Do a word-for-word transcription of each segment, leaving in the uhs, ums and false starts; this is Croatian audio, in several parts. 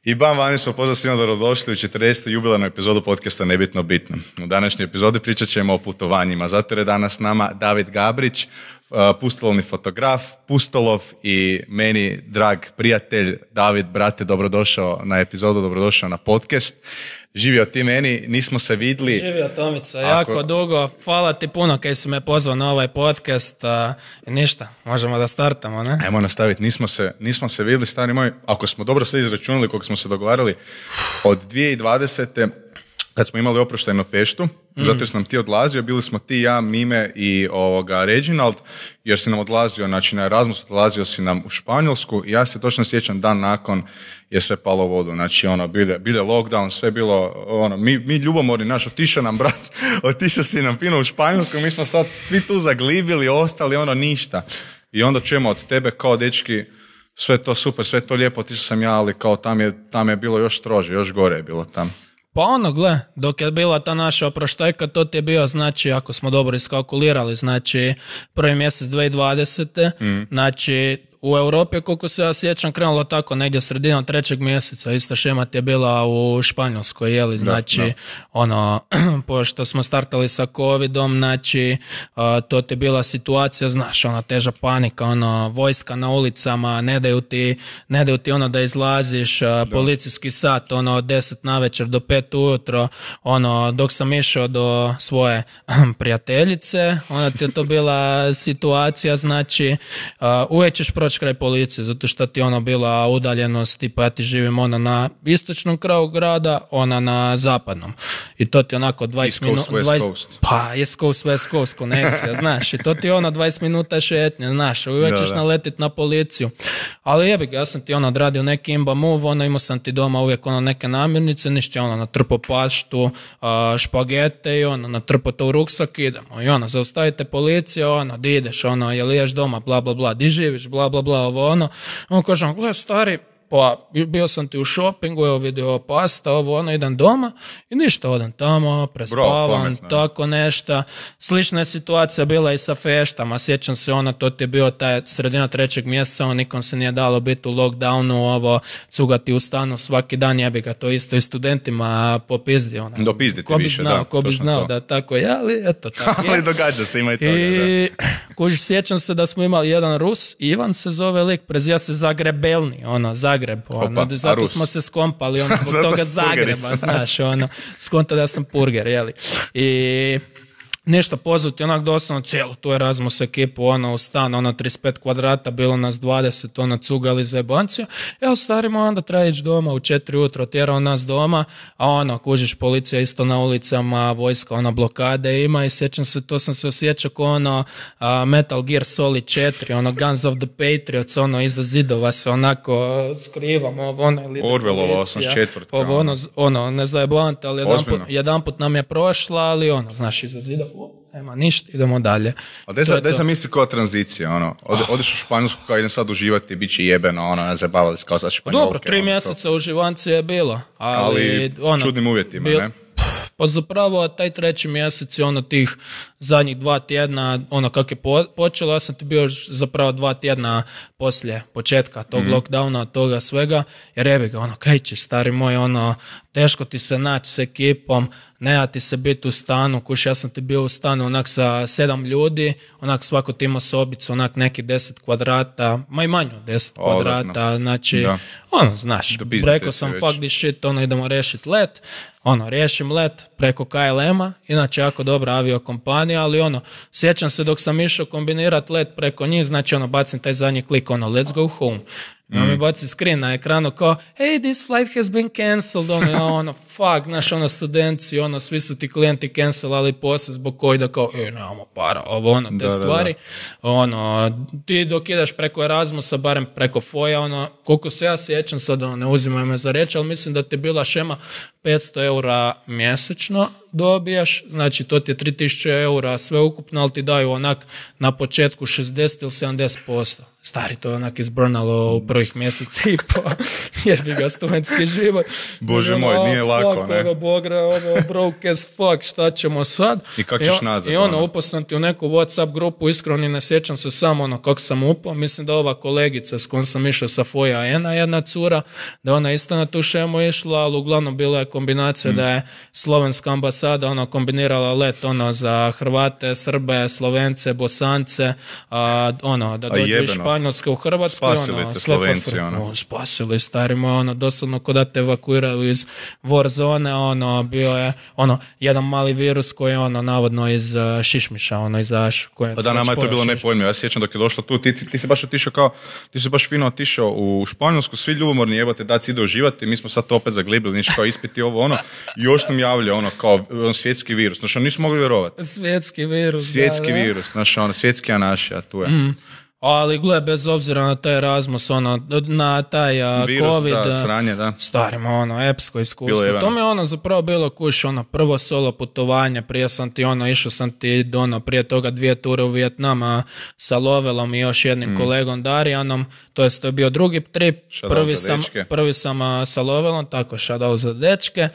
I bam, vani smo pozdrav svima dobrodošli u četrdesetu jubilarnu epizodu podcasta Nebitno bitno. U današnjoj epizodi pričat ćemo o putovanjima. Zato je danas s nama David Gabrić, pustolovni fotograf, pustolov i meni drag prijatelj. David, brate, dobrodošao na epizodu, dobrodošao na podcast. Živio ti meni, nismo se vidli. Živio Tomica, Ako... jako dugo. Hvala ti puno kaj si me pozvao na ovaj podcast. A, ništa, možemo da startamo, ne? Ajmo nastaviti, nismo se, nismo se vidli, stari moj. Ako smo dobro sve izračunali koliko smo se dogovarali, od dvije tisuće dvadesete kad smo imali oproštajnu feštu, mm. zato jer si nam ti odlazio, bili smo ti, ja, Mime i ovoga Reginald, jer si nam odlazio, znači na Erasmus odlazio si nam u Španjolsku i ja se točno sjećam dan nakon je sve palo u vodu, znači ono, bile, bile lockdown, sve bilo, ono, mi, mi ljubomorni, naš, otišao nam brat, otišao si nam fino u Španjolsku, mi smo sad svi tu zaglibili, ostali ono ništa. I onda čujemo od tebe kao dečki, sve to super, sve to lijepo, otišao sam ja, ali kao tam je, tam je bilo još strože, još gore je bilo tam. Pa ono, gle, dok je bila ta naša oproštajka, to ti je bio, znači, ako smo dobro iskalkulirali, znači, prvi mjesec dvije tisuće dvadesete Mm. znači, u Europi, koliko se ja sjećam, krenulo tako negdje sredinom trećeg mjeseca, ista šema ti je bila u Španjolskoj, jeli, znači, da, da. ono, pošto smo startali sa covidom, znači, uh, to ti je bila situacija, znaš, ona teža panika, ono, vojska na ulicama, ne daju ti, ne daju ti ono da izlaziš, uh, policijski sat, ono, od deset navečer do pet ujutro, ono, dok sam išao do svoje prijateljice, onda ti je to bila situacija, znači, uh, uvijek ćeš proći kraj policije, zato što ti ono bila udaljenost, tipa ja ti živim ona na istočnom kraju grada, ona na zapadnom. I to ti onako dvadeset minuta... Pa, East Coast, West Coast konekcija, znaš. I to ti ono dvadeset minuta šetnje, znaš. Uvijek ćeš naletit na policiju. Ali jebi ga, ja sam ti ono odradio neki imba move, ono imao sam ti doma uvijek ono neke namirnice, ništa ono natrpo paštu, špagete i ono natrpo to u ruksak, idemo. I ono, zaustavite policiju, ono, di ideš, ono, jel ješ doma, bla, bla, bla, di živiš, bla, bla, bla, ovo ono. On kaže, gle, stari, pa bio sam ti u šopingu, evo vidio pasta, ovo ono, idem doma i ništa, odem tamo, prespavam, Bro, tako nešto. Slična je situacija bila i sa feštama, sjećam se ono, to ti je bio taj sredina trećeg mjeseca, on nikom se nije dalo biti u lockdownu, ovo, cugati u stanu svaki dan, jebi ga, to isto i studentima popizdi. Ono. Dopizditi ko bi više, znao, da. Ko bi znao to. Da tako je, ali eto tako je. Ali događa se, ima i toga, I, da. Kuži, sjećam se da smo imali jedan Rus, Ivan se zove lik, prezija se Zagrebelni, ono, Zagreb, ono, Opa, zato smo se skompali, ono, zbog toga Zagreba, znaš, ono, skonta da sam purger, jeli. I nešto pozvati, onak doslovno cijelu tu Erasmus ekipu, ono, u stan, ono, trideset pet kvadrata, bilo nas dvadeset, ono, cugali za jebancija. Evo, starimo, onda treba ići doma, u četiri ujutro tjerao nas doma, a ono, kužiš, policija isto na ulicama, vojska, ono, blokade ima i sjećam se, to sam se osjećao ko ono uh, Metal Gear Solid četiri, ono, Guns of the Patriots, ono, iza zidova se onako skrivamo, ono, ili Orwellova osamdeset četvrtka ovo, ono, ono, ne zajebavate, ali jedan put, jedan put nam je prošla, ali ono, znaš, iza zidova, nema ništa, idemo dalje. A daj sam misli kao tranzicija, ono, Od, odeš u Španjolsku kao idem sad uživati, bit će jebeno, ono, ne zabavali se kao sad Španjolke. Dobro, tri ono, mjeseca to... uživanci je bilo, ali... Ali ono, čudnim uvjetima, bil, ne? Pa zapravo taj treći mjesec je ono tih zadnjih dva tjedna, ono kako je po, počelo, ja sam ti bio zapravo dva tjedna poslije početka tog mm. lockdowna, toga svega, jer jebi ga, ono, kaj ćeš, stari moj, ono, teško ti se naći s ekipom, nema ti se biti u stanu, kuš, ja sam ti bio u stanu onak sa sedam ljudi, onak svako ti ima sobicu, onak neki deset kvadrata, ma i manje od deset o, kvadrata, znači, da. ono, znaš, rekao sam fuck this shit, ono, idemo rešiti let, ono, riješim let preko K L M-a, inače jako dobra aviokompanija, ali ono, sjećam se dok sam išao kombinirati let preko njih, znači ono, bacim taj zadnji klik, ono, let's go home. I on mi baci screen na ekranu kao, hey, this flight has been cancelled, ono, ono, fuck, znaš, ono, studenti, ono, svi su ti klijenti cancelali poslije zbog koji da kao, e, nemamo para, ovo, ono, te da, stvari, da, da. Ono, ti dok ideš preko Erasmusa, barem preko Foja, ono, koliko se ja sjećam, sad, ono, ne uzimaj me za reći, ali mislim da ti je bila šema petsto eura mjesečno, dobiješ, znači to ti je tri tisuće eura sve ukupno, ali ti daju onak na početku šezdeset ili sedamdeset posto. Stari, to je onak izbrnalo u prvih mjeseci i po, jer bi ga studentski život. Bože moj, nije oh, lako, fuck, ne? Ono, bogre, ono, broke as fuck, šta ćemo sad? I kako ćeš nazad? I ono, upao sam ti u neku WhatsApp grupu, iskreno ni ne sjećam se samo ono kako sam upao. Mislim da ova kolegica s kojom sam išao sa Foja Ena, jedna cura, da ona isto na tu šemu išla, ali uglavnom bila je kombinacija mm. da je slovenska ambasada ono kombinirala let ono za Hrvate, Srbe, Slovence, Bosance, a, ono, da dođu iz Španjolske u Hrvatsku. Spasili ono, te Slovenci, ono. ono. Spasili, stari moj, ono, doslovno kod da te evakuiraju iz war zone, ono, bio je, ono, jedan mali virus koji je, ono, navodno iz uh, šišmiša, ono, izašao. Pa da, nama je to bilo nepojmljivo. Ja sjećam dok je došlo tu, ti, ti, ti si baš otišao kao, ti si baš fino otišao u Španjolsku, svi ljubomorni jebate, da ci ide uživati, mi smo sad to opet zaglibili, niš kao ispiti ovo, ono, i još nam javlja, ono, kao on, svjetski virus, znači, nismo mogli vjerovati. Svjetski virus, Svjetski da, virus, znači, ono, svjetski anaši, a tu je. Mm. Ali gle, bez obzira na taj Erasmus, ono, na taj uh, virus, COVID, da, sranje, da. Starimo, ono, epsko iskustvo. To mi je ono zapravo bilo kuš, ono, prvo solo putovanje, prije sam ti, ono, išao sam ti, ono, prije toga dvije ture u Vijetnama sa Lovelom i još jednim mm. kolegom Darijanom, to jest to je bio drugi trip, prvi sam, prvi sam uh, sa Lovelom, tako, shoutout za dečke,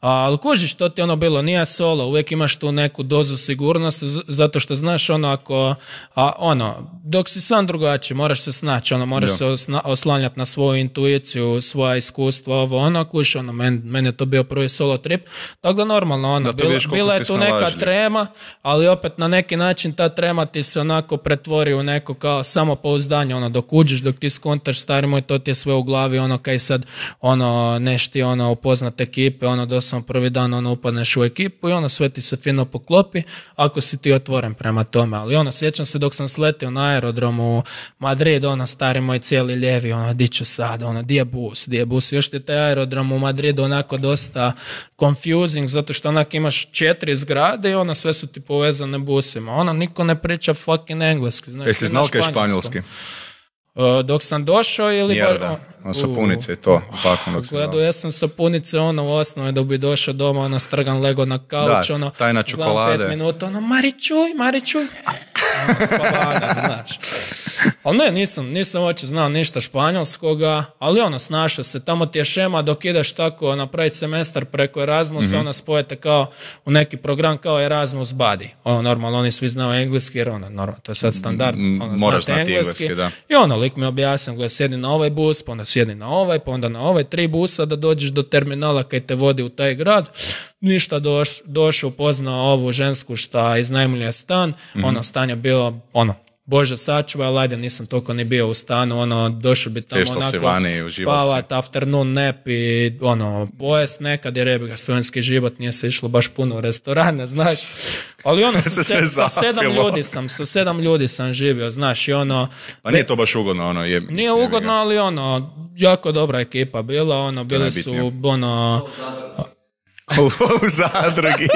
ali kužiš, to ti ono bilo, nije solo, uvijek imaš tu neku dozu sigurnosti, zato što znaš, ono, ako, a, ono, dok si sam drugačiji, moraš se snaći, ono, moraš da. se oslanjati na svoju intuiciju, svoja iskustva, ovo, ono, kuš, ono, meni men je to bio prvi solo trip, tako da normalno, ono, bila, bila je tu neka trema, ali opet na neki način ta trema ti se onako pretvori u neko kao samopouzdanje, ono, dok uđeš, dok ti skontaš, stari moj, to ti je sve u glavi, ono, kaj sad, ono, nešti, ono, upoznat ekipe, ono, doslovno prvi dan, ono, upadneš u ekipu i ono, sve ti se fino poklopi, ako si ti otvoren prema tome, ali ono, sjećam se dok sam sletio na aerodromu u Madrid, ono, stari moj cijeli lijevi, ono, di ću sad, ono, di je bus, di je bus, još ti taj aerodrom u Madridu onako dosta confusing, zato što onak imaš četiri zgrade i ono, sve su ti povezane busima, ono, niko ne priča fucking engleski, znaš. Jesi znao kaj španjolski? Uh, dok sam došao ili... Mjerda, ono, sapunice i to. Gledao, ja sam sapunice, ono, u osnovi da bi došao doma, ono, strgan lego na kauč, da, ono... tajna čokolade. pet minuta, ono, Mari čuj, Mari čuj. Spavana, znaš. Ali ne, nisam, nisam uopće znao ništa španjolskoga, ali ono, snašao se, tamo ti je šema dok ideš tako napraviti semestar preko Erasmusa, mm-hmm. ona spojete kao u neki program kao Erasmus Buddy. Ono, normalno, oni svi znaju engleski, jer ono, normalno, to je sad standard, ono, moraš znati engleski, engleski, da. I ono, lik mi objasnio, gledaj, sjedi na ovaj bus, pa onda sjedi na ovaj, pa onda na ovaj, tri busa da dođeš do terminala kaj te vodi u taj grad. Ništa, doš, došao, upoznao ovu žensku šta iznajmljuje stan, mm-hmm. ono, stan je bilo, ono, Bože sačuvaj, ali ajde, nisam toliko ni bio u stanu, ono, došao bi tamo onako spavat, afternoon nap i ono, pojest nekad, jer je ga studentski život, nije se išlo baš puno u restorane, znaš, ali ono, sa, se, sa sedam ljudi sam, sa sedam ljudi sam živio, znaš, i ono... A nije to baš ugodno, ono, je... Nije ugodno, ali ono, jako dobra ekipa bila, ono, bili su, ono... u, u zadrugi.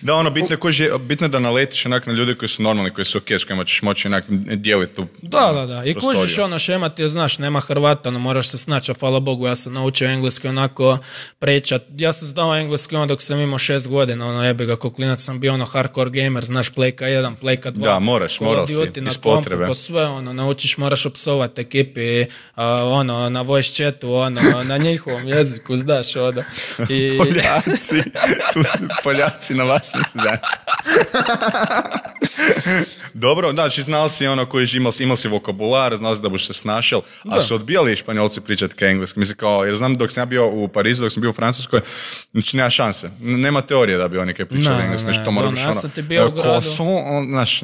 Da, ono, bitno je, bitno je da naletiš onak na ljudi koji su normalni, koji su ok, s kojima ćeš moći onak dijeliti tu Da, da, da. I prostoriju. Kužiš ono, šema ti je, znaš, nema Hrvata, ono, moraš se snaći, a hvala Bogu, ja sam naučio engleski onako pričat. Ja sam znao engleski ono dok sam imao šest godina, ono, jebi ga, ko klinac sam bio ono hardcore gamer, znaš, Playka jedan, Playka dva. Da, moraš, moral si, iz potrebe. Po sve, ono, naučiš, moraš opsovati ekipi, uh, ono, na voice chatu, ono, na njihovom jeziku, znaš, ono. I... Poljaci, tu, Poljaci na vas mjesecaca. Dobro, znači znao si ono koji imao, imao si vokabular, znao si da buš se snašao, a su odbijali Španjolci pričati ka engleski. Mislim kao, jer znam dok sam ja bio u Parizu, dok sam bio u Francuskoj, znači nema šanse. Nema teorije da bi oni kaj pričali engleski. Znači to mora biti ono, sam ti bio u gradu. Croissant, znaš,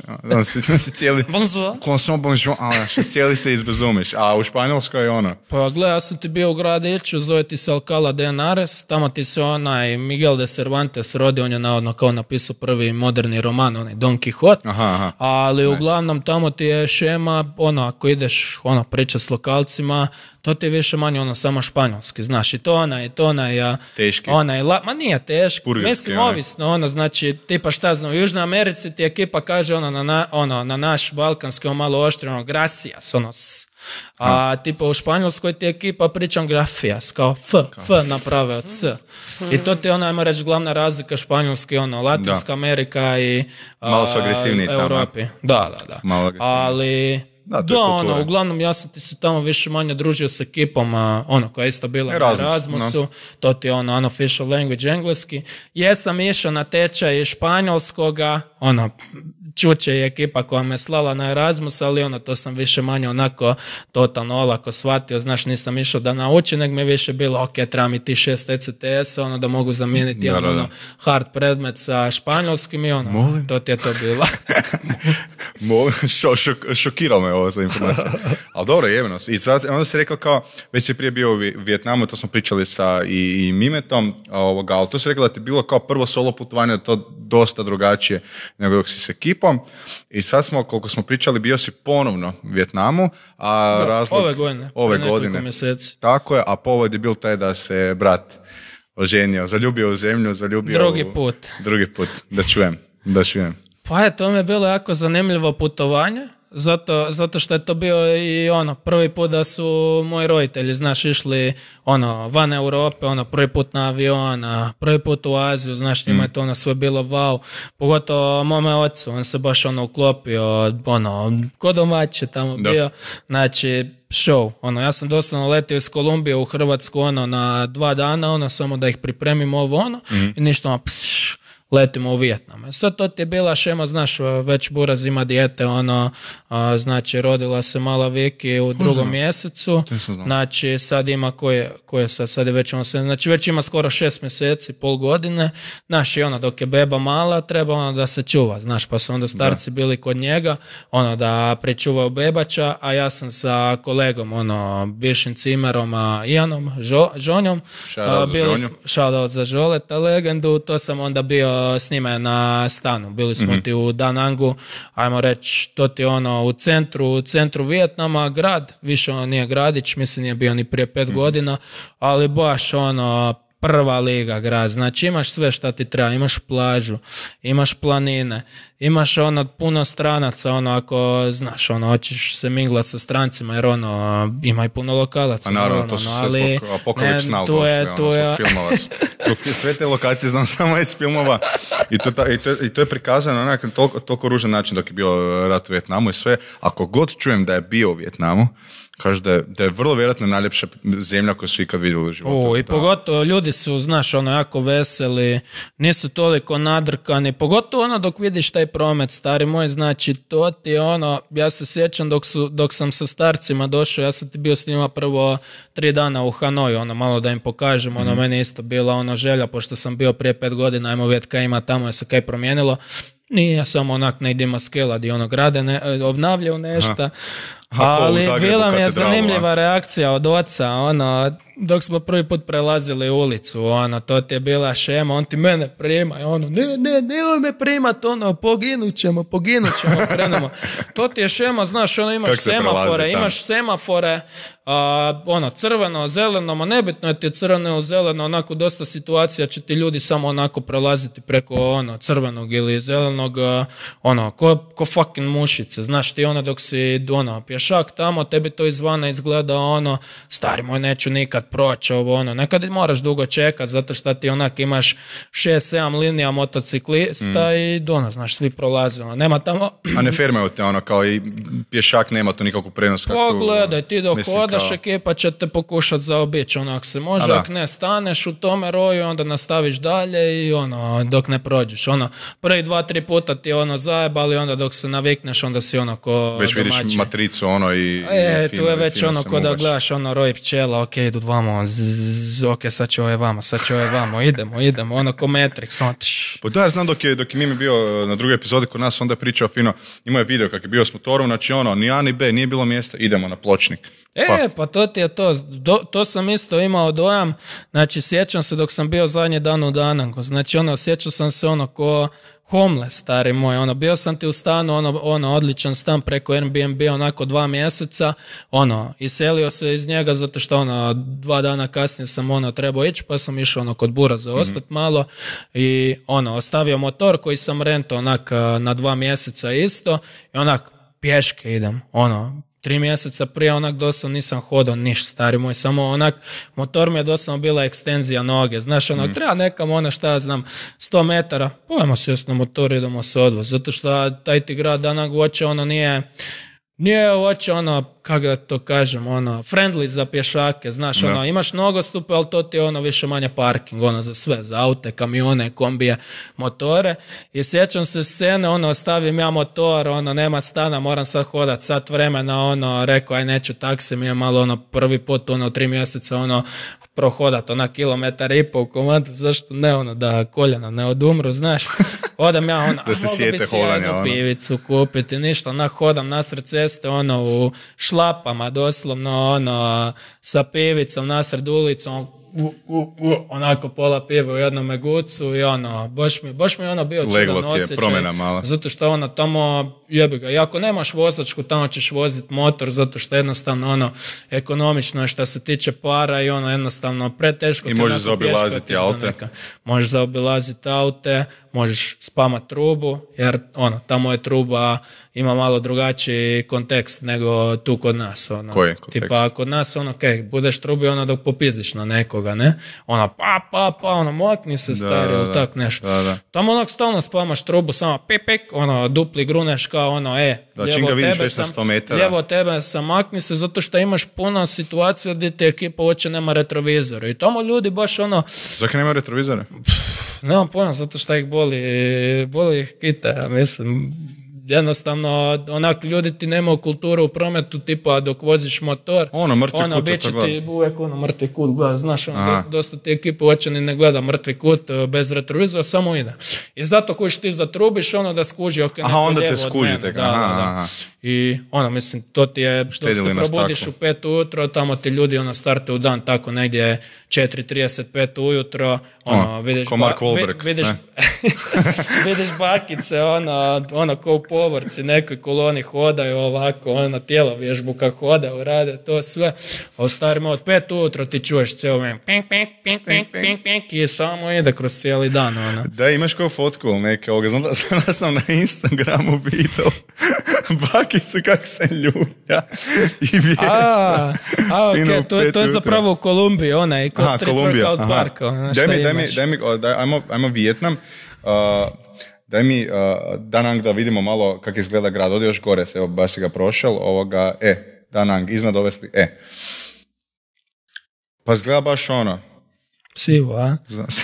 cijeli... Bonjour. Croissant, bonjour, znaš, cijeli se izbezumiš. A u Španjolskoj je ono. Pa gle, ja sam ti bio u gradiću, zove ti se Alcalá de Henares, tamo ti se onaj Miguel de Cervantes rodi, on je navodno kao napisao prvi moderni roman, onaj Don Quixote. Aha, aha. Ali nice. Uglavnom tamo ti je šema, ono, ako ideš ono, pričat s lokalcima, to ti je više manje ono samo španjolski, znaš, i to ona, i to ona, ja, teški. Ona je, la, ma nije teški, mislim, ovisno, ono, znači, tipa šta znam, u Južnoj Americi ti ekipa kaže, ono, na, na, ono, na naš balkanski, ono, malo oštri, ono, gracias, ono, s, A tipa u Španjolskoj ti ekipa pričam grafijas, kao F, F naprave od S. I to ti je ono, ajmo reći, glavna razlika španjolski, ono, Latinska da. Amerika i malo su agresivniji tamo. Europi. Da, da, da. Malo ali... Da, da ono, uglavnom ja sam ti se tamo više manje družio s ekipom, a, ono, koja je isto bila Erasmus, na Erasmusu, no. To ti je ono unofficial language engleski. Jesam išao na tečaj španjolskoga, ono, Čuče je ekipa koja me slala na Erasmus, ali ono, to sam više manje onako totalno olako shvatio, znaš, nisam išao da naučim, nego mi je više bilo, ok, treba mi ti šest E C T S, ono, da mogu zamijeniti da, ono, da. hard predmet sa španjolskim i ono, Molim? to ti je to bilo. Molim, šo, šok, šokiralo me ovo za informacija. Ali dobro, jebeno. I sad, onda si rekao kao, već si prije bio u Vijetnamu, to smo pričali sa i, i Mimetom, ovoga, ali to si rekao da ti bilo kao prvo solo putovanje, to dosta drugačije nego dok si s ekipom. I sad smo, koliko smo pričali, bio si ponovno u Vijetnamu, a da, razlog... Ove godine. Ove godine. Mjeseci. Tako je, a povod je bil taj da se brat oženio, zaljubio u zemlju, zaljubio drugi u... put. Drugi put. Da čujem, da čujem. Pa je, to mi je bilo jako zanimljivo putovanje, zato, zato što je to bio i ono, prvi put da su moji roditelji, znaš, išli ono, van Europe, ono, prvi put na avion, prvi put u Aziju, znaš, njima je to ono sve bilo wow, pogotovo mome ocu, on se baš ono uklopio, ono, ko domaće tamo da. bio, znači, show, ono, ja sam doslovno letio iz Kolumbije u Hrvatsku, ono, na dva dana, ono, samo da ih pripremim ovo, ono, mm. i ništa, ono, pš, letimo u Vijetnam. Sad to ti je bila šema, znaš, već Buraz ima dijete, ono, a, znači, rodila se mala Viki u drugom Uzno. mjesecu, znači, sad ima koje, koje sad, sad je već ono, znači, već ima skoro šest mjeseci, pol godine, znaš, i ono, dok je beba mala, treba ono da se čuva, znaš, pa su onda starci da. bili kod njega, ono, da pričuvaju bebača, a ja sam sa kolegom, ono, bivšim cimerom, a Ijanom, žo, Žonjom, shoutout za Žoleta, legendu, to sam onda bio s njima na stanu. Bili smo mm-hmm. ti u Da Nangu, ajmo reći, to ti ono u centru, u centru Vijetnama, grad, više ono nije gradić, mislim nije bio ni prije pet mm-hmm. godina, ali baš ono prva liga grad, znači imaš sve šta ti treba, imaš plažu, imaš planine, imaš ono puno stranaca, ono ako znaš, ono hoćeš se minglat sa strancima, jer ono ima i puno lokalaca. A naravno, ono, to su ali, sve zbog Apocalypse Now došli, ono, je... zbog filmova. Sve te lokacije znam samo iz filmova i to, ta, i to, i to je prikazano na nekakav toliko, toliko ružan način dok je bio rat u Vijetnamu i sve. Ako god čujem da je bio u Vijetnamu, kaže da je, da je vrlo vjerojatno najljepša zemlja koju su ikad vidjeli u životu. O, i da. pogotovo ljudi su, znaš, ono, jako veseli, nisu toliko nadrkani, pogotovo ono dok vidiš taj promet, stari moj, znači to ti ono, ja se sjećam dok, su, dok sam sa starcima došao, ja sam ti bio s njima prvo tri dana u Hanoju, ono, malo da im pokažem, mm. ono, meni isto bila ono želja, pošto sam bio prije pet godina, ajmo vidjeti kaj ima tamo, je se kaj promijenilo. Nije samo onak ne idemo skela di ono grade, ne, obnavljaju nešto. Ali bila mi je zanimljiva reakcija od oca, ono, dok smo prvi put prelazili ulicu, ono, to ti je bila šema, on ti mene prima, ono, ne, ne, nemoj me primat, ono, poginut ćemo, poginut ćemo, krenemo. To ti je šema, znaš, ono, imaš semafore, imaš semafore, a, ono, crveno, zeleno, ma nebitno je ti crveno, zeleno, onako dosta situacija će ti ljudi samo onako prelaziti preko, ono, crvenog ili zelenog, ono, ko, ko fucking mušice, znaš, ti ono, dok si, ono, pješak tamo, tebi to izvana izgleda ono, stari moj, neću nikad proći ovo, ono, nekad moraš dugo čekat, zato što ti onak imaš šest sedam linija motociklista mm. i ono, znaš, svi prolaze, ono, nema tamo... A ne fermaju te, ono, kao i pješak nema tu nikakvu prenos kako... Pogledaj, ti dok mislim, hodaš, kao... ekipa će te pokušat zaobići, ono, ako se može, ako ne staneš u tome roju, onda nastaviš dalje i ono, dok ne prođeš, ono, prvi dva, tri puta ti ono zajebali, onda dok se navikneš, onda si ono ko već domaći. Vidiš matricu, ono, i... E, i tu je već ono ko da gledaš ono roj pčela, ok, idu vamo, zzz, ok, sad će ovaj vamo, sad će ovaj vamo, idemo, idemo, ono ko Matrix, ono tš. Pa da, ja znam dok je, dok je Mimi bio na drugoj epizodi kod nas, onda je pričao fino, imao je video kak je bio s motorom, znači ono, ni A ni B, nije bilo mjesta, idemo na pločnik. E, pa, pa to ti je to, Do, to sam isto imao dojam, znači sjećam se dok sam bio zadnji dan u Danangu, znači ono, sjećao sam se ono ko homeless, stari moj, ono, bio sam ti u stanu, ono, ono, odličan stan preko Airbnb, onako dva mjeseca, ono, iselio se iz njega zato što, ono, dva dana kasnije sam, ono, trebao ići, pa sam išao, ono, kod Buraza ostati mm-hmm. malo i, ono, ostavio motor koji sam rentao, onak, na dva mjeseca isto i onak, pješke idem, ono, tri mjeseca prije onak doslovno nisam hodao niš, stari moj, samo onak, motor mi je doslovno bila ekstenzija noge, znaš, onak, mm. treba nekam ono šta ja znam, sto metara, pojemo se još na motor, idemo se odvoz, zato što taj ti grad danak uoče, ono nije, nije uoče ono, kako da to kažem, ono, friendly za pješake, znaš, ono, imaš nogostupe, ali to ti je ono više manje parking, ono, za sve, za aute, kamione, kombije, motore, i sjećam se scene, ono, ostavim ja motor, ono, nema stana, moram sad hodat sat vremena, ono, rekao, aj neću taksi, mi je malo, ono, prvi put, ono, tri mjeseca, ono, prohodat, ona kilometar i pol u komadu, zašto ne, ono, da koljena ne odumru, znaš, odam ja, ono, da se mogu bi si jednu ono. pivicu kupiti, ništa, onak, hodam nasred ceste, ono, u šlapama, doslovno, ono, sa pivicom nasred ulicom, u, u, u, onako pola pive u jednom gucu i ono, baš mi, baš mi ono bio čudan osjećaj, zato što ono, tamo jebi ga, i ako nemaš vozačku, tamo ćeš voziti motor, zato što jednostavno ono, ekonomično je što se tiče para i ono, jednostavno preteško. I možeš zaobilaziti aute. Možeš zaobilaziti aute, možeš spamat trubu, jer ono, tamo je truba, ima malo drugačiji kontekst nego tu kod nas. Ono. Koji kontekst? Tipa kod nas, ono, okej, okay, budeš trubi ono dok popizdiš na nekoga, ne? Ono, pa, pa, pa, ono, mokni se stari, ili tak nešto. Da, da. Tamo onak stalno spamaš trubu, samo pip, pip, ono, dupli gruneš kao ono, e, da, lijevo, tebe sam, lijevo tebe sam, makni se, zato što imaš puno situacija gdje ti ekipa uopće nema retrovizora. I tamo ljudi baš ono... Zakaj nema retrovizora? Nemam pojma, zato što ih boli, boli ih kita, ja mislim... Jednostavno, onak, ljudi ti nemaju kulturu u prometu, tipa dok voziš motor, ono, mrtvi ono, kut, bit će ti uvijek ono, mrtvi kut, gleda, znaš, ono, dosta, dosta ti ekipa uopće ni ne gleda mrtvi kut bez retrovizora, samo ide. I zato kojiš ti zatrubiš, ono, da skuži, ok, neko aha, onda lijevo te skuži, od mene. tek, da, aha, da, da. aha. I, ono, mislim, to ti je, dok se probudiš u pet ujutro, tamo ti ljudi, ono, starte u dan, tako negdje četiri trideset pet ujutro, ono, o, vidiš, ko Mark Wahlberg, ba, vidiš, vidiš bakice, ono, ono, ko u povorci, nekoj koloni hodaju ovako, ono, tijelo vježbu kako hodaju, rade to sve. A u starima od pet ujutro ti čuješ cijelo vrijeme pink, pink, pink, pink, pink, pink, i samo ide kroz cijeli dan, ono. Da, imaš kao fotku ili neke ovoga, znam da sam, da sam na Instagramu vidio bakicu kako se ljulja i vježba. A, a ok, to, to je zapravo u Kolumbiji, ona i kod Street Workout Parka. Ono, daj mi, daj mi, daj mi, daj, ajmo, ajmo Vijetnam. Uh, Daj mi, uh, Danang, da vidimo malo kako izgleda grad. Odi još gore se, evo, baš si ga prošel. Ovoga, e, Danang, iznad ove slike. E. Pa izgleda baš ono. Sivo, a? Znam se.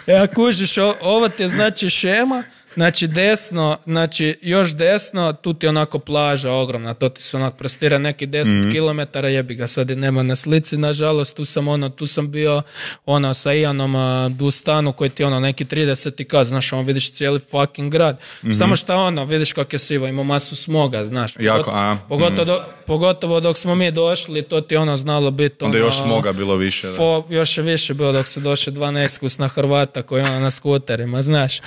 Ja kužiš, o, ovo ti je znači šema, znači desno, znači još desno, tu ti je onako plaža ogromna, to ti se onako prostira neki deset mm-hmm. kilometara, jebi ga, sad i nema na slici, nažalost, tu sam ono, tu sam bio ono sa Ianom uh, u stanu koji ti ono neki trideset i kad, znaš, ono vidiš cijeli fucking grad, mm-hmm. samo što ono, vidiš kako je sivo, ima masu smoga, znaš, jako, pogotovo, a, pogotovo, mm-hmm. do, pogotovo dok smo mi došli, to ti ono znalo biti, onda ono, još smoga bilo više, da. Fo, još je više bilo dok se došli dva neiskusna Hrvata koji ono na skuterima, znaš,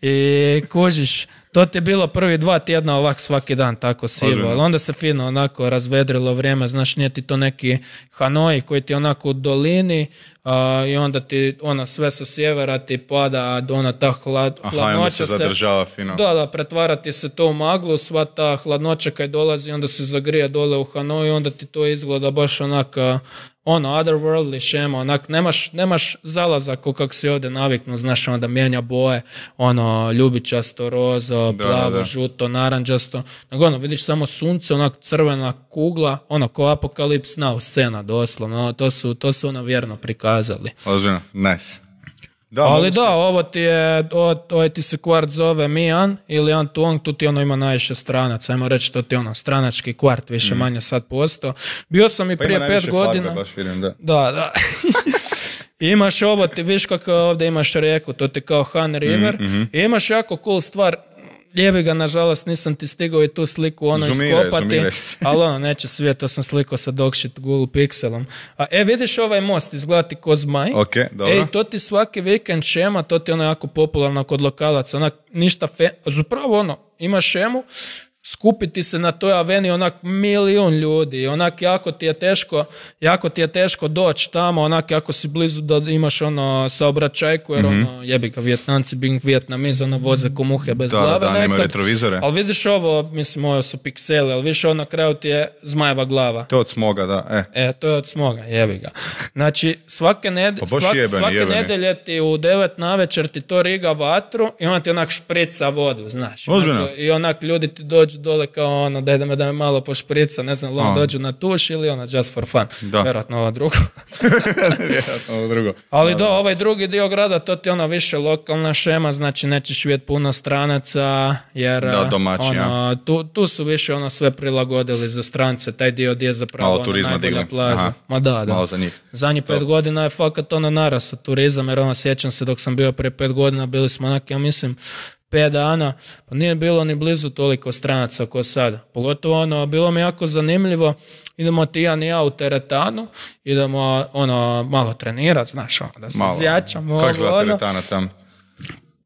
i kužiš, to ti je bilo prvi dva tjedna ovak svaki dan tako sivo, ali onda se fino onako razvedrilo vrijeme, znaš, nije ti to neki Hanoi koji ti onako u dolini uh, i onda ti ona sve sa sjevera ti pada, ona ta hlad, aha, hladnoća onda se zadržava fino. Da, da, pretvara ti se to u maglu, sva ta hladnoća kad dolazi, onda se zagrije dole u Hanoi, onda ti to izgleda baš onaka ono, otherworldly šema, onak, nemaš, nemaš zalazak kako si ovdje naviknu, znaš, onda mijenja boje, ono, ljubičasto, rozo, da, plavo, da, da. žuto, naranđasto, nego ono, vidiš samo sunce, onak, crvena kugla, ono, ko Apokalips Now scena, doslovno, to su, to su ono vjerno prikazali. Ozbiljno, nice. Da, ali da, ovo ti je, ovo ti se kvart zove Mian ili Antuong, tu ti ono ima najviše stranaca, ajmo reći to ti ono stranački kvart, više mm. manje sad posto. Bio sam i pa prije pet godina. Farbe, baš vidim, da. Da, da. Imaš ovo, ti viš kako ovdje imaš rijeku, to ti kao Han River, mm-hmm. i imaš jako cool stvar. Lijevi ga, nažalost, nisam ti stigao i tu sliku ono zumire, iskopati, zumire. ali ono, neće svijet, to sam slikao sa dogshit Google Pixelom. A e, vidiš ovaj most, izgleda ti ko zmaj. Ok, dobro. Ej, to ti svaki vikend šema, to ti ono jako popularno kod lokalaca, onak, ništa fe... Zapravo ono, imaš šemu, skupiti se na toj aveni onak milijun ljudi, onak jako ti je teško, jako ti je teško doći tamo, onak jako si blizu da imaš ono saobraćajku, jer mm-hmm. ono jebi ga Vijetnamci, Bing Vietnamiz, ono voze ko muhe bez da, glave. Da, da, nemaju retrovizore. Ali vidiš ovo, mislim, ovo su pikseli, ali vidiš ovo na kraju ti je zmajeva glava. To je od smoga, da. E, e to je od smoga, jebi ga. Znači, svake, ned- pa svak, jebeni, svake jebeni. nedelje ti u devet navečer ti to riga vatru i onda ti onak šprica vodu, znaš. Ozbiljno? I onak ljudi ti dođu dole kao ono, daj da me, da me malo pošprica, ne znam, on dođu na tuš ili ono, just for fun. Da. Vjerojatno ovo drugo. Vjerojatno ovo drugo. Ali da, do, ovaj drugi dio grada, to ti ono više lokalna šema, znači nećeš vidjeti puno stranaca, jer da, domaći, ono, ja. tu, tu su više ono sve prilagodili za strance, taj dio gdje je zapravo malo ono, turizma najbolja digli. plaža. Aha. Ma da, da. Malo za njih. Zadnjih pet godina je fakat ono narasa turizam, jer ono sjećam se dok sam bio prije pet godina, bili smo onak, ja mislim, pet dana, pa nije bilo ni blizu toliko stranaca kao sada. Pogotovo ono, bilo mi jako zanimljivo, idemo ti ja ni ja u teretanu, idemo ono, malo trenirati, znaš, ono, da se zjačamo. Kako izgleda teretana tam?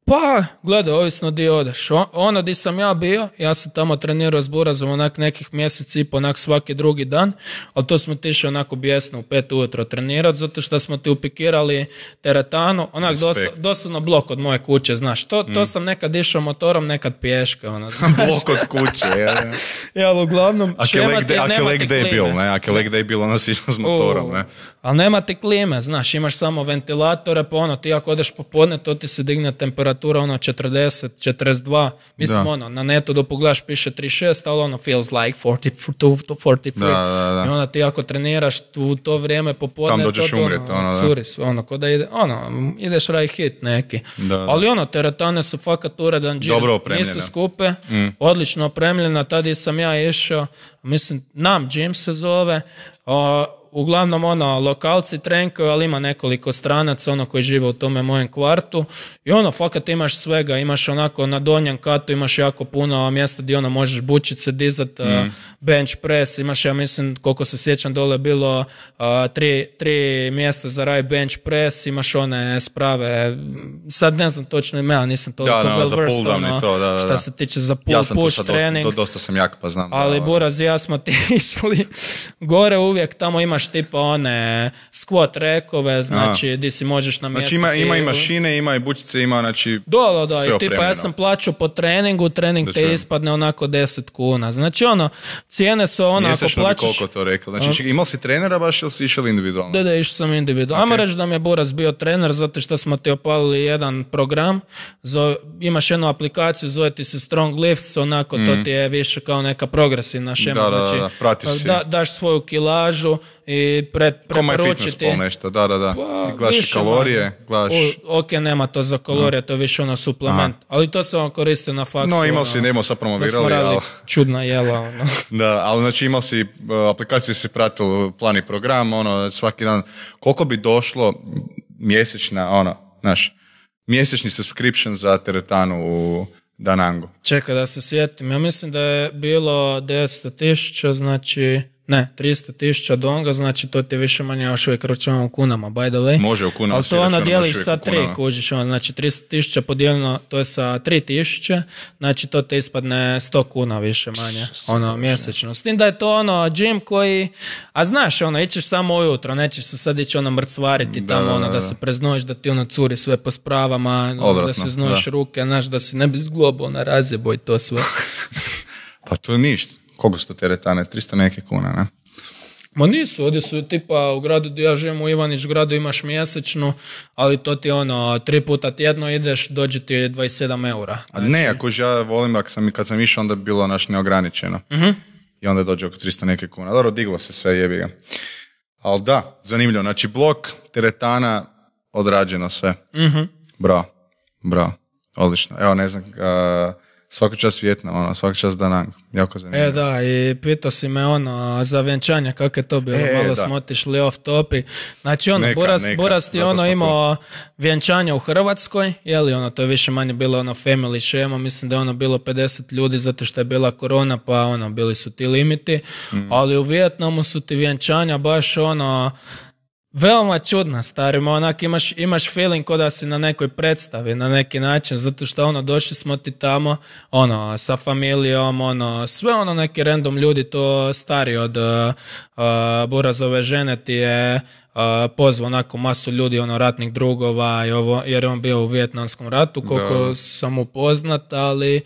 Pa, gledaj, ovisno di odeš. O, ono di sam ja bio, ja sam tamo trenirao s burazom onak nekih mjesec i po, onak svaki drugi dan, ali to smo tišli onako bijesno u pet ujutro trenirati, zato što smo ti upikirali teretanu, onak dos, doslovno blok od moje kuće, znaš. To, to mm. sam nekad išao motorom, nekad pješke, ono, znaš. Blok od kuće, ja. Ja, ali uglavnom, šema ti, nema ti klime. Bil, ne? Ako je leg day bilo, ono si išao s motorom, ne? Ali nema ti klime, znaš, imaš samo ventilatore, pa ono, ti ako odeš popodne, to ti se digne temperatura, ono, četrdeset, četrdeset dva, mislim, da. Ono, na netu da pogledaš piše trideset šest, ali ono, feels like forty-two to forty-three, da, da, da. I onda ti ako treniraš tu to vrijeme popodne, tam dođeš to, to, umret, ono, da. Curis, ono, ko da ide, ono, ideš raj hit neki, da, da. Ali ono, teretane su fakat uredan džir, dobro opremljene, nisu skupe, mm. odlično opremljena, tada sam ja išao, mislim, Nam Gym se zove, o, uglavnom ono, lokalci trenkaju, ali ima nekoliko stranaca, ono koji žive u tome mojem kvartu i ono, fakat imaš svega, imaš onako na donjem katu, imaš jako puno mjesta gdje ono možeš bučice dizat, mm. uh, bench press, imaš, ja mislim, koliko se sjećam, dole bilo uh, tri, tri mjesta za raj bench press, imaš one sprave, sad ne znam točno ime, nisam toliko da, da, well versed, ono, to, da, da, šta se tiče za pull, ja sam push trening. Dosta, dosta sam jak, pa znam. Ali da, Buraz i ja smo ti išli gore uvijek, tamo imaš tipa one squat rekove, znači di si možeš namjestiti. Znači ima, ima i mašine, ima i bučice, ima znači da, da, da, i tipa ja sam plaćao po treningu, trening da te ispadne onako deset kuna. Znači ono, cijene su ono ako plaćaš... Mjesečno bi koliko to rekao. Znači imao si trenera baš ili si išao individualno? Da, da, išao sam individualno. Okay. Ajmo reći da mi je Buraz bio trener zato što smo ti opalili jedan program, zove, imaš jednu aplikaciju, zove ti se Strong Lifts, onako mm. to ti je više kao neka progresivna šema, da, znači da, da, pratiš si. Da, daš svoju kilažu i pred, preporučiti. Ko nešto, da, da, da. Pa, gledaš kalorije, gledaš... O, ok, nema to za kalorije, no. To je više ono suplement, aha. Ali to se on koristio na faksu. No, imao ono, si, nemo sad promovirali, ali... čudna jela, ono. Da, ali znači imao si, aplikaciju si pratio plan i program, ono, svaki dan, koliko bi došlo mjesečna, ono, znaš, mjesečni subscription za teretanu u Danangu? Čekaj da se sjetim, ja mislim da je bilo devetsto tisuća, znači... Ne, tristo tisuća donga, znači to ti više manje još uvijek računamo u kunama, by the way. Može u kunama. Ali to ono dijeliš sa tri, kužiš, ono, znači tristo tisuća podijeljeno, to je sa tri tisuće, znači to te ispadne sto kuna više manje, ono, mjesečno. S tim da je to ono, gym koji, a znaš, ono, ićeš samo ujutro, nećeš se sad ići ono mrcvariti tamo, da, ono, da, da se preznojiš, da ti ono curi sve po spravama, ono, da se znojiš da. Ruke, znaš, da si ne bi zglobao na razjebo i to sve. Pa to je ništa. Koliko su to teretane? tristo neke kuna, ne? Ma nisu, ovdje su tipa u gradu gdje ja živim u Ivanić gradu imaš mjesečnu, ali to ti ono, tri puta tjedno ideš, dođe ti dvadeset sedam eura. Znači... A ne, ako ja volim, ako sam, kad sam išao, onda bi bilo naš neograničeno. Uh-huh. I onda dođe oko tristo neke kuna. Dobro, diglo se sve, jebi ga. Ali da, zanimljivo. Znači, blok, teretana, odrađeno sve. Uh-huh. Bravo, bravo, odlično. Evo, ne znam... Uh, svaki čas Vijetnam, ono, svaki čas Danang, jako zanimljivo. E da, i pitao si me ono, za vjenčanje, kako je to bilo, e, malo da. Smo otišli off topic. Znači ono, neka, Buras, neka, Buras ti ono imao tu. Vjenčanje u Hrvatskoj, jeli ono, to je više manje bilo ono family šema, mislim da je ono bilo pedeset ljudi zato što je bila korona, pa ono, bili su ti limiti, mm. ali u Vijetnamu su ti vjenčanja baš ono, Veoma čudna, starima, onak imaš, imaš feeling ko da si na nekoj predstavi, na neki način, zato što ono, došli smo ti tamo, ono, sa familijom, ono, sve ono neki random ljudi, to stari od uh, uh, Burazove žene ti je uh, pozvao onako masu ljudi, ono, ratnih drugova, i ovo, jer je on bio u Vijetnamskom ratu, koliko da. sam upoznat, ali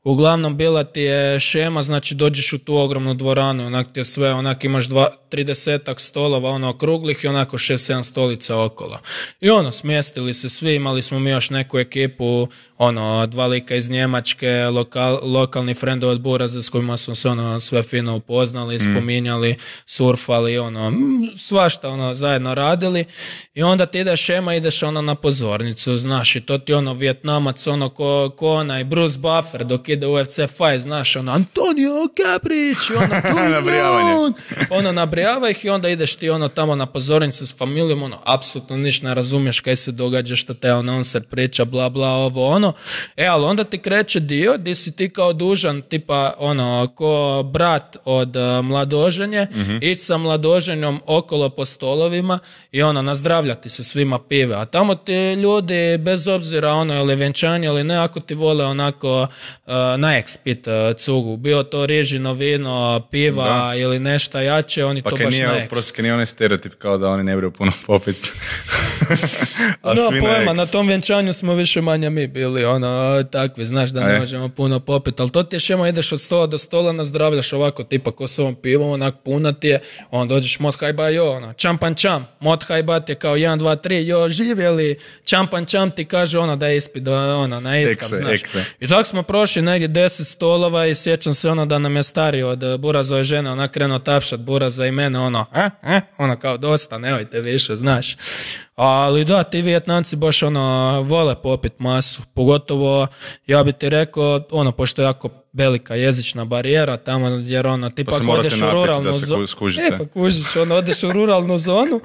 uglavnom bila ti je šema, znači dođeš u tu ogromnu dvoranu, onak ti je sve, onak imaš dva, tridesetak stolova, ono, okruglih i onako šest sedam stolica okolo. I ono, smjestili se svi, imali smo mi još neku ekipu, ono, dva lika iz Njemačke, lokal, lokalni friendovi od Buraza s kojima smo se ono sve fino upoznali, mm. spominjali, surfali, ono, svašta ono zajedno radili. I onda ti ideš šema, ideš ono na pozornicu, znaš, i to ti ono Vijetnamac, ono ko, ko onaj Bruce Buffer dok ide u U F C fight, znaš, ono Antonio Gabrić, ono nabrijavanje. Ono nabrijava ih i onda ideš ti ono tamo na pozornicu s familijom, ono, apsolutno ništa ne razumiješ kaj se događa, što te announcer priča, bla bla, ovo ono. E, ali onda ti kreće dio gdje si ti kao dužan, tipa ono, ko brat od uh, mladoženje, mm-hmm. ići sa mladoženjom okolo po stolovima i ono, nazdravljati se svima pive. A tamo ti ljudi, bez obzira ono, ili venčanje ili ne, ako ti vole onako uh, na ekspit uh, cugu, bio to rižino vino, piva da. Ili nešto jače, oni pa to baš na eks. Prosto nije onaj stereotip kao da oni ne briju puno popiti. No, pojma, na tom venčanju smo više manje mi bili, ono, takvi, znaš da ne možemo puno popiti, ali to ti je šema, ideš od stola do stola, nazdravljaš ovako, tipa ko s ovom pivom, onak puna ti je, on dođeš mod hajba, jo, ono, čampan čam, mod hajba ti je kao jedan, dva, tri, jo, živjeli, čampan čam ti kaže ono da je ispit, da, ono, na iskav, znaš. Ekse. I tako smo prošli negdje deset stolova i sjećam se ono da nam je stariji od Burazove žene, ona krenuo tapšat Buraza i mene, ono, eh, eh, ono kao dosta, nemojte više, znaš. Ali da, ti Vijetnamci baš ono, vole popit masu, pogotovo, ja bi ti rekao, ono, pošto je jako velika jezična barijera tamo, jer ono, ti pa ako odeš u ruralnu zonu, e, pa kužiš, ono, odeš u ruralnu zonu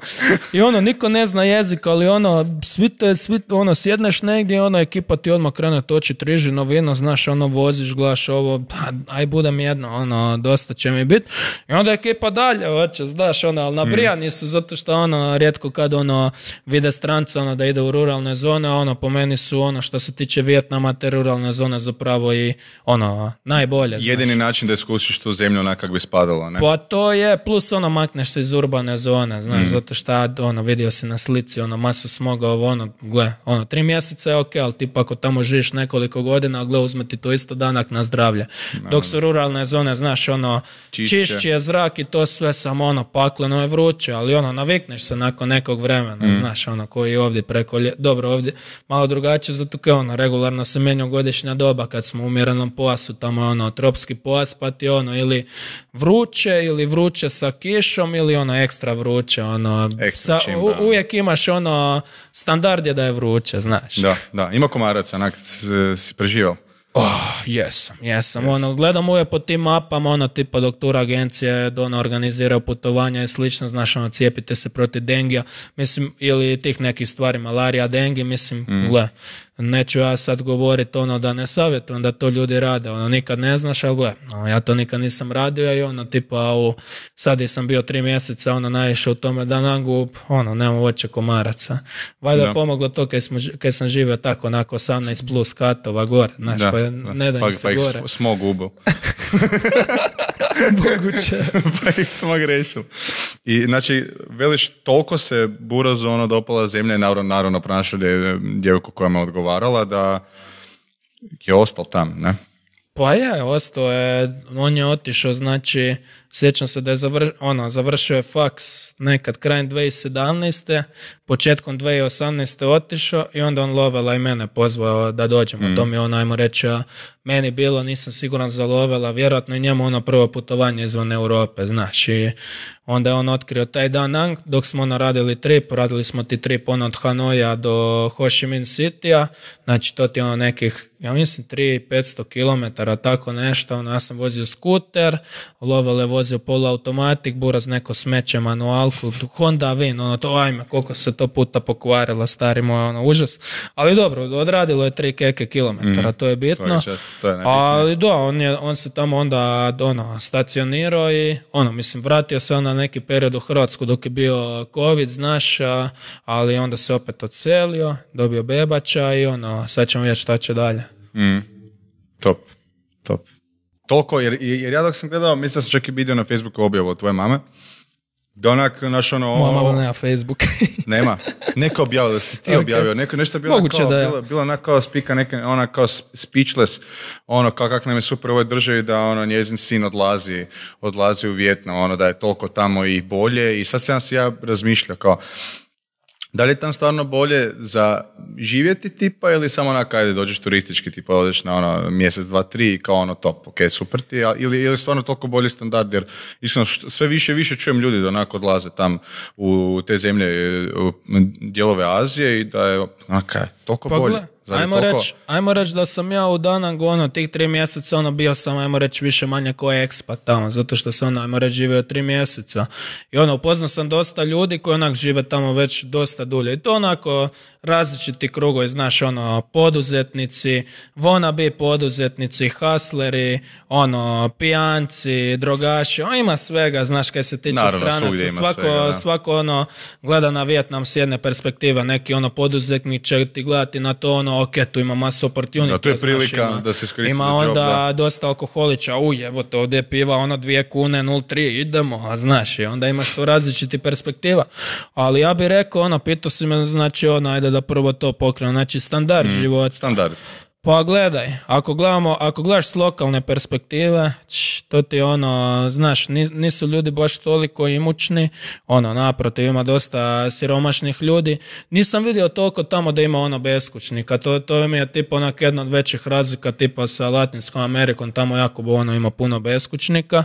i ono, niko ne zna jezik, ali ono, svi te, svi, ono, sjedneš negdje, ono, ekipa ti odmah krene točit rižino vino, znaš, ono, voziš, glaš ovo, aj budem jedno, ono, dosta će mi biti, i onda ekipa dalje hoće, znaš, ono, ali nabrijani su, zato što, ono, rijetko kad, ono, vide stranca, ono, da ide u ruralne zone, ono, po meni su, ono, što se tiče Vijetnama, te ruralne zone zapravo i, ono, najbolje. Jedini znaš. način da iskusiš tu zemlju onak kak bi spadalo, ne? Pa to je, plus ono, makneš se iz urbane zone, znaš, mm. zato što, ono, vidio si na slici, ono, masu smoga, ovo, ono, gle, ono, tri mjeseca je ok, ali tipa ako tamo živiš nekoliko godina, gle, uzme ti to isto danak na zdravlje. No. Dok su ruralne zone, znaš, ono, čišći je zrak i to sve samo, ono, pakleno je vruće, ali, ono, navikneš se nakon nekog vremena, mm. znaš, ono, koji ovdje preko, lje... dobro, ovdje malo drugačije, zato kao, ono, regularno se mijenja godišnja doba kad smo u umjerenom pojasu, tamo je ono tropski pojas, pa ti ono ili vruće ili vruće sa kišom ili ono ekstra vruće, ono ekstra sa, čim, u, uvijek imaš ono standard je da je vruće, znaš. Da, da, ima komaraca, onak si preživao. Oh, jesam, jesam. Yes. Ono, gledam uvijek po tim mapama, ono, tipa doktora agencije, ono, organiziraju putovanja i slično, znaš, ono, cijepite se protiv dengija, mislim, ili tih nekih stvari, malarija, dengi, mislim, mm. gle, neću ja sad govoriti, ono, da ne savjetujem da to ljudi rade, ono, nikad ne znaš, ali gle, ono, ja to nikad nisam radio i ono, tipa, u, sad je sam bio tri mjeseca, ono, najviše u tome da nangu, ono, nemam voće komaraca. Valjda je pomoglo to kad, smo, kad sam živio tako, onako, osamnaest plus katova gore, znaš, da. Pa ne da pa, se pa gore. Pa smog ubao. Moguće. Pa ih smog rešil. I znači, veliš, toliko se Burazu ono dopala zemlja i naravno, naravno pronašao djevojku koja me odgovarala da je ostao tam, ne? Pa je, ostao je, on je otišao, znači, sjećam se da je zavr, ono, završio je faks nekad krajem dvije tisuće sedamnaeste. Početkom dvije tisuće osamnaeste otišao i onda on Lovela i mene pozvao da dođemo. Mm. To mi je on, ajmo reći, meni bilo, nisam siguran za Lovela, vjerojatno i njemu ono prvo putovanje izvan Europe, znaš. I onda je on otkrio taj dan, dok smo ono radili trip, radili smo ti trip ono od Hanoja do Ho Chi Minh Citya, znači to ti ono nekih, ja mislim, tri do petsto kilometara, tako nešto, ono, ja sam vozio skuter, Lovela je vozio vozio poluautomatik, buraz neko smeće manualku, Honda Win, ono to, ajme, koliko se to puta pokvarila, stari moj, ono, užas. Ali dobro, odradilo je tri keke kilometara, mm, to je bitno. Čast, to je ali da, on, je, on se tamo onda ono, stacionirao i ono, mislim, vratio se on na neki period u Hrvatsku dok je bio COVID, znaš, ali onda se opet odselio, dobio bebača i ono, sad ćemo vidjeti šta će dalje. Mm. Top, top. Toliko, jer, jer ja dok sam gledao, mislim da sam čak i vidio na Facebooku objavu od tvoje mame, da onak, naš ono... Moja mama nema Facebook. Nema. Neko objavio, da si ti okay. objavio. Neko, nešto je bilo Moguće kao, da je. bilo, bilo onak kao spika, neke, onak kao speechless, ono, kao kak nam je super u ovoj državi da ono, njezin sin odlazi, odlazi u Vijetnam, ono, da je toliko tamo i bolje. I sad sam si ja razmišljao kao, da li je tam stvarno bolje za živjeti tipa ili samo onak, ajde, dođeš turistički, tipa odeš na ono mjesec, dva, tri i kao ono top, ok, super ti, ili, ili stvarno toliko bolji standard, jer iskreno sve više i više čujem ljudi da onako odlaze tam u te zemlje, u dijelove Azije i da je onaka, toliko pa, bolje. Ajmo reći reć da sam ja u Danangu ono, tih tri mjeseca ono, bio sam, ajmo reći, više manje ko ekspat tamo, zato što sam ono, ajmo reći, živio tri mjeseca. I ono, upoznao sam dosta ljudi koji onak žive tamo već dosta dulje. I to onako različiti krugovi, znaš, ono, poduzetnici, wannabe poduzetnici, hustleri, ono, pijanci, drogaši, on ima svega, znaš, kaj se tiče Naravno, stranaca. Svako, svega, svako ono, gleda na Vijetnam s jedne perspektive, neki ono poduzetnik će ti gledati na to ono, ok, tu ima masu opportunity. Da, to je prilika znaš, ima, da se iskoristi ima za job, onda da. dosta alkoholiča, uj, evo to ovdje piva, ono dvije kune, nula tri, idemo, a znaš, i onda imaš tu različiti perspektiva. Ali ja bih rekao, ono, pitao si me, znači, ono, ajde da prvo to pokrenu, znači, standard mm, života. Standard. Pa gledaj, ako gledamo, ako gledaš s lokalne perspektive, č, to ti ono, znaš, nisu ljudi baš toliko imućni, ono, naprotiv, ima dosta siromašnih ljudi. Nisam vidio toliko tamo da ima ono beskućnika, to, to mi je tipa onak jedna od većih razlika tipa sa Latinskom Amerikom, tamo jako ono ima puno beskućnika.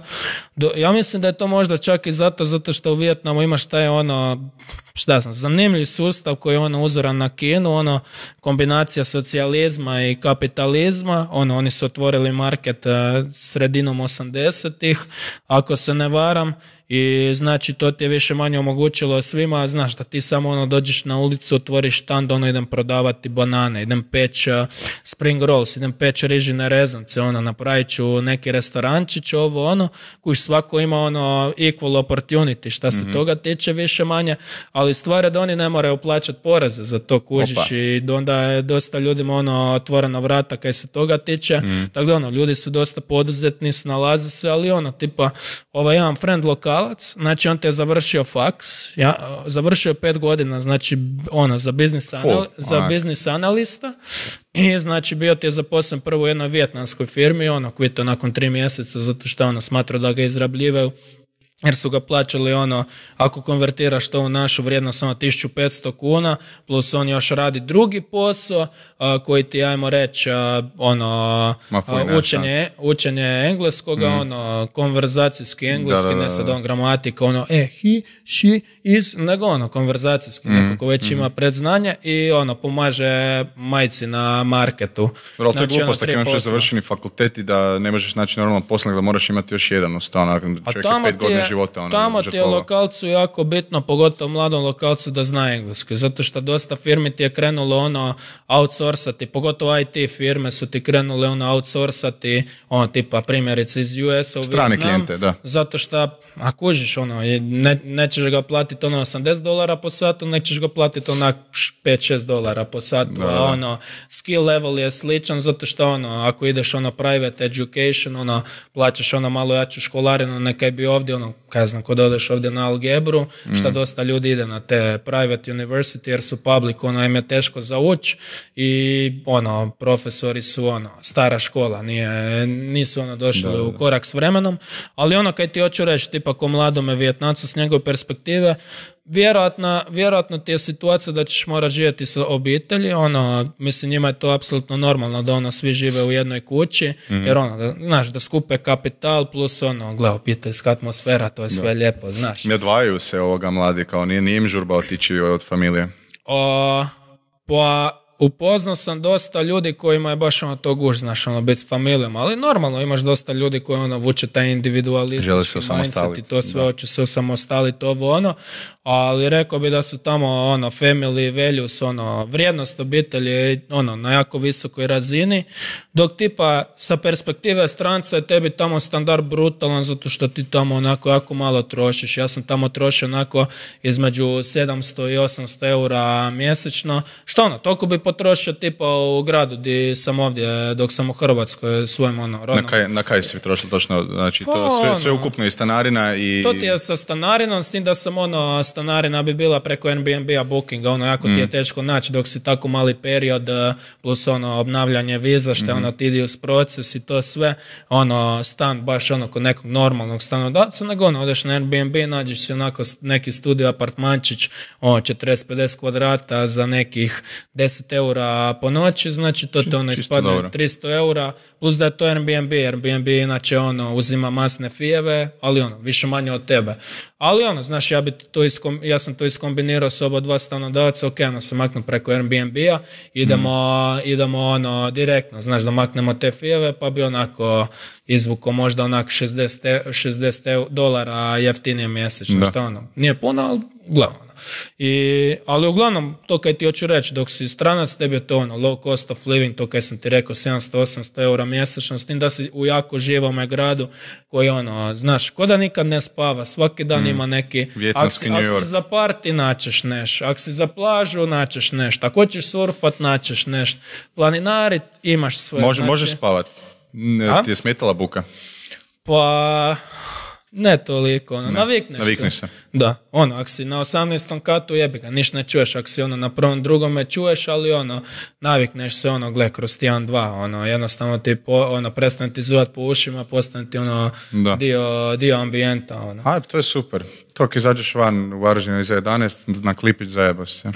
Do, ja mislim da je to možda čak i zato, zato što u Vijetnamu imaš taj ono, šta znam, zanimljiv sustav koji je ono uzoran na Kinu, ono, kombinacija socijalizma i kapitalizma, ono, oni su otvorili market uh, sredinom osamdesetih, ako se ne varam, i znači to ti je više manje omogućilo svima, znaš da ti samo ono dođeš na ulicu, otvoriš štand, ono idem prodavati banane, idem peć uh, spring rolls, idem peć rižine rezance, ono napravit ću neki restorančić, ovo ono, koji svako ima ono equal opportunity, šta se mm-hmm. toga tiče više manje, ali stvar je da oni ne moraju plaćati poreze za to, kužiš. Opa. I onda je dosta ljudima ono otvorena vrata kaj se toga tiče, mm. tako da ono, ljudi su dosta poduzetni, snalaze se, ali ono, tipa, ovaj jedan friend lokal, znači on te je završio faks, ja, završio pet godina, znači ono, za biznis, anal, za biznis analista i znači bio ti je zaposlen prvo u jednoj vijetnamskoj firmi, ono, kvito nakon tri mjeseca, zato što ono smatrao da ga izrabljivaju, jer su ga plaćali ono, ako konvertiraš to u našu vrijednost, ono tisuću petsto kuna, plus on još radi drugi posao, a, koji ti, ajmo reći, a, ono, a, učenje, učenje engleskoga, mm. ono, konverzacijski engleski, da, da, da, da. Ne sad on gramatika, ono, e, he, she, is, nego ono, konverzacijski, mm. neko ko već mm. ima predznanje i ono, pomaže majci na marketu. Bro, to je glupost, tako imaš završeni fakulteti da ne možeš naći normalno posao, da moraš imati još jedan u stanu, čovjek je pet godina života. Ono, tamo ti je lokalcu jako bitno, pogotovo mladom lokalcu, da zna engleski, zato što dosta firmi ti je krenulo ono outsourcati, pogotovo I T firme su ti krenule ono outsourcati, ono tipa primjerice iz U S-a u strane Vietnam, klijente, da. Zato što, a kužiš, ono, ne, nećeš ga platiti ono osamdeset dolara po satu, nećeš ga platiti onak pet šest dolara po satu, da, a ono, skill level je sličan, zato što ono, ako ideš ono private education, ono, plaćaš ono malo jaču školarinu, nekaj bi ovdje ono, kaj znam, kod odeš ovdje na algebru, mm. šta dosta ljudi ide na te private university, jer su public, ono, im je teško zaući i ono, profesori su ono, stara škola, nije, nisu ono došli da, u korak s vremenom, ali ono, kaj ti hoću reći, tipa ko mladome Vijetnamcu s njegove perspektive, Vjerojatno, vjerojatno ti je situacija da ćeš morati živjeti sa obitelji, ono, mislim njima je to apsolutno normalno da ono svi žive u jednoj kući, mm-hmm. jer ono, da, znaš, da skupe kapital plus ono, gle, obiteljska atmosfera, to je sve da. Lijepo, znaš. Ne odvajaju se ovoga mladi, kao nije, nije im žurba otići od familije. O, pa upoznao sam dosta ljudi kojima je baš ono to guž, znaš, ono, biti s familijom, ali normalno imaš dosta ljudi koji ono vuče taj individualistički mindset i to sve, hoće se osamostaliti, ovo ono, ali rekao bi da su tamo ono, family values, ono, vrijednost obitelji, ono, na jako visokoj razini, dok tipa sa perspektive stranca je tebi tamo standard brutalan zato što ti tamo onako jako malo trošiš. Ja sam tamo trošio onako između sedamsto i osamsto eura mjesečno, što ono, toliko bi potrošio tipa u gradu gdje sam ovdje dok sam u Hrvatskoj svojim ono rodnom. Na kaj, na kaj si trošio točno? Znači to sve, sve ukupno i stanarina i... To ti je sa stanarinom, s tim da sam ono, stanarina bi bila preko Airbnb-a bookinga, ono jako mm. ti je teško naći dok si tako mali period, plus ono obnavljanje viza, što je mm-hmm. ono tedious proces i to sve, ono stan baš ono kod nekog normalnog stanodavca, nego ono odeš na Airbnb, nađeš si onako neki studio apartmančić, ono četrdeset pedeset kvadrata za nekih deset eura po noći, znači to te ono ispadne dobro. tristo eura, plus da je to Airbnb, Airbnb inače ono uzima masne fijeve, ali ono više manje od tebe. Ali ono, znaš, ja, bi to iskom, ja sam to iskombinirao s oba dva stanodavca, ok, ono se maknu preko Airbnb-a, idemo, mm. idemo ono direktno, znaš, da maknemo te fijeve, pa bi onako izvuko možda onako šezdeset dolara jeftinije mjesečno, što ono, nije puno, ali glavno. I, ali uglavnom, to kaj ti hoću reći, dok si stranac, tebi je to ono, low cost of living, to kaj sam ti rekao, sedamsto osamsto eura mjesečno, s tim da si u jako živom gradu, koji ono, znaš, ko da nikad ne spava, svaki dan mm. ima neki, ako si, ak si za party, naćeš neš, ako si za plažu, naćeš nešto, ako hoćeš surfat, naćeš nešto, planinarit, imaš sve. Može, znači... Možeš spavat, ne, ti je smetala buka? Pa... Ne toliko, ono, ne, navikneš, navikneš se. se. Da, ono, ako si na osamnaestom katu jebi ga, ništa ne čuješ, ako si ono na prvom drugome čuješ, ali ono, navikneš se, ono, gle, kroz tjedan, dva, ono, jednostavno ti, po, ono, prestane ti zuvat po ušima, postane ti, ono, dio, dio ambijenta, ono. A, to je super. To kad izađeš van u Varaždinu iza jedanaest, na Klipić zajebo se.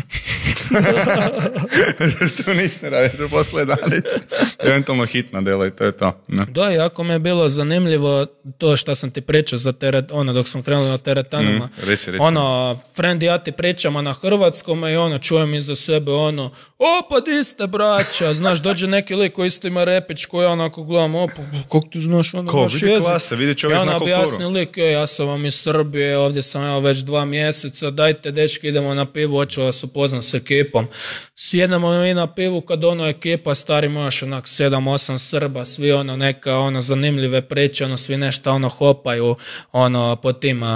To ništa ne radi, to posle jedanaest. Eventualno hitna dela i to je to. Ne. Da, jako mi je bilo zanimljivo to što sam ti pričao za teret, ono, dok smo krenuli na teretanama. Mm, reci, reci. Ono, friend i ja ti pričamo na hrvatskom i ono, čujem iza sebe ono, o, pa di ste, braća, znaš, dođe neki lik koji isto ima repić, koji onako gledam, o, pa kako ti znaš, ono, ko, naš vidi jezik. Klase, vidi čovjek zna kulturu. Ja objasni lik, e, ja sam vam iz Srbije, ovdje sam evo već dva mjeseca, dajte dečki, idemo na pivu, hoću vas upoznat s ekipom. Sjedemo mi na pivu kad ono ekipa, stari mojaš onak sedam osam Srba, svi ono neka ono zanimljive priče, ono svi nešto ono hopaju ono po tim uh,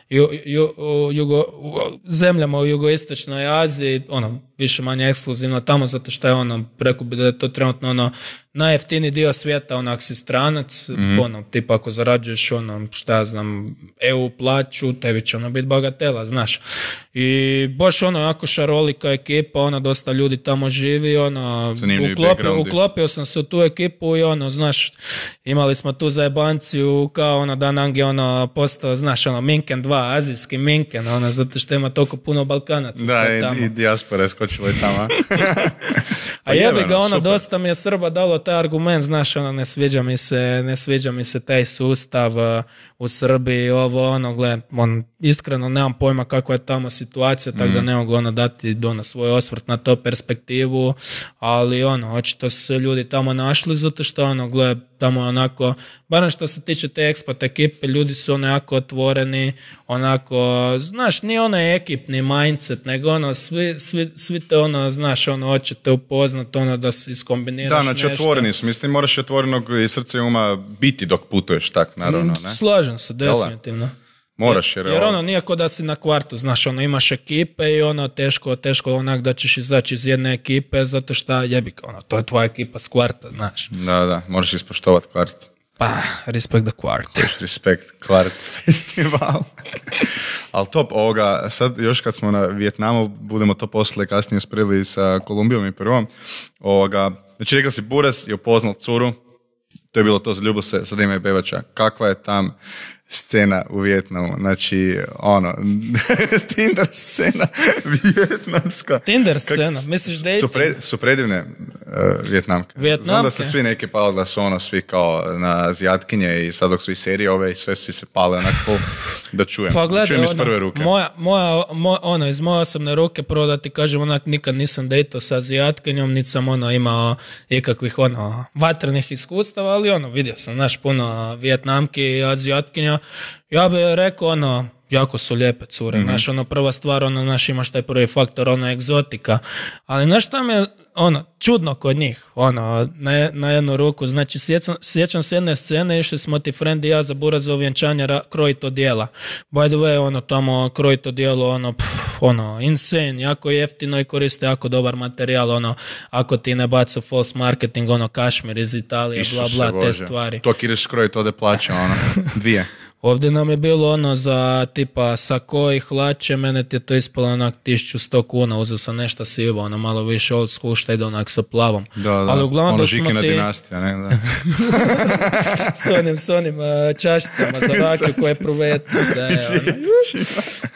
ju, ju, jugo, zemljama u jugoistočnoj Aziji, ono više manje ekskluzivno tamo zato što je ono, preko bi da je to trenutno ono najjeftiniji dio svijeta, onak si stranac, mm. ono, tipa ako zarađuješ ono, šta ja znam, E U plaću, tebi će ono biti bagatela, znaš. I baš ono, jako šarolika ekipa, ono, dosta ljudi tamo živi, ono, uklopio, uklopio sam se u tu ekipu i ono, znaš, imali smo tu zajebanciju kao ono, da nam je ono, postao, znaš, ono, Minken dva, azijski Minken, ono, zato što ima toliko puno Balkanaca. Da, i, tamo. I dijaspora je skočila i tamo. A jebi ga, ono, super. Dosta mi je Srba dalo taj argument, znaš, ono, ne sviđa mi se, ne sviđa mi se taj sustav uh, u Srbiji, ovo, ono, gled, on, iskreno nemam pojma kakva je tamo situacija, tako mm. da ne mogu, ono, dati ono, svoj osvrt na to perspektivu, ali, ono, očito su se ljudi tamo našli, zato što, ono, gled, tamo je onako, barem što se tiče te ekspat ekipe, ljudi su ono jako otvoreni, onako, znaš, nije ono ekipni mindset, nego ono, svi, svi, svi te ono, znaš, ono, hoćete upoznat, ono, da se iskombiniraš nešto. Da, znači nešto. Otvoreni su, mislim, moraš otvorenog i srce i uma biti dok putuješ, tak, naravno, ne? Slažem se, definitivno. Moraš, jer, jer ono, nije ko da si na kvartu, znaš, ono, imaš ekipe i ono, teško, teško onak da ćeš izaći iz jedne ekipe, zato što jebi, ono, to je tvoja ekipa s kvarta, znaš. Da, da, moraš ispoštovati kvart. Pa, respect the kvart. Respect kvart festival. Ali top, ovoga, sad još kad smo na Vijetnamu, budemo to poslije kasnije sprili sa Kolumbijom i Peruom, ovoga, znači rekao si, Buras je upoznal curu, to je bilo to, zaljubilo se, sad ima i bebača. Kakva je tam scena u Vijetnamu, znači, ono, Tinder scena vijetnamska. Tinder scena, Kak, misliš dating? Su, pre, su predivne uh, Vijetnamke. Vijetnamke. Znam da se svi neki pali, da su ono, svi kao na Azijatkinje i sad dok su i serije ove i sve svi se pale onako da čujem. Pa gledaj, čujem iz ono, prve ruke. Moja, moja, moja, ono, iz moje osobne ruke, prvo da ti kažem, onak, nikad nisam dejto sa Azijatkinjom, niti sam ono, imao ikakvih ono, vatrenih iskustava, ali ono, vidio sam, znaš, puno Vijetnamki i Azijatkinja. Ja bih rekao, ono, jako su lijepe cure, mm-hmm. znaš, ono, prva stvar, ono, znaš, imaš taj prvi faktor, ono, egzotika, ali znaš šta mi je, ono, čudno kod njih, ono, na, na jednu ruku, znači, sjećam, sjećam se jedne scene, išli smo ti friend i ja za burazovo vjenčanje ra, krojit odjela, by the way, ono, tamo krojit odjelo, ono, pff, ono, insane, jako jeftino i koriste jako dobar materijal, ono, ako ti ne baca false marketing, ono, kašmir iz Italije, Isuse bla, bla, Bože. te stvari. To ideš krojit, ode plaća, ono, dvije. Ovdje nam je bilo ono za tipa sako i hlače, mene ti je to ispalo onak tisuću sto kuna, uzeo sam nešto sivo, ono malo više old school, šta ide onak sa plavom. Da, da, ali uglavnom ono da smo Žikina ti... dinastija, ne, da. s onim, s onim uh, čašicama za rakiju koje pruvete se.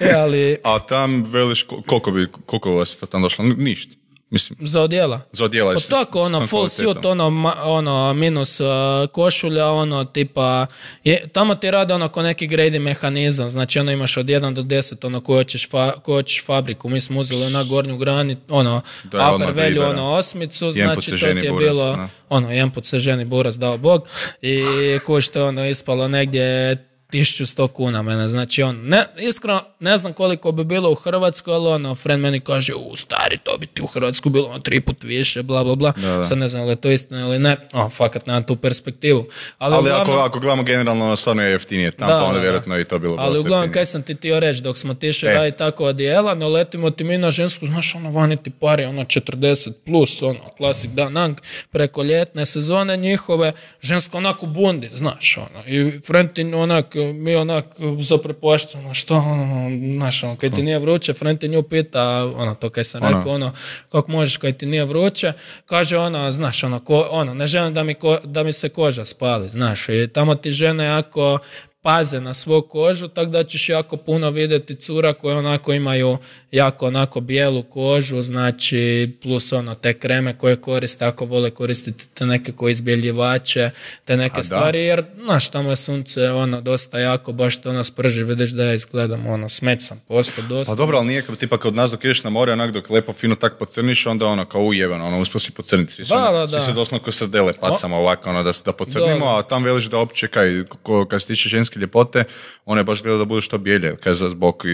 e, ali... A tam veliš, koliko bi, koliko vas to tam došlo? Ništa. Mislim, za odjela? Za odjela. Pa tako, ono, full suit, ono, ma, ono, minus uh, košulja, ono, tipa, je, tamo ti rade ono ko neki grade mehanizam, znači ono imaš od jedan do deset, ono, ko hoćeš, fa, ko hoćeš fabriku, mi smo uzeli na gornju grani, ono, da, upper value, ono, osmicu, znači to ti je buras, bilo, na. ono, jedan put se ženi buras, dao Bog, i ko što je ono ispalo negdje tisuću sto kuna mene, znači on, ne, iskreno, ne znam koliko bi bilo u Hrvatskoj, ali ono, friend meni kaže, u stari, to bi ti u Hrvatskoj bilo ono, tri put više, bla, bla, bla, da, da. Sad ne znam li je to istina ili ne, o, fakat nemam tu perspektivu. Ali, ali uglavnom, ako, ako gledamo generalno, ono stvarno je jeftinije, tam da, pa onda da, vjerojatno i to bilo ali dosta uglavnom, jeftinije. kaj sam ti tio reći, dok smo tiše e. raditi tako odijela, no letimo ti mi na žensku, znaš, ono, vani ti pari, ono, četrdeset plus, ono, klasik Danang, preko ljetne sezone njihove, žensko onako bundi, znaš, ono, i friend ti onak, mi onak, zaprepošteno, što, ono, znaš, ono, kaj ti nije vruće, friend ti nju pita, ono, to kaj sam ono. rekao, ono, kako možeš kaj ti nije vruće, kaže ona, znaš, ono, ko, ono ne želim da mi, ko, da mi se koža spali, znaš, i tamo ti žene jako paze na svoju kožu, tako da ćeš jako puno vidjeti cura koje onako imaju jako onako bijelu kožu, znači plus ono te kreme koje koriste, ako vole koristiti te neke koje izbjeljivače, te neke A, stvari, da. Jer znaš, tamo je sunce ono dosta jako, baš to ono sprži, vidiš da ja izgledam, ono, smeć sam posto dosta. Pa dobro, ali nije tipa kad nas dok ideš na more, onak dok lepo fino tak pocrniš, onda ono kao ujebano, ono uspio si pocrniti, svi su, da, da, da. svi su doslovno ko srdele pacamo ovako, ono da, da pocrnimo, da. A tam veliš da opće kaj, ko, kad se tiče ženske ljepote, one baš gleda da budu što bijelje, kaj za zbog,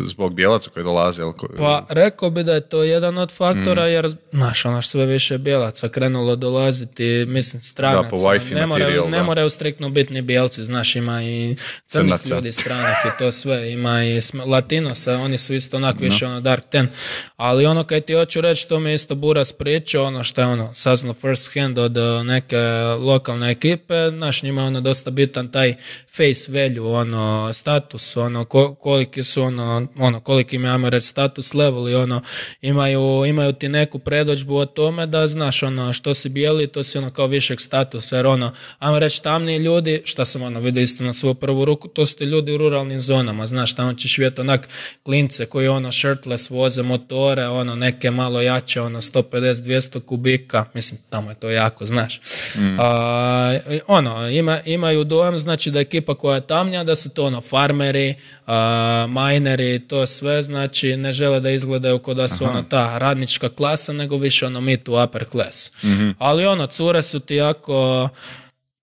zbog bijelaca koji dolaze. Ko... Pa rekao bi da je to jedan od faktora, mm. jer, znaš, ono sve više bijelaca krenulo dolaziti, mislim, stranaca. Da, po Wi-Fi ne moraju, materijal, ne moraju striktno biti ni bijelci, znaš, ima i crnih Crnaca. Ljudi stranih i to sve, ima i latinosa, oni su isto onak više no. ono dark ten, ali ono kaj ti hoću reći, to mi je isto Buras pričao, ono što je ono saznao first hand od neke lokalne ekipe, znaš, njima je ono dosta bitan taj face value, ono, status, ono, ko, koliki su, ono, ono, koliki im, ajmo reći, status level i ono, imaju, imaju ti neku predođbu o tome da, znaš, ono, što si bijeli, to si, ono, kao višeg statusa, jer, ono, ajmo reći, tamni ljudi, šta sam, ono, vidio isto na svoju prvu ruku, to su ti ljudi u ruralnim zonama, znaš, tamo ćeš vidjeti, onak, klince koji, ono, shirtless voze motore, ono, neke malo jače, ono, sto pedeset do dvjesto kubika, mislim, tamo je to jako, znaš. Mm. A, ono, ima, imaju dojam, znači, da ekipa koja je tamnija, da su to ono farmeri, uh, mineri, to sve, znači ne žele da izgledaju kao da su Aha. ono ta radnička klasa, nego više ono mid to upper class. Mm-hmm. Ali ono, cure su ti jako...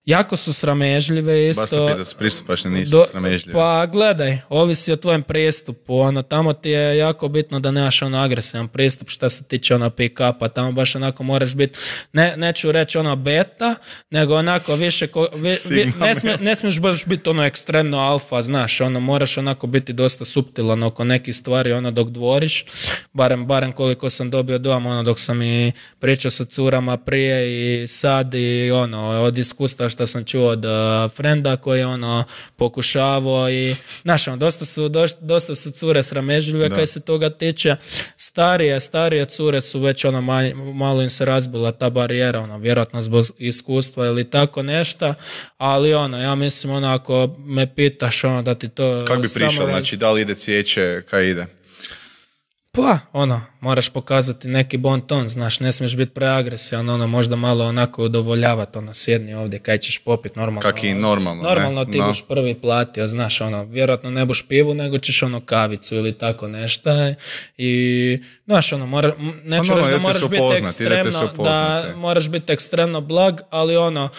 Jako su sramežljive isto. Baš te pita su pristupačne, nisu Do, sramežljive. Pa gledaj, ovisi o tvojem pristupu. Ono, tamo ti je jako bitno da nemaš ono agresivan pristup što se tiče ono pick-upa. Tamo baš onako moraš biti, ne, neću reći ono beta, nego onako više, ko, vi, vi, ne, smije, ne smiješ baš biti ono ekstremno alfa, znaš, ono moraš onako biti dosta suptilan oko nekih stvari ono dok dvoriš, barem, barem koliko sam dobio doma, ono dok sam i pričao sa curama prije i sad i ono, od iskustva što sam čuo od uh, frenda koji je ono pokušavao i, znaš, ono, dosta su, dosta, dosta su cure sramežljive kaj se toga tiče. Starije, starije cure su već ono, malo, malo im se razbila ta barijera, ono, vjerojatno zbog iskustva ili tako nešto, ali ono, ja mislim, ono, ako me pitaš, ono, da ti to... Kako bi prišao, samo... znači, da li ide cvijeće, kaj ide? Pa, ono, moraš pokazati neki bon ton, znaš, ne smiješ biti preagresivan, ono, možda malo onako udovoljavati, ono, sjedni ovdje, kaj ćeš popit, normalno. Kak i normalno, Normalno ne? ti No. buš prvi platio, znaš, ono, vjerojatno ne buš pivu, nego ćeš, ono, kavicu ili tako nešto i, znaš, ono, mora, neću no, reći da idete moraš se biti upoznat, idete se ekstremno, da upoznat, moraš biti ekstremno blag, ali ono,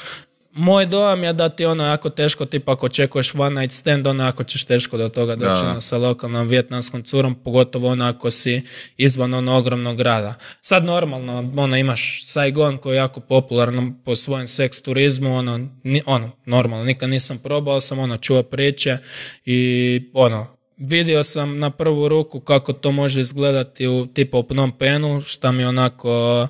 moj dojam je da ti ono jako teško, tipa ako očekuješ one night stand, ono ako ćeš teško do toga doći Da. ono, sa lokalnom vijetnamskom curom, pogotovo ono ako si izvan ono ogromnog grada. Sad normalno, ono imaš Saigon koji je jako popularan po svojem seks turizmu, ono, ni, ono, normalno, nikad nisam probao, sam ono čuo priče i ono, vidio sam na prvu ruku kako to može izgledati u tipa u Phnom Penhu, šta mi onako...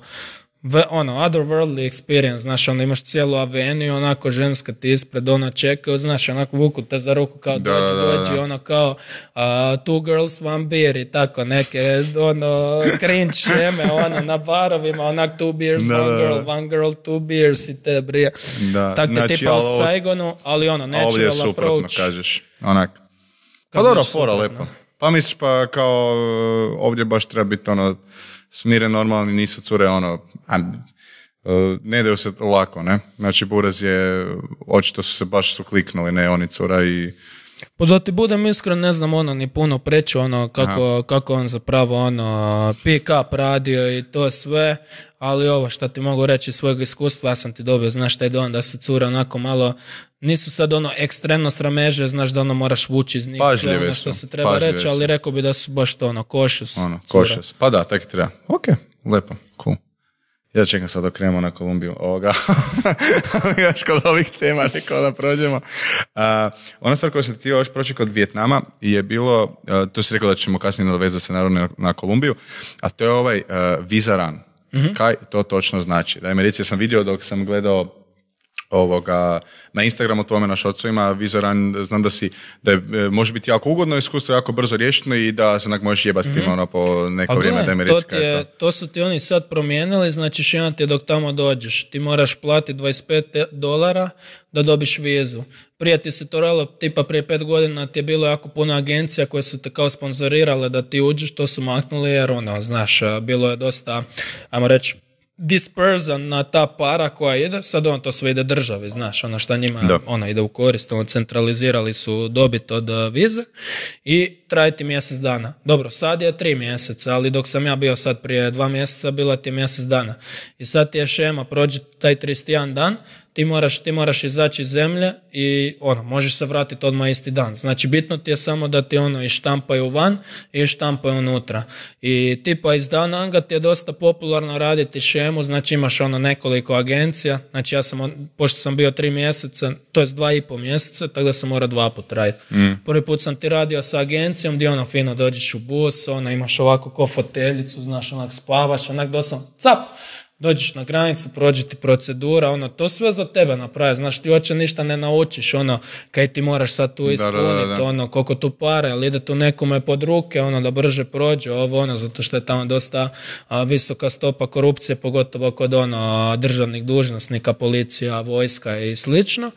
V, ono, otherworldly experience, znaš, ono, imaš cijelu aveniju, onako, ženska ti ispred, ona čekaju, znaš, onako, vuku te za ruku, kao, Da, dođi, da, da, dođi, da. ono, kao, uh, two girls, one beer, i tako, neke, ono, cringe šeme, ono, na barovima, onak, two beers, Da, one da, girl, da. one girl, two beers, i te brije. Da, Tako te znači, tipa u ali ovo- Saigonu, ali ono, A ovdje je natural suprotno, approach. kažeš, onak. Pa Kako dobro, biš fora, suprotno? lepo. Pa misliš, pa kao uh, ovdje baš treba biti ono, smiren, normalni, nisu cure, ono, a, uh, ne daju se lako, ne? Znači, Buraz je, očito su se baš su kliknuli, ne, oni cura i... Pa da ti budem iskren, ne znam ono ni puno preći ono kako, kako on zapravo ono pick up radio i to sve, ali ovo što ti mogu reći iz svojeg iskustva, ja sam ti dobio, znaš taj dojam da se cure onako malo, nisu sad ono ekstremno srameže, znaš da ono moraš vući iz njih sve Pažljive ono su, što se treba pažljive reći, ali su. rekao bi da su baš to ono košus. Ono, cure. košas. Pa da, tako treba. Ok, lepo, cool. Ja čekam sad da krenemo na Kolumbiju ovoga. Još kod ovih tema rekao da prođemo. Uh, ona stvar koju sam ti još proći kod Vijetnama je bilo, uh, to si rekao da ćemo kasnije nadovezati se naravno na, na Kolumbiju, a to je ovaj uh, visa run. Mm-hmm. Kaj to točno znači? Da, Americi sam vidio dok sam gledao ovoga, na Instagramu tvome na šocu ima Vizoran, znam da si, da je, e, može biti jako ugodno iskustvo, jako brzo riješeno i da se onak možeš jebati mm-hmm. tim ono po neko Pa vrijeme da gle, mi to, reci ti kaj je je, to. to su ti oni sad promijenili, znači šina ti je dok tamo dođeš. Ti moraš platiti dvadeset pet dolara da dobiš vizu. Prije ti se to ralo, tipa prije pet godina ti je bilo jako puno agencija koje su te kao sponzorirale da ti uđeš, to su maknuli jer ono, znaš, bilo je dosta, ajmo reći, dispersan na ta para koja ide, sad on to sve ide državi, znaš, ono šta njima Da. ona ide u korist, ono centralizirali su dobit od uh, vize i traje ti mjesec dana. Dobro, sad je tri mjeseca, ali dok sam ja bio sad prije dva mjeseca, bila ti je mjesec dana. I sad ti je šema, prođe taj trideset jedan dan, ti moraš, ti moraš izaći iz zemlje i ono, možeš se vratiti odmah isti dan. Znači, bitno ti je samo da ti ono i štampaju van i štampaju unutra. I tipa iz Dananga ti je dosta popularno raditi šemu, znači imaš ono nekoliko agencija, znači ja sam, on- pošto sam bio tri mjeseca, to je dva i pol mjeseca, tako da sam morao dva put raditi. Mm. Prvi put sam ti radio sa agencijom gdje ono fino dođeš u bus, ono imaš ovako ko foteljicu, znaš, onak spavaš, onak dosam, cap, dođeš na granicu, prođe ti procedura, ono, to sve za tebe napravi, znaš, ti uopće ništa ne naučiš, ono, kaj ti moraš sad tu ispuniti, da, da, da. ono, koliko tu pare, ali ide tu nekome pod ruke, ono, da brže prođe, ovo, ono, zato što je tamo dosta a, visoka stopa korupcije, pogotovo kod, ono, državnih dužnosnika, policija, vojska i slično.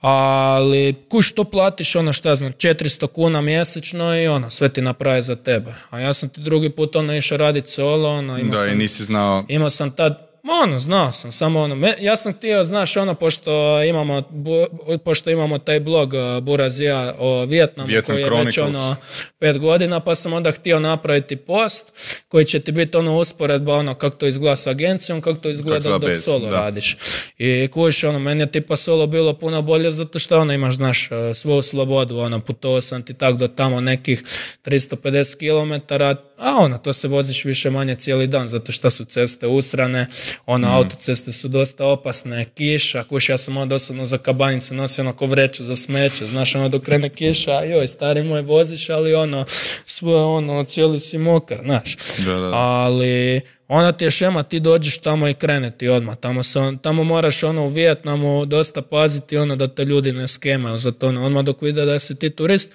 Ali kuš to platiš ono šta ja znam četiristo kuna mjesečno i ono sve ti napravi za tebe. A ja sam ti drugi put ono išao raditi solo, ono imao Da, sam, i nisi znao... imao sam tad, ono, znao sam, samo ono, me, ja sam htio, znaš, ono, pošto imamo, bu, pošto imamo taj blog uh, Burazija o Vijetnamu, Vietnam koji je već Chronicles. ono pet godina, pa sam onda htio napraviti post koji će ti biti ono usporedba, ono, kako to izgleda s agencijom, kako to izgleda izgleda dok bez, solo da. radiš. I kuš, ono, meni je tipa solo bilo puno bolje zato što ono, imaš, znaš, uh, svoju slobodu, ono, putovao sam ti tak do tamo nekih tristo pedeset kilometara, a ono, to se voziš više manje cijeli dan, zato što su ceste usrane, ono, Mhm. autoceste su dosta opasne, kiša, kuš, ja sam onda osobno za kabanicu nosio ono ko vreću za smeće, znaš, ono, dok krene kiša, joj, stari moj, voziš, ali ono, svu sve ono, cijeli si mokar, znaš. Da, da. Ali ona ti je šema, ti dođeš tamo i krene ti odmah. Tamo, se, tamo moraš ono u Vijetnamu dosta paziti ono da te ljudi ne skemaju za to. Ono, odmah dok vide da si ti turist,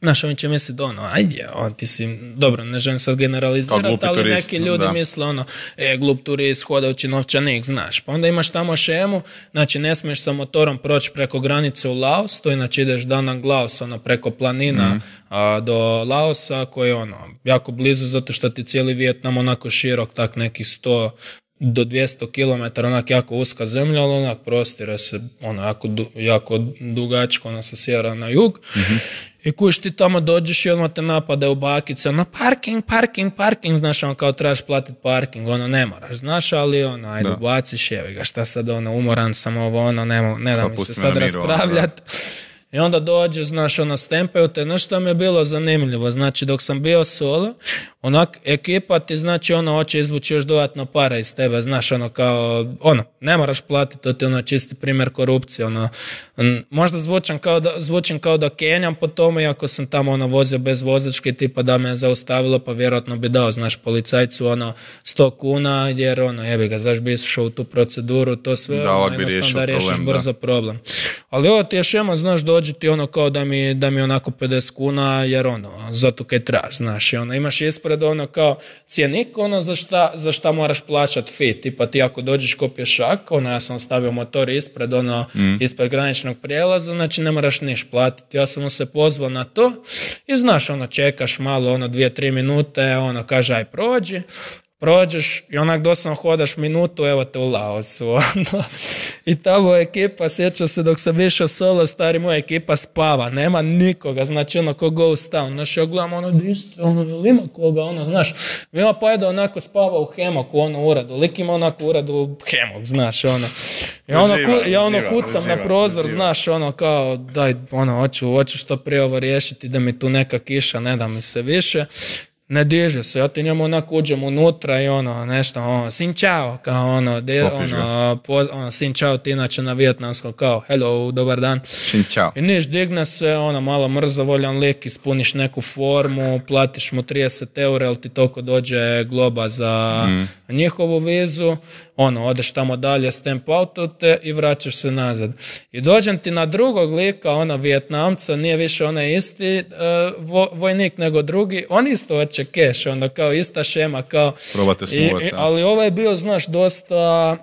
znaš, on će misliti ono, ajde, on ti si, dobro, ne želim sad generalizirati, ali turist, neki ljudi da. misle ono, e, glup turist, hodajući novčanik, znaš. Pa onda imaš tamo šemu, znači ne smiješ sa motorom proći preko granice u Laos, to inače ideš Da Nang Laos, ono, preko planina mm. a, do Laosa, koji je ono, jako blizu, zato što ti cijeli Vijetnam onako širok, tak nekih sto do dvjesto kilometara, onak jako uska zemlja, ali onak prostire se, ono, jako, du, jako dugačko, ono, sa sjevera na jug. Mm-hmm. I kuš ti tamo dođeš i odmah te napade u bakice, ono, parking, parking, parking, znaš, ono, kao trebaš platiti parking, ono, ne moraš, znaš, ali, ono, ajde, baciš, jevi ga, šta sad, ono, umoran sam ovo, ono, ne, ne da mi se sad raspravljati. I onda dođe, znaš, ono, stempaju te, znaš što mi je bilo zanimljivo, znači, dok sam bio solo, onak, ekipa ti, znači, ono, hoće izvući još dodatno para iz tebe, znaš, ono, kao, ono, ne moraš platiti, to ti, ono, čisti primjer korupcije, ono, možda zvučam kao da, zvučim kao da kenjam po tome, iako sam tamo, ono, vozio bez vozačke, tipa da me je zaustavilo, pa vjerojatno bi dao, znaš, policajcu, ono, sto kuna, jer, ono, jebi ga, zaš bi išao u tu proceduru, to sve, da, ono, jednostavno da riješiš problem, brzo da. problem. Ali ovo ti je šema, znaš, dođi ti ono kao da mi, da mi onako pedeset kuna, jer ono, zato kaj traž, znaš, i ono, imaš ispred ono kao cjenik, ono, za šta, za šta moraš plaćat fee, tipa ti ako dođeš ko pješak, ono, ja sam stavio motor ispred, ono, mm. ispred graničnog prijelaza, znači ne moraš niš platiti, ja sam mu se pozvao na to i znaš, ono, čekaš malo, ono, dvije, tri minute, ono, kaže, aj prođi, prođeš i onak doslovno hodaš minutu, evo te u Laosu. Ono. I tamo ekipa, sjećam se dok sam išao solo, stari, moja ekipa spava, nema nikoga, znači ono ko ghost town. Znaš, ja gledam ono, di ste, ono, ima koga, ono, znaš, ima pa je da onako spava u hemoku, ono, uradu, lik ima onako uradu u hemok, znaš, ono. I ono, uživa, ku, ja ono uživa, kucam uživa, na prozor, uživa. Znaš, ono, kao, daj, ono, hoću, hoću što prije ovo riješiti, da mi tu neka kiša, ne da mi se više. Ne diže se, ja ti njemu onako uđem unutra i ono, nešto, ono, sin čao, kao ono, de, ono, po, ono, sin čao ti inače na vijetnamskom, kao, hello, dobar dan. Sin čao. I niš, digne se, ono, malo mrzovoljan lik, ispuniš neku formu, platiš mu trideset eura, jer ti toliko dođe globa za mm. njihovu vizu, ono, odeš tamo dalje, stamp auto te i vraćaš se nazad. I dođem ti na drugog lika, ona Vijetnamca, nije više onaj isti uh, vo, vojnik nego drugi, on isto hoće keš, onda kao ista šema, kao... Probate smuvati. Ali ovaj je bio, znaš, dosta...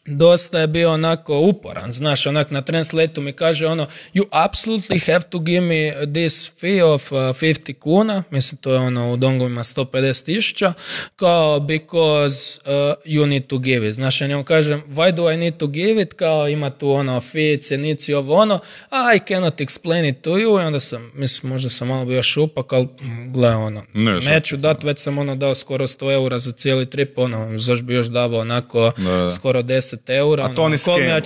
dosta je bio onako uporan, znaš, onak na translate-u mi kaže ono, you absolutely have to give me this fee of uh, fifty kuna, mislim to je ono u dongovima sto pedeset tisuća, kao because uh, you need to give it, znaš, ja njemu kažem, why do I need to give it, kao ima tu ono fee, cenici, ovo ono, I cannot explain it to you, i onda sam, mislim, možda sam malo bio šupak, ali gle, ono, ne, neću dat, već sam ono dao skoro sto eura za cijeli trip, ono, zašto bi još davao onako da. skoro deset eura, a to oni skema.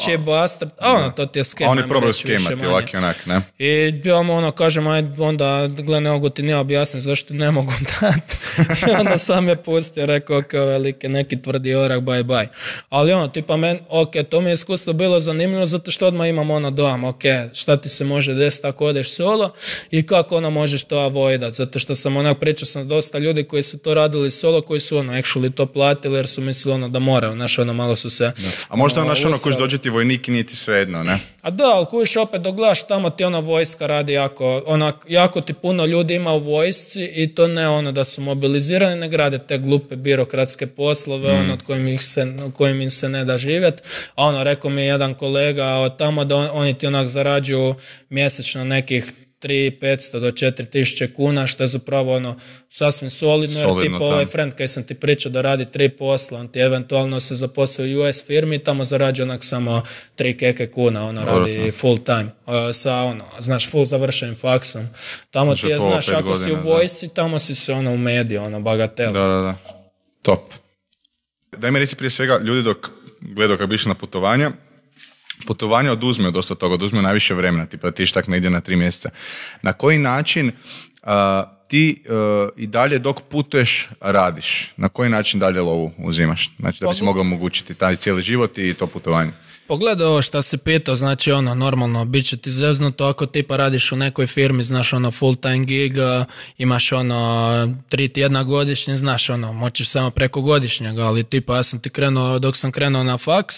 A ono, to ti je skema. A oni probaju skemati, ovak i onak, ne? I ja mu ono kažem, aj onda, gle, ne mogu ti nije objasniti zašto ne mogu dati. I onda sam je pustio, rekao kao velike, neki tvrdi orak, bye bye. Ali ono, tipa men, ok, to mi je iskustvo bilo zanimljivo, zato što odmah imam ono dojam, ok, šta ti se može desiti ako odeš solo i kako ono možeš to avoidat, zato što sam onak pričao sam s dosta ljudi koji su to radili solo, koji su ono, actually to platili jer su mislili ono da moraju, znaš, ono malo su se... Da. A možda ono, naš ono kojiš dođe ti vojnik i nije ti svejedno, ne? A da, ali kojiš opet dok gledaš tamo ti ona vojska radi jako, onak, jako ti puno ljudi ima u vojsci i to ne ono da su mobilizirani, ne grade te glupe birokratske poslove, mm. ono od kojim, ih se, kojim im se ne da živjeti. A ono, rekao mi je jedan kolega od tamo da on, oni ti onak zarađuju mjesečno nekih tri tisuće petsto do četiri tisuće kuna, što je zapravo ono sasvim solidno, jer solidno tipa ovaj friend koji sam ti pričao da radi tri posla, on ti eventualno se zaposlio u U S firmi, tamo zarađuje onak samo tri keke kuna, ono radi Vrlo. full time, uh, sa ono, znaš, full završenim faksom. Tamo znači, ti je, znaš, ako godina, si u vojsci, da. Tamo si se ono u mediju, ono, bagatel. Da, da, da. Top. Daj mi reci prije svega, ljudi dok gledaju kako bi išli na putovanja, putovanje oduzme dosta toga, oduzme najviše vremena, tipa ti tak negdje na tri mjeseca. Na koji način uh, ti uh, i dalje dok putuješ radiš? Na koji način dalje lovu uzimaš? Znači da bi si mogao omogućiti taj cijeli život i to putovanje? Pogledaj ovo što si pitao, znači ono, normalno, bit će ti zeznuto ako tipa radiš u nekoj firmi, znaš ono, full time gig, imaš ono, tri tjedna godišnje, znaš ono, moćeš samo preko godišnjega, ali tipa ja sam ti krenuo, dok sam krenuo na faks,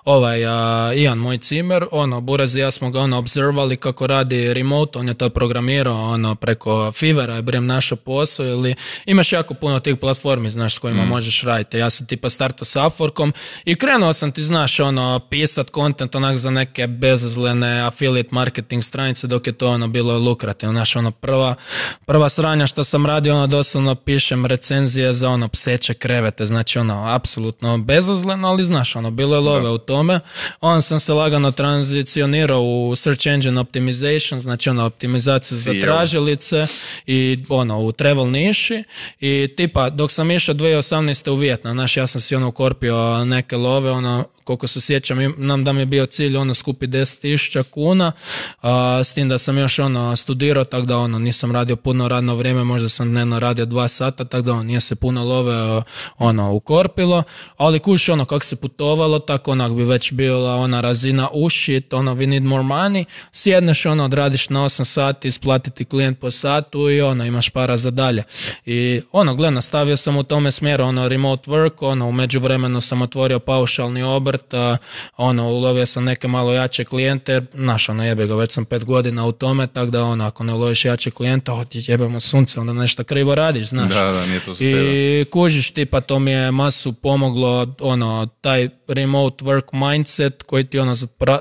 ovaj, a, Ian, moj cimer, ono, Buraz i ja smo ga ono, observali kako radi remote, on je to programirao, ono, preko Fivera je brem našo posao, ili imaš jako puno tih platformi, znaš, s kojima mm. možeš raditi. Ja sam tipa startao s Upworkom i krenuo sam ti, znaš, ono, pisat content onak za neke bezazlene affiliate marketing stranice dok je to ono bilo lukrativno. Znaš, ono, prva, prva sranja što sam radio, ono, doslovno pišem recenzije za ono, pseće krevete, znači ono, apsolutno bezazleno, ali znaš, ono, bilo je love da. U tome. On sam se lagano tranzicionirao u search engine optimization, znači ono, optimizacija za tražilice i ono, u travel niši i tipa, dok sam išao dvije tisuće osamnaeste u Vijetnam, znaš, ja sam si ono ukorpio neke love, ono, koliko se sjećam, nam da mi je bio cilj ono skupi deset tisuća kuna, a, s tim da sam još ono studirao, tako da ono nisam radio puno radno vrijeme, možda sam dnevno radio dva sata, tako da ono, nije se puno love ono ukorpilo, ali kuš ono kako se putovalo, tako onak bi već bila ona razina ušit, ono we need more money, sjedneš ono, odradiš na osam sati, isplatiti klijent po satu i ono, imaš para za dalje. I ono, gle, nastavio sam u tome smjeru, ono, remote work, ono, u međuvremenu sam otvorio paušalni obrt, ono, ulovio sam neke malo jače klijente, znaš, ono, jebe ga, već sam pet godina u tome, tako da, ono, ako ne uloviš jače klijenta, o, ti jebemo sunce, onda nešto krivo radiš, znaš. Da, da, nije to za I tebe. kužiš ti, pa to mi je masu pomoglo, ono, taj remote work mindset koji ti, ono,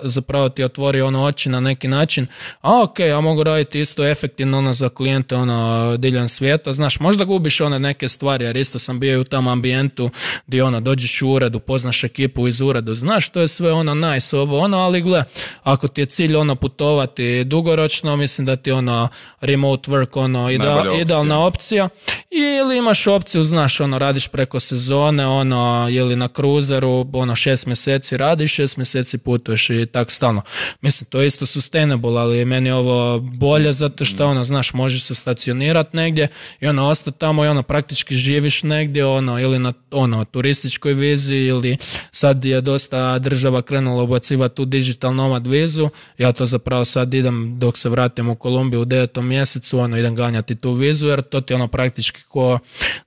zapravo ti otvori, ono, oči na neki način, a ok, ja mogu raditi isto efektivno, ono, za klijente, ono, diljem svijeta, znaš, možda gubiš one neke stvari, jer isto sam bio u tom ambijentu gdje, ono, dođeš u ured, upoznaš ekipu iz ureda, znaš, to je sve ono nice, ovo ono, ali gle, ako ti je cilj ono putovati dugoročno, mislim da ti ono remote work ono ida, idealna opcija, ili imaš opciju, znaš, ono, radiš preko sezone, ono, ili na cruiseru, ono, šest mjeseci radiš, šest mjeseci putuješ i tak stalno. Mislim, to je isto sustainable, ali meni je ovo bolje zato što, ono, znaš, možeš se stacionirati negdje i ono, ostati tamo i ono, praktički živiš negdje, ono, ili na, ono, turističkoj vizi, ili sad je dosta država krenula ubacivati tu digital nomad vizu, ja to zapravo sad idem dok se vratim u Kolumbiju u devetom mjesecu, ono, idem ganjati tu vizu, jer to ti ono praktički ko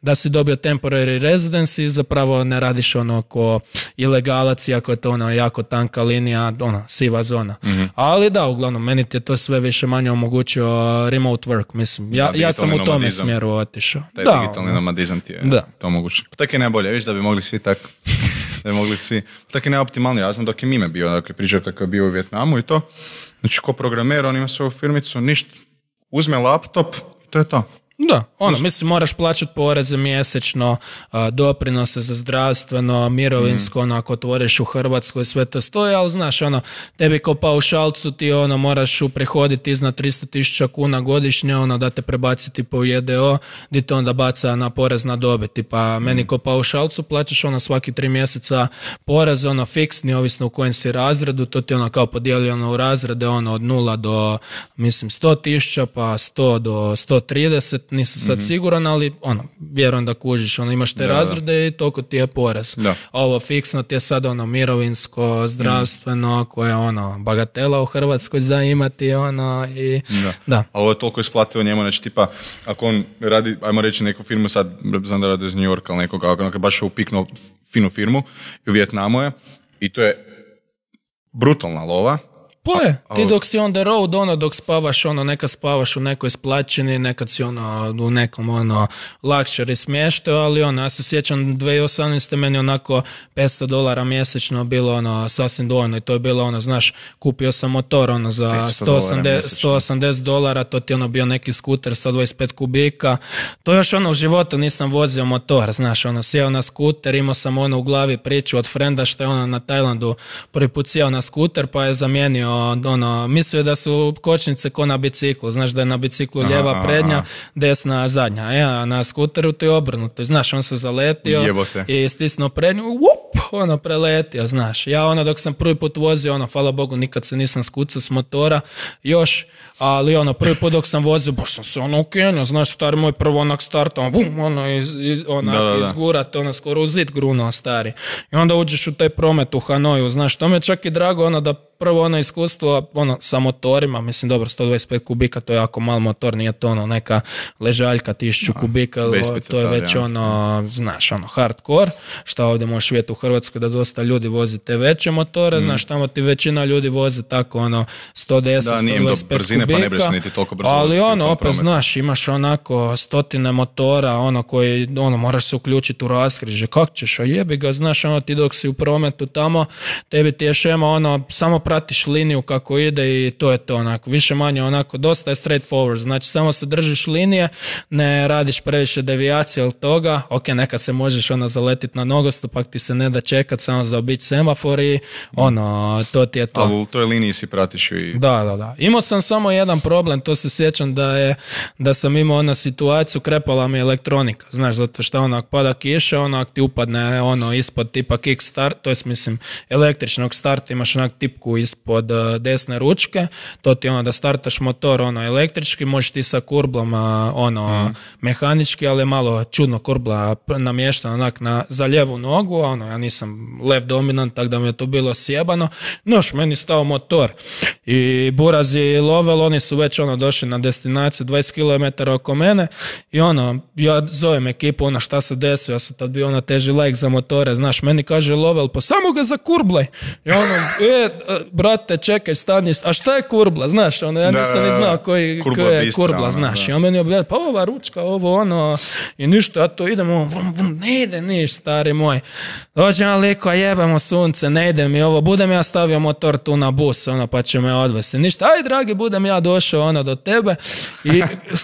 da si dobio temporary residency, zapravo ne radiš ono ko ilegalac, iako je to ono jako tanka linija, ono, siva zona. Mm-hmm. Ali da, uglavnom, meni ti je to sve više manje omogućio remote work, mislim, ja, ja sam u tome nomadizam. Smjeru otišao. Taj da, digitalni nomadizam ti je da. To omogućio. Pa tako je najbolje, viš da bi mogli svi tako da bi mogli svi, tako je najoptimalniji. Ja znam dok je Mime bio, dok je pričao kako je bio u Vijetnamu i to. Znači, ko programer, on ima svoju firmicu, ništa, uzme laptop i to je to. Da, ono, mislim, moraš plaćati poreze mjesečno, a, doprinose za zdravstveno, mirovinsko, mm. ono, ako otvoriš u Hrvatskoj, sve to stoji, ali znaš, ono, tebi kao paušalcu ti, ono, moraš uprihoditi iznad tristo tisuća kuna godišnje, ono, da te prebaciti po J D O, gdje te onda baca na porez na dobiti, pa mm. meni kao paušalcu plaćaš, ono, svaki tri mjeseca porez, ono, fiksni, ovisno u kojem si razredu, to ti, ono, kao podijeli, ono, u razrede, ono, od nula do, mislim, sto tisuća, pa sto do sto trideset, nisam sad mm-hmm. siguran, ali ono, vjerujem da kužiš, ono, imaš te da, razrede da. I toliko ti je porez. Da. Ovo fiksno ti je sad ono mirovinsko, zdravstveno, mm. koje je ono bagatela u Hrvatskoj za imati, ono, i da. Da. A ovo je toliko isplativo njemu, znači tipa, ako on radi, ajmo reći neku firmu, sad znam da radi iz New Yorka, ali nekoga, ako baš je upiknuo finu firmu i u Vijetnamu je, i to je brutalna lova. Pa je, ti dok si on the road, ono, dok spavaš, ono, nekad spavaš u nekoj splaćini, nekad si, ono, u nekom, ono, luxury smještaju, ali, ono, ja se sjećam dvije tisuće osamnaeste meni onako petsto dolara mjesečno bilo, ono, sasvim dovoljno i to je bilo, ono, znaš, kupio sam motor, ono, za sto osamdeset dolara, to ti je, ono, bio neki skuter sto dvadeset pet kubika, to još, ono, u životu nisam vozio motor, znaš, ono, sjeo na skuter, imao sam, ono, u glavi priču od frenda što je, ono, na Tajlandu prvi put sjeo na skuter, pa je zamijenio ono, mislio da su kočnice ko na biciklu, znaš da je na biciklu lijeva aha, prednja, aha. desna zadnja, e, a na skuteru to je obrnuto, znaš, on se zaletio Jebote. I stisnuo prednju, up, ono, preletio, znaš. Ja ono, dok sam prvi put vozio, ono, hvala Bogu, nikad se nisam skucao s motora još, ali ono, prvi put dok sam vozio, baš sam se ono ukenio, znaš, stari moj prvo onak startao, bum, ono, iz, iz, onak, da, da, da. izgurat, ono, skoro u zid grunuo, stari. I onda uđeš u taj promet u Hanoju, znaš, to mi je čak i drago, ono, da prvo ono iskustvo, ono, sa motorima, mislim, dobro, sto dvadeset pet kubika, to je jako mal motor, nije to ono, neka ležaljka tisuću kubika, to je već ono, znaš, ono, hardcore, šta ovdje možeš vidjeti u Hrvatskoj da dosta ljudi vozi te veće motore, mm. znaš, tamo ti većina ljudi vozi tako, ono, sto deset, da, sto dvadeset pet brzine, kubika, pa ne breš niti toliko brzo, ali ono, opet, prometu. Znaš, imaš onako stotine motora, ono, koji, ono, moraš se uključiti u raskrižje, kak ćeš, a jebi ga, znaš, ono, ti dok si u prometu tamo, tebi ti je šema, ono, samo pratiš liniju kako ide i to je to, onako, više manje, onako, dosta je straight forward, znači, samo se držiš linije, ne radiš previše devijacije od toga, ok, nekad se možeš, ono, zaletiti na nogostup, pak ti se ne da čekat, samo zaobići semafor i, ono, to ti je to. Ali u toj liniji si pratiš i... Da, da, da. Imao sam samo jedan problem, to se sjećam da je, da sam imao ono situaciju, krepala mi elektronika, znaš, zato što onak pada kiša, onak ti upadne ono ispod tipa kick start, to je mislim električnog starta, imaš onak tipku ispod uh, desne ručke, to ti ono da startaš motor ono električki, možeš ti sa kurblom uh, ono mm. mehanički, ali malo čudno kurbla namještena onak na, za lijevu nogu, ono ja nisam lev dominant, tako da mi je to bilo sjebano, noš meni stao motor i Buraz i Lovel, oni su već ono došli na destinaciju dvadeset kilometara oko mene i ono, ja zovem ekipu, ono šta se desilo, ja sam tad bio ono teži like za motore, znaš, meni kaže Lovel, pa samo ga zakurblaj. I ono, e, brate, čekaj, stani, a šta je kurbla, znaš, ono, ja nisam ni znao koji, kurbla koji je bistra, kurbla, ono, znaš, da. i on meni objavlja, pa ova ručka, ovo, ono, i ništa, ja to idem, ono, vrum, vrum, ne ide niš, stari moj. Dođem ja liko, jebamo sunce, ne ide mi ovo, budem ja stavio motor tu na bus, ono, pa će me odvesti. Ništa, aj dragi, budem ja došao, ono, do tebe i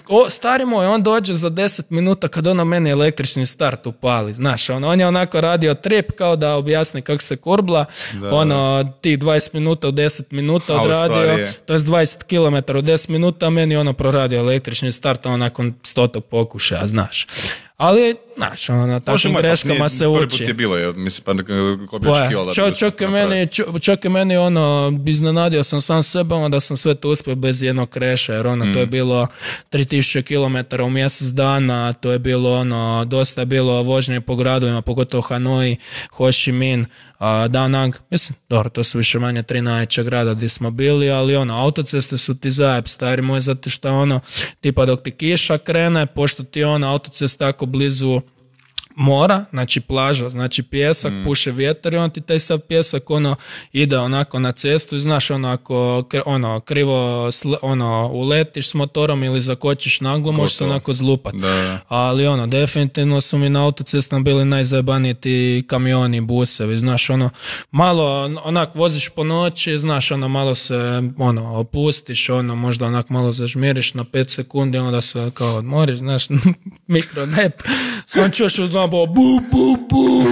o, stari moj, on dođe za deset minuta kad ono meni električni start upali, znaš, ono, on je onako radio trip kao da objasni kako se kurbla, da, ono, tih dvadeset minuta u deset minuta odradio, to je dvadeset kilometara u deset minuta, meni ono proradio električni start, ono, nakon stotog pokušaja, znaš. Ali, znaš, ono, na takvim greškama se uči. Prvi put je bilo, je, mislim, pa ko bi očekivao da čo, čak, je meni, čak je meni, ono, iznenadio sam sam sebe, ono, da sam sve to uspio bez jednog kreša, jer ono, mm. to je bilo tri tisuće kilometara u mjesec dana, to je bilo, ono, dosta je bilo vožnje po gradovima, pogotovo Hanoi, Ho Chi Minh, Da Nang, mislim, dobro, to su više manje tri najveća grada gdje smo bili, ali ono, autoceste su ti zajeb, stari moj, zato što ono, tipa dok ti kiša krene, pošto ti ono, autocesta tako blizu mora, znači plaža, znači pjesak, mm. puše vjetar i on ti taj sav pjesak ono ide onako na cestu i znaš ono ako ono, krivo sl, ono, uletiš s motorom ili zakočiš naglo, možeš se onako zlupat. Da. Ali ono, definitivno su mi na autocestama bili najzajebaniji ti kamioni, busevi, znaš ono, malo onak voziš po noći, znaš ono, malo se ono, opustiš, ono, možda onak malo zažmiriš na pet sekundi, onda se kao odmoriš, znaš, mikronep, sam čuš uz bo bu, bu, bu,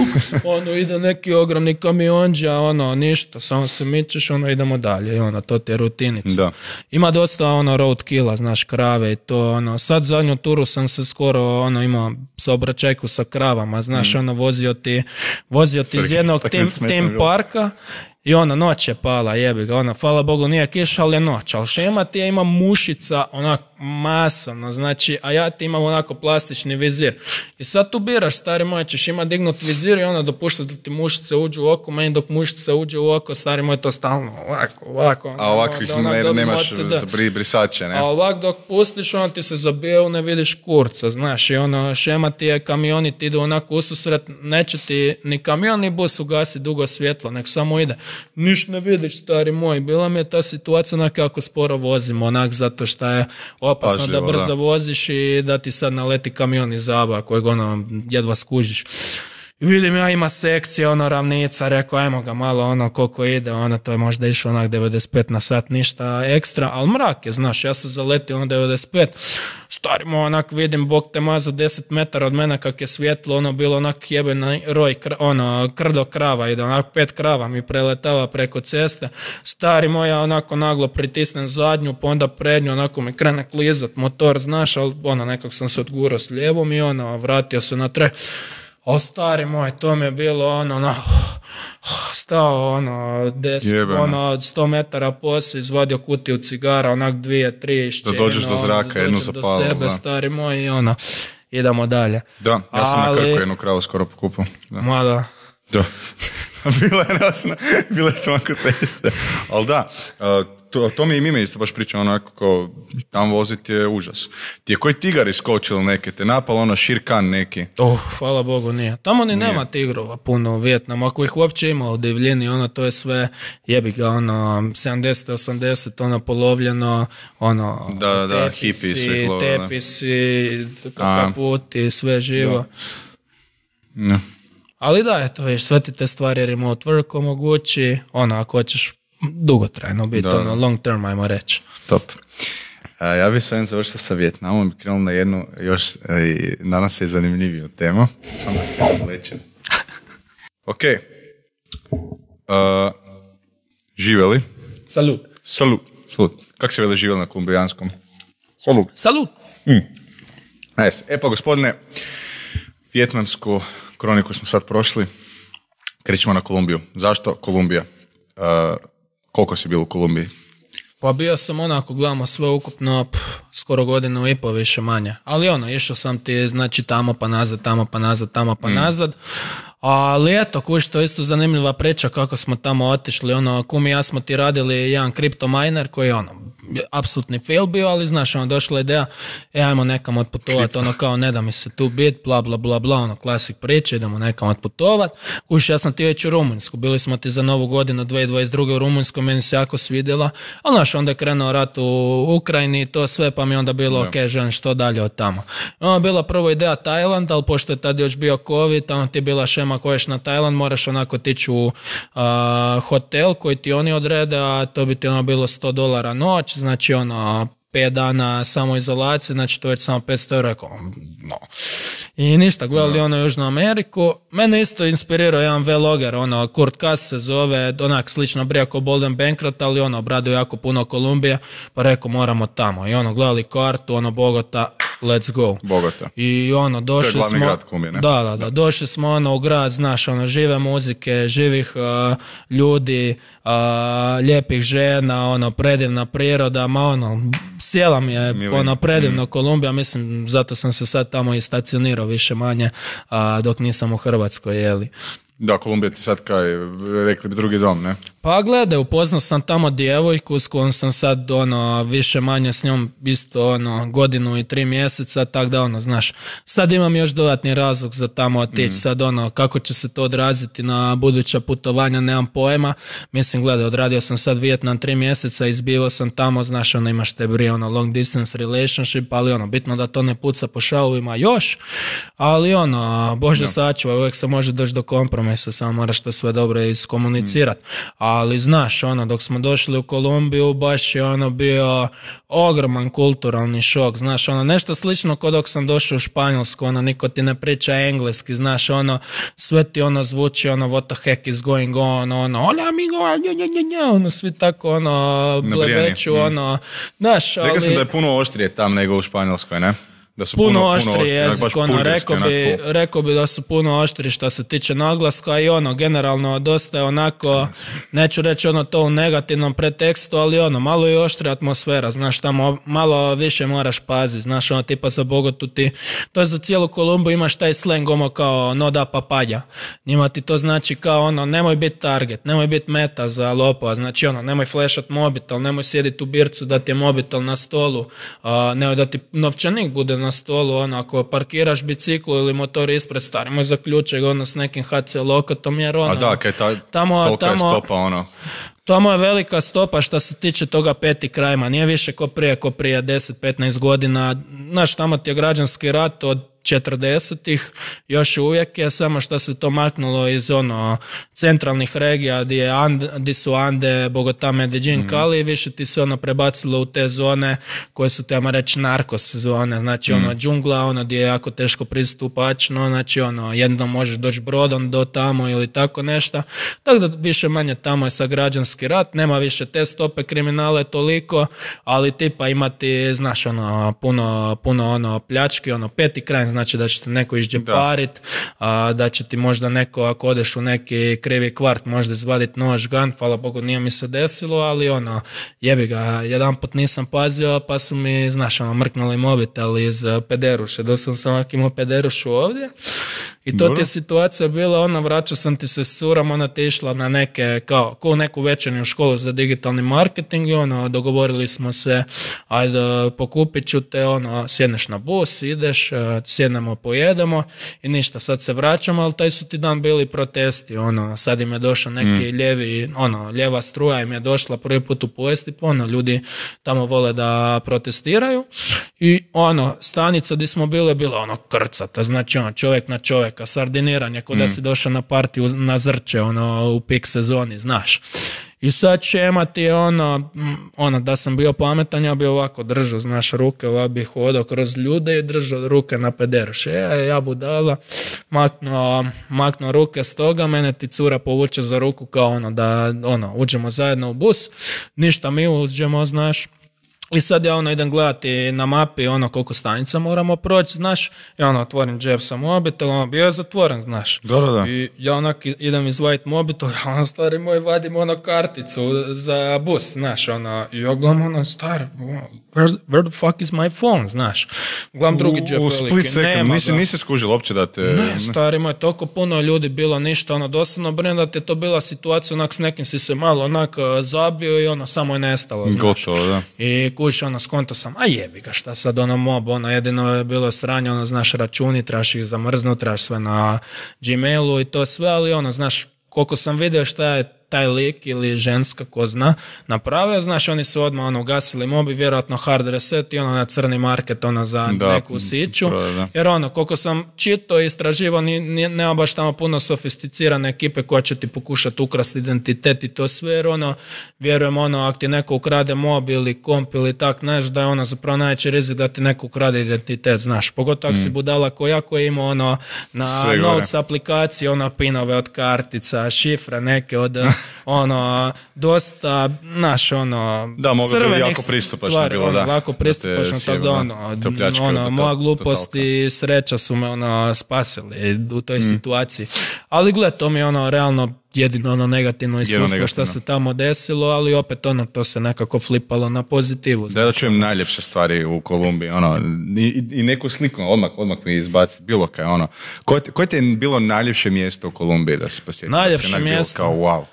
ono ide neki ogromni kamionđa, ono ništa, samo se mičeš, ono idemo dalje i ono, to ti je rutinica. Da. Ima dosta ono road killa, znaš, krave i to, ono, sad zadnju turu sam se skoro, ono, imao saobraćajku sa kravama, znaš, mm. ono, vozio ti, vozio ti iz jednog tim, tim parka i ono, noć je pala, jebi ga, ono, hvala Bogu nije kiša, ali je noć, ali šema ti je ima mušica, onak, masovno, znači, a ja ti imam onako plastični vizir. I sad tu biraš, stari moj, ćeš ima dignut vizir i ono dopušta da ti mušice uđu u oko, meni dok mušice uđe u oko, stari moj, to stalno, ovako, ovako. A ovakvih ne, nemaš za brisače, ne? A ovak dok pustiš, ono ti se zabijeo, ne vidiš kurca, znaš, i ono, šema ti je, kamioni ti idu onako ususret, neće ti ni kamion ni bus ugasi dugo svjetlo, nek samo ide. Niš ne vidiš, stari moj, bila mi je ta situacija onak kako sporo vozimo, onak zato što je opasno Pažljivo, da brzo da. voziš i da ti sad naleti kamion iz zaba kojeg ono jedva skužiš. I vidim ja ima sekcije, ono ravnica, rekao ajmo ga malo ono koliko ide, ono to je možda išlo onak devedeset pet na sat, ništa ekstra, ali mrak je, znaš, ja sam zaletio ono devedeset pet, starimo onak vidim, bog te maza deset metara od mene kak je svjetlo, ono bilo onak jebena roj, kr, ono krdo krava ide, onak pet krava mi preletava preko ceste, stari moja onako naglo pritisnem zadnju, pa onda prednju, onako mi krene klizat motor, znaš, ali ono nekak sam se odgurao s lijevom i ono, vratio se na tre. O stari moj, to mi je bilo ono, no, stao ono, des, ono sto metara poslije, izvadio kutiju cigara, onak dvije, tri išćenje. Da dođeš do zraka, ono, jednu do zapalu. sebe, Da. stari moj, i ono, idemo dalje. Da, ja sam Ali, na Krku jednu kravu skoro pokupao. Da. Ma da. Da. Bila je rasna, bila je tamo kod ceste. Ali da, to, to mi i Mime isto baš priča onako kao tam voziti je užas. Ti je koji tigar iskočil neke, te napal ono širkan neki. Oh, hvala Bogu nije. Tamo ni Nije. nema tigrova puno u Vijetnamu. Ako ih uopće ima u divljini, ono to je sve jebi ga, ono sedamdeset osamdeset ono polovljeno, ono Da, da, da, tepisi, hipi sve glove, da. tepisi, A. kaputi, sve živo. Ne. Ali da, eto, viš, sve ti te stvari remote work omogući, ono, ako hoćeš dugotrajno biti, Da. ono, long term, ajmo reći. Top. A, ja bih s ovim završio sa Vijetnamom i krenuo na jednu još e, danas se zanimljiviju temu. Sam da se odlećem. Ok. Uh, živjeli? Salut. Salut. Salut. Kako se veli živjeli na kolumbijanskom? Salut. Salut. Nice. E pa gospodine, vijetnamsku kroniku smo sad prošli. Krećemo na Kolumbiju. Zašto Kolumbija? Uh, koliko si bio u Kolumbiji? Pa bio sam onako, gledamo sve ukupno, pff, skoro godinu i pol više manje. Ali ono, išao sam ti, znači tamo pa nazad, tamo pa nazad, tamo pa mm. nazad. Ali eto, kuš, to je isto zanimljiva priča kako smo tamo otišli. Ono, kum i ja smo ti radili jedan kripto miner koji je ono, apsolutni fail bio, ali znaš, ono, došla ideja, e, ajmo nekam otputovati, ono kao, ne da mi se tu bit, bla, bla, bla, bla, ono, klasik priče, idemo nekam otputovat. Kuš, ja sam ti već u Rumunjsku, bili smo ti za novu godinu dvije tisuće dvadeset druge u Rumunjsku, meni se jako svidjela, ali znaš, onda je krenuo rat u Ukrajini i to sve, pa mi onda bilo, ok, želim što dalje od tamo. Ono je bila prvo ideja Tajland, ali pošto je tad još bio COVID, ono ti je bila šema ako ješ na Tajland, moraš onako tići u uh, hotel koji ti oni odrede, a to bi ti ono bilo sto dolara noć, znači ono pet dana samoizolacije, znači to je već samo petsto eura, rekao, no. I ništa, gledali no. ono Južnu Ameriku. Mene isto inspirirao jedan vloger, ono, Kurt Kass se zove, onak slično brija kao Bolden Bankroft, ali ono, obradio jako puno Kolumbije, pa rekao, moramo tamo. I ono, gledali kartu, ono, Bogota, let's go. Bogota. I ono, došli smo... To je glavni grad Kolumbije, ne? Da, da, da, došli smo ono u grad, znaš, ono, žive muzike, živih uh, ljudi, uh, lijepih žena, ono, predivna priroda, ma ono, sjela mi je, Milin. ono, predivno mm. Kolumbija, mislim, zato sam se sad tamo i stacionirao više manje, uh, dok nisam u Hrvatskoj, jeli. Da, Kolumbija ti sad kaj, rekli bi drugi dom, ne? Pa gledaj, upoznao sam tamo djevojku s kojom sam sad ono, više manje s njom isto ono, godinu i tri mjeseca, tak da ono, znaš, sad imam još dodatni razlog za tamo otići, mm. sad ono, kako će se to odraziti na buduća putovanja, nemam pojma, mislim, gledaj, odradio sam sad Vijetnam tri mjeseca, izbivao sam tamo, znaš, ono, imaš te brije, ono, long distance relationship, ali ono, bitno da to ne puca po šavovima još, ali ono, Bože no. sačuvaj, uvijek se može doći do kompromisa, samo moraš to sve dobro iskomunicirati, mm. ali znaš, ono, dok smo došli u Kolumbiju, baš je ono bio ogroman kulturalni šok, znaš, ono, nešto slično kao dok sam došao u Španjolsku, ono, niko ti ne priča engleski, znaš, ono, sve ti ono zvuči, ono, what the heck is going on, ono, hola amigo, nja, nja, nja, nja, ono, svi tako, ono, blebeću, mm. ono, znaš, ali... Rekao sam da je puno oštrije tam nego u Španjolskoj, ne? Da su puno, puno oštri oštri, jezik, ono, rekao bi, rekao bi da su puno oštri što se tiče naglaska i ono, generalno dosta je onako, neću reći ono to u negativnom pretekstu, ali ono, malo je oštra atmosfera, znaš, tamo malo više moraš paziti, znaš, ono, tipa za Bogotu ti, to je za cijelu Kolumbiju, imaš taj slang, ono, kao no da papalja, njima ti to znači kao ono, nemoj biti target, nemoj biti meta za lopova, znači ono, nemoj flashat mobitel, nemoj sjediti u bircu da ti je mobitel na stolu, uh, nemoj da ti novčanik bude na stolu, ono, ako parkiraš biciklu ili motor ispred, starimo zaključaj ono s nekim ha ce lokatom, jer ono... A da, kaj ta, tamo, tolika tamo, je stopa, ono... Tamo je velika stopa što se tiče toga peti krajma, nije više ko prije, ko prije deset petnaest godina, znaš, tamo ti je građanski rat od četrdesetih, još uvijek je, samo što se to maknulo iz ono centralnih regija gdje, je And, gdje su Ande, Bogota, Medellin, mm. Cali, više ti se ono prebacilo u te zone koje su, tamo reći, narkos zone, znači mm. ono džungla, ono gdje je jako teško pristupačno, znači ono jednom možeš doći brodom do tamo ili tako nešto, tako da više manje tamo je sa građanski rat, nema više te stope kriminale toliko, ali tipa imati, znaš, ono puno, puno ono pljački, ono peti kraj, znači da će te neko išđeparit, da. da će ti možda neko, ako odeš u neki krivi kvart, možda izvadit nož, gun, hvala Bogu nije mi se desilo, ali ono, jebi ga, jedan put nisam pazio, pa su mi, znaš, ono, mrknuli mobitel iz pederuše, doslovno sam ovak imao pederušu ovdje. I to ti je situacija bila, ona, vraćao sam ti se s curom, ona ti išla na neke, kao, kao neku večernju školu za digitalni marketing i ono, dogovorili smo se, ajde, pokupit ću te, ono, sjedneš na bus, ideš, sjednemo, pojedemo i ništa, sad se vraćamo, ali taj su ti dan bili protesti, ono, sad im je došao neki mm. ljevi, ono, ljeva struja im je došla prvi put u povijesti, ono, ljudi tamo vole da protestiraju i ono, stanica gdje smo bili, bila ono krcata, znači ono, čovjek na čovjeka, sardiniranje, kod mm. da si došao na partiju na Zrče, ono, u pik sezoni, znaš. I sad šema ti je ono, ono, da sam bio pametan, ja bi ovako držao, znaš, ruke, ovako bi hodao kroz ljude i držao ruke na pederuše. E, ja budala, maknuo, maknuo ruke s toga, mene ti cura povuče za ruku kao ono, da ono, uđemo zajedno u bus, ništa mi uđemo, znaš. I sad ja ono idem gledati na mapi ono koliko stanica moramo proći, znaš, i ono otvorim džep sa mobitel, ono bio je zatvoren, znaš. Da, da, da. I ja onak idem izvaditi mobitel, ja ono stari moj vadim ono karticu za bus, znaš, ono, i ja gledam ono stari, where, where the fuck is my phone, znaš. Gledam drugi džep veliki, nema. U split second, nisi, nisi skužil uopće da te... Ne, stari moj, toliko puno ljudi bilo, ništa, ono, dosadno brine da te to bila situacija, onak s nekim si se malo onak zabio i ono, samo je nestalo, znaš. Gotovo, da. I kući, ono, skonto sam, a jebi ga, šta sad, ono, mob, ono, jedino je bilo sranje, ono, znaš, računi, trebaš ih zamrznut, trebaš sve na Gmailu i to sve, ali, ono, znaš, koliko sam vidio šta je taj lik ili ženska, ko zna, napravio, znaš, oni su odmah ono, ugasili mobi, vjerojatno hard reset i ono na crni market, ono za da, neku siću, da. Jer ono, koliko sam čitao i istraživao, ni, ni, nema baš tamo puno sofisticirane ekipe koja će ti pokušati ukrasti identitet i to sve, jer ono, vjerujem, ono, ako ti neko ukrade mob ili komp ili tak, znaš, da je ono zapravo najveći rizik da ti neko ukrade identitet, znaš, pogotovo ako mm. si budala ko ja, koji ima ono, na Notes aplikaciji, ono, pinove od kartica, šifre neke od ono, dosta, naš, ono, da, mogu biti jako pristupačno stvari, bilo, ono, da. Lako pristupačno, da tako da, ono, ono moja glupost i sreća su me, ono, spasili u toj mm. situaciji. Ali gled, to mi je, ono, realno jedino ono negativno iskustvo što se tamo desilo, ali opet ono, to se nekako flipalo na pozitivu. Da, da čujem najljepše stvari u Kolumbiji, ono, i, i neku sliku, odmah, odmah mi izbaci, bilo kaj, ono. Koje, koje ti je bilo najljepše mjesto u Kolumbiji da se posjetio? Najljepše da mjesto? Kao, wow.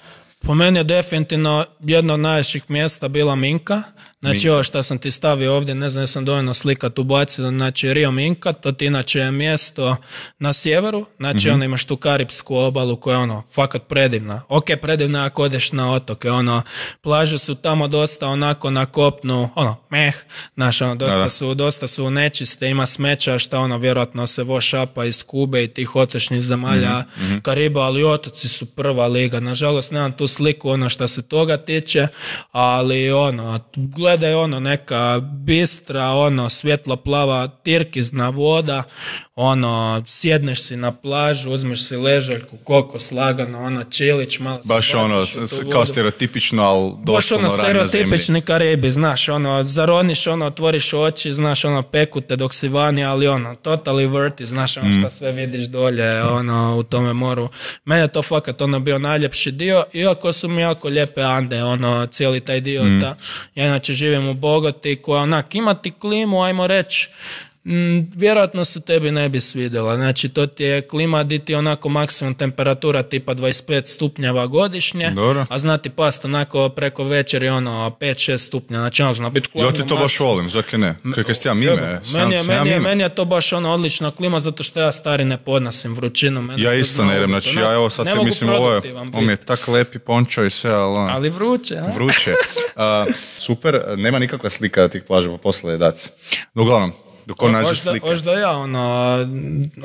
Po meni je definitivno jedno od najljepših mjesta bila Minka. Znači ovo što sam ti stavio ovdje, ne znam, jesam dovoljno slikat ubaciti, znači Rio Minka, to ti inače je mjesto na sjeveru, znači mm-hmm. ono imaš tu Karipsku obalu koja je ono, fakat predivna. Ok, predivna ako odeš na otoke, ono, plaže su tamo dosta onako na kopnu, ono, meh, znaš, ono, dosta su, dosta su nečiste, ima smeća šta ono, vjerojatno se vošapa iz Kube i tih otočnih zemalja mm-hmm. Kariba, ali otoci su prva liga, nažalost nemam tu sliku ono što se toga tiče, ali ono, gledaj ono neka bistra, ono svjetlo plava tirkizna voda, ono sjedneš si na plažu, uzmeš si ležaljku, kokos lagano, ono čilić, malo se baš ono, kao stereotipično, ali doslovno ono stereotipični Karibi, znaš, ono, zaroniš, ono, otvoriš oči, znaš, ono, pekute dok si vani, ali ono, totally worthy, znaš, ono, mm. šta sve vidiš dolje, ono, u tome moru. Mene je to fakat, ono, bio najljepši dio, iako su mi jako lijepe Ande, ono, cijeli taj dio, mm. ta, ja inače živim u Bogoti, koja, onak, ima ti klimu, ajmo reći, Mm, vjerojatno se tebi ne bi svidjela. Znači, to ti je klima di ti onako maksimum temperatura tipa dvadeset pet stupnjeva godišnje, dobro. A znati past onako preko večeri ono pet šest stupnja. Znači, ono zna biti klima. Ja ti to baš volim, zakaj ne? Kaj ste ja mime? Meni je, meni, je, meni je to baš ono odlična klima, zato što ja stari ne podnosim vrućinu. Meni ja isto ne idem, znači ja evo sad se mislim ovo je, on je tak lepi pončo i sve, ali... On, ali vruće, a? Vruće. Uh, super, nema nikakva slika tih plaža, pa posle daci. Uglavnom, dok on nađe slike. Oš da ja ono,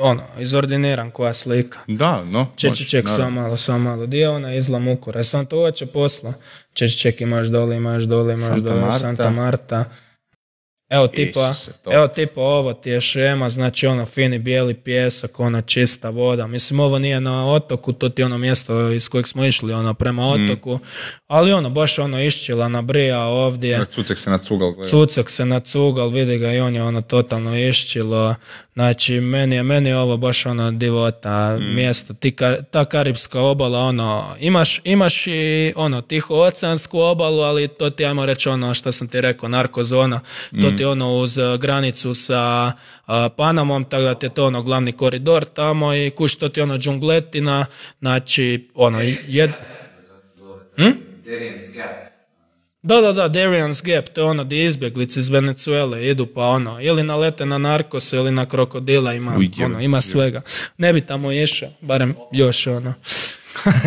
ono, izordiniram koja slika. Da, no. Čeči ček, samo malo, samo malo. Di je ona izlam ukura? Sam to uoče posla. Čeči ček, imaš dole, imaš dole, imaš Santa dole, Marta. Santa Marta. Evo tipa, Isuse, to. evo tipa ovo ti je šema, znači ono fini bijeli pjesak, ona čista voda. Mislim ovo nije na otoku, to ti je ono mjesto iz kojeg smo išli ono prema otoku, mm. ali ono baš ono iščila na brija ovdje. Cucek se nacugal. Gleda. Cucek se nacugal, vidi ga i on je ono totalno iščilo. Znači meni je, meni je ovo baš ono divota mm. mjesto, ti, ta karibska obala, ono, imaš, imaš i ono Tihooceansku obalu, ali to ti ajmo reći ono što sam ti rekao, narkozona, to ti ono uz granicu sa uh, Panamom, tako da ti je to ono glavni koridor tamo i kuš to ti ono džungletina, znači ono jed... Hm? Da, da, da, Darion's Gap, to je ono gdje izbjeglice iz Venezuele idu pa ono, ili nalete na narkose ili na krokodila, ima, Uj, ono, ima svega. Ne bi tamo išao, barem još ono.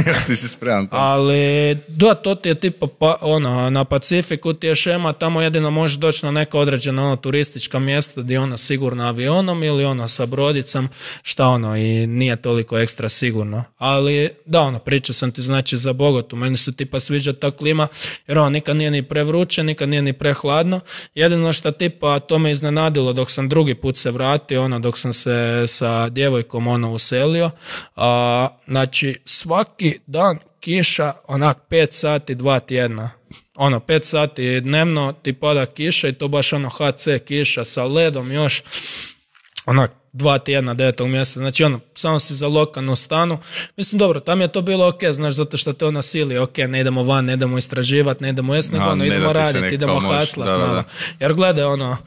Još ti si spreman tamo. Ali, da, to ti je tipa, pa, ono, na Pacifiku ti je šema, tamo jedino možeš doći na neka određena ono, turistička mjesta gdje ono sigurno avionom ili ono sa brodicom, šta ono, i nije toliko ekstra sigurno. Ali, da, ono, pričao sam ti znači za Bogotu, meni se tipa sviđa ta klima, jer ono, nikad nije ni prevruće, nikad nije ni prehladno. Jedino što tipa, to me iznenadilo dok sam drugi put se vratio, ono, dok sam se sa djevojkom ono uselio, a, znači, svaki dan kiša, onak pet sati, dva tjedna. Ono, pet sati dnevno ti pada kiša i to baš ono ha ce kiša sa ledom još, onak, dva tjedna, devetog mjeseca. Znači ono, samo si za lokalnu stanu. Mislim, dobro, tam je to bilo ok, znaš, zato što te ona sili, ok, ne idemo van, ne idemo istraživati, ne idemo jesni, ono, ne idemo raditi, idemo haslat. Da, da, da. Jer gledaj, ono,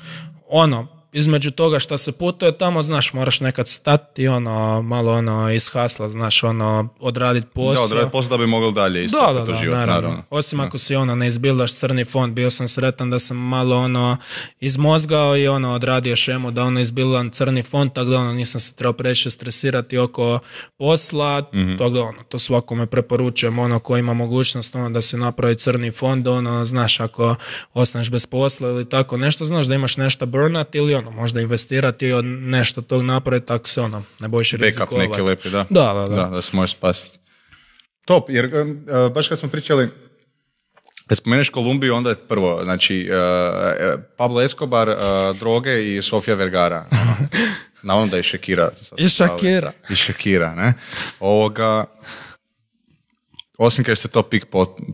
ono, između toga što se putuje tamo, znaš, moraš nekad stati, ono, malo ono, iz hasla, znaš, ono, odraditi posao. Da, odraditi posao da bi mogli dalje isto da, da, da, život, naravno. naravno. Osim da. Ako si, ono, ne izbildaš crni fond, bio sam sretan da sam malo, ono, izmozgao i, ono, odradio šemu da, ono, izbildam crni fond, tako da, ono, nisam se trebao previše stresirati oko posla, mm-hmm. tako da, ono, to svakome preporučujem, ono, ko ima mogućnost, ono, da se napravi crni fond, ono, znaš, ako ostaneš bez posla ili tako nešto, znaš da imaš nešto burnat ili ono, možda investirati i od nešto tog napraviti, tako se ono, ne bojiš rizikovati. Backup neki lepi, da. Da, da, da. Da, da se možeš spasiti. Top, jer uh, baš kad smo pričali, kad spomeneš Kolumbiju, onda je prvo, znači, uh, Pablo Escobar, uh, droge i Sofia Vergara. Navodno da je Shakira. I Shakira. I Shakira, ne? Ovoga... Osim kad ste to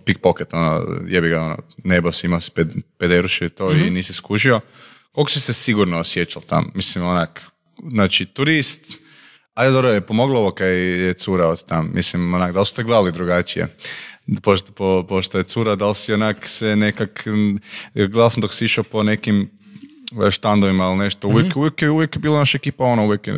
pickpocket, ono, jebi ga, ono, nebo si imao si ped, pederuši i to mm-hmm. i nisi skužio. Koliko si se sigurno osjećal tam? Mislim, onak, znači, turist, ajde dobro, je pomoglo ovo kad je cura od tam. Mislim, onak, da li su te gledali drugačije? Pošto, po, pošto je cura, da li si onak se nekak, gledal sam dok si išao po nekim štandovima ili nešto, uvijek, mm-hmm. uvijek, uvijek je bila naša ekipa, ono, uvijek je,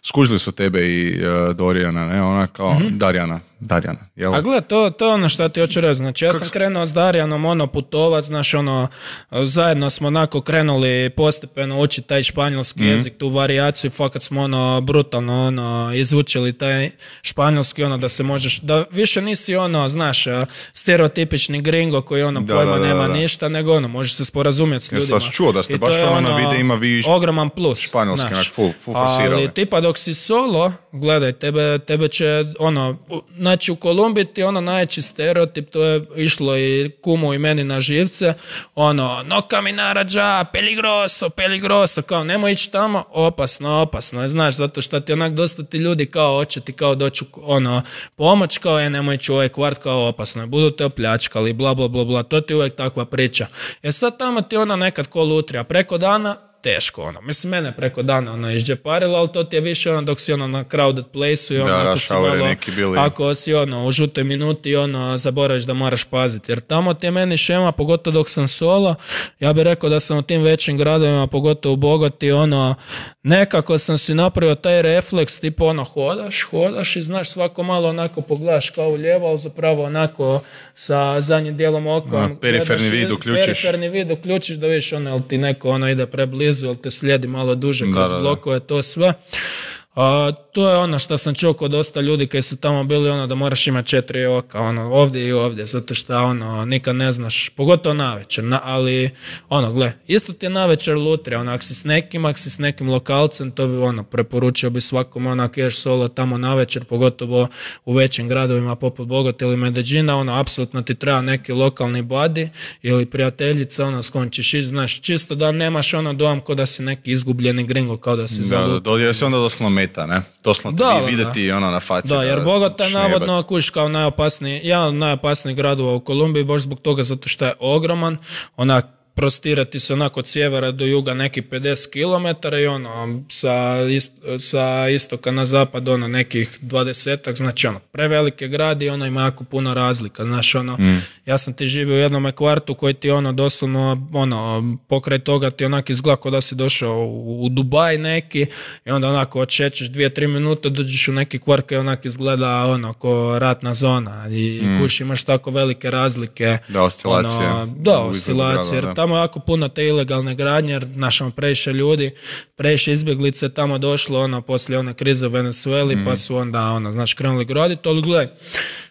skužili su tebe i uh, Dorijana, ne, ona kao mm-hmm. Darjana. Darjana, jel? A gled, to, to je ono što ti hoću reći. Znači, ja sam Kako... krenuo s Darjanom ono putovat, znaš, ono, zajedno smo onako krenuli postepeno učiti taj španjolski mm-hmm. jezik, tu varijaciju, fakat smo ono brutalno ono, izučili taj španjolski, ono, da se možeš, da više nisi ono, znaš, stereotipični gringo koji ono da, pojma da, da, nema da. ništa, nego ono, možeš se sporazumjeti s ljudima. Ja sam čuo da ste I baš ono na videima vi ogroman plus. Španjolski, znaš, full, full forsirali. Ali tipa dok si solo, gledaj, tebe, tebe će, ono, znači u Kolumbiji ti ono najveći stereotip, to je išlo i kumu i meni na živce, ono, no caminara ja, peligroso, peligroso, kao nemoj ići tamo, opasno, opasno, znaš, zato što ti onak dosta ti ljudi kao hoće ti kao doći ono, pomoć, kao je nemoj ići u ovaj kvart, kao opasno, budu te opljačkali, bla, bla, bla, bla, to ti uvijek takva priča. E sad tamo ti ono nekad ko lutrija, preko dana, teško, ono. Mislim, mene preko dana ono izđeparilo, ali to ti je više ono dok si ono na crowded place-u i ono, da, ako si malo, bili... ako si ono u žutoj minuti ono zaboraviš da moraš paziti, jer tamo ti je meni šema, pogotovo dok sam solo, ja bih rekao da sam u tim većim gradovima, pogotovo u Bogoti, ono, nekako sam si napravio taj refleks, tipo ono, hodaš, hodaš i znaš, svako malo onako pogledaš kao u lijevo, ali zapravo onako sa zadnjim dijelom oka. Periferni vid uključiš. Periferni vid uključiš da vidiš ono, ili ti neko ono ide preblizu, ili te slijedi malo duže kroz da, blokove, to sve. A, to je ono što sam čuo kod dosta ljudi koji su tamo bili, ono da moraš imati četiri oka, ono, ovdje i ovdje, zato što ono, nikad ne znaš, pogotovo navečer, na, ali ono, gle, isto ti je navečer lutrija, ono, ako si s nekim, ako si s nekim lokalcem, to bi, ono, preporučio bi svakom, ono, ako ješ solo tamo navečer, pogotovo u većim gradovima poput Bogota ili Medellina, ono, apsolutno ti treba neki lokalni buddy ili prijateljica, ono, s kojom ćeš ići, znaš, čisto da nemaš ono dojam kao da si neki izgubljeni gringo, kao da si zalutio. Da, da, jer si onda doslovno meta, ne? Doslovno da, ti vidjeti ono na faci. Da, jer Bogota je navodno kuš kao najopasniji, jedan od najopasnijih gradova u Kolumbiji, baš zbog toga zato što je ogroman, onak prostirati se onako od sjevera do juga neki pedeset kilometara i ono sa, ist, sa istoka na zapad ono nekih dvadesetak, znači ono prevelike gradi i ono ima jako puno razlika, znaš ono, mm. ja sam ti živio u jednom kvartu koji ti ono doslovno ono pokraj toga ti onak izgleda kao da si došao u, u Dubaj neki i onda onako odšećeš dvije, tri minute dođeš u neki kvart koji onak izgleda ono ko ratna zona i mm. kuš imaš tako velike razlike. Da, oscilacije. Ono, da, oscilacije, jer tamo jako puno te ilegalne gradnje, jer našamo previše ljudi, previše izbjeglice tamo došlo ono poslije one krize u Venezueli, mm. pa su onda ono, znaš, krenuli graditi, ali gledaj,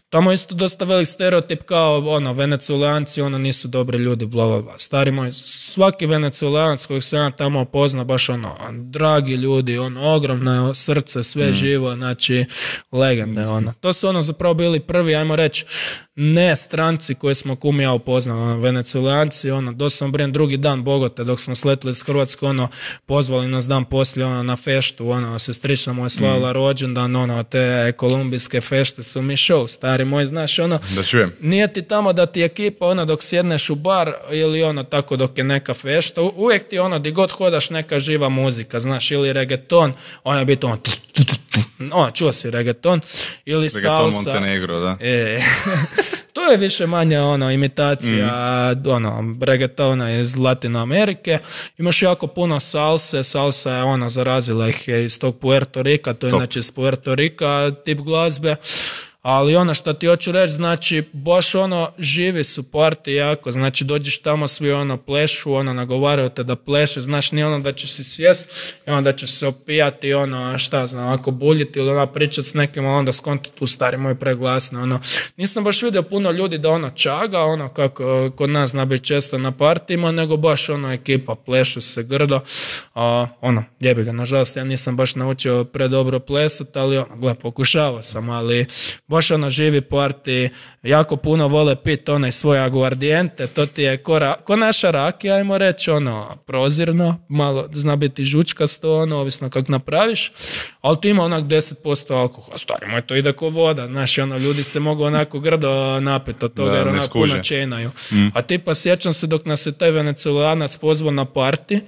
tamo isto dosta velik stereotip kao ono, Venezuelanci, ono nisu dobri ljudi, bla, bla, bla. Stari moj, svaki Venezuelanac kojeg se ja tamo pozna, baš ono, dragi ljudi, ono, ogromno srce, sve mm. živo, znači, legende, ono. To su ono zapravo bili prvi, ajmo reći, ne stranci koje smo kum ja upoznali, ono, Venezuelanci, ono, doslovno brem drugi dan Bogote, dok smo sletili iz Hrvatske, ono, pozvali nas dan poslije, ono, na feštu, ono, sestrična moja slavila mm. rođendan, ono, te kolumbijske fešte su mi show, stari moj, znaš, ono, da čujem. Nije ti tamo da ti ekipa, ono, dok sjedneš u bar ili ono, tako dok je neka fešta, u, uvijek ti ono, di god hodaš neka živa muzika, znaš, ili reggaeton, ono je biti ono, ono, čuo si reggaeton, ili reggaeton salsa. Montenegro, da. E, to je više manje ono, imitacija mm. ono, reggaetona iz Latino Amerike. Imaš jako puno salse, salsa je ona zarazila ih je iz tog Puerto Rika, to je znači iz Puerto Rika tip glazbe. Ali ono što ti hoću reći, znači, baš ono, živi su party jako, znači, dođeš tamo, svi ono, plešu, ono, nagovaraju te da pleše, znaš, nije ono da ćeš si sjest i onda ćeš se opijati, ono, šta znam, ako buljiti ili ono, pričat s nekim, onda skonti tu stari moj preglasno, ono, nisam baš vidio puno ljudi da ono čaga, ono, kako kod nas zna biti često na partijima, nego baš ono, ekipa plešu se grdo, a, ono, jebi ga, nažalost, ja nisam baš naučio predobro plesat, ali ono, gle, pokušavao sam, ali baš ono živi party, jako puno vole pit onaj svoj aguardijente, to ti je ko, ra, ko naša rakija, ajmo reći, ono, prozirno, malo zna biti žučkasto, ono, ovisno kako napraviš, ali tu ima onak deset posto alkohola, stari moj, to ide ko voda, znaš, ono, ljudi se mogu onako grdo napiti od toga, da, jer onako puno čenaju. Mm. A tipa, sjećam se dok nas je taj Venezuelanac pozvao na party,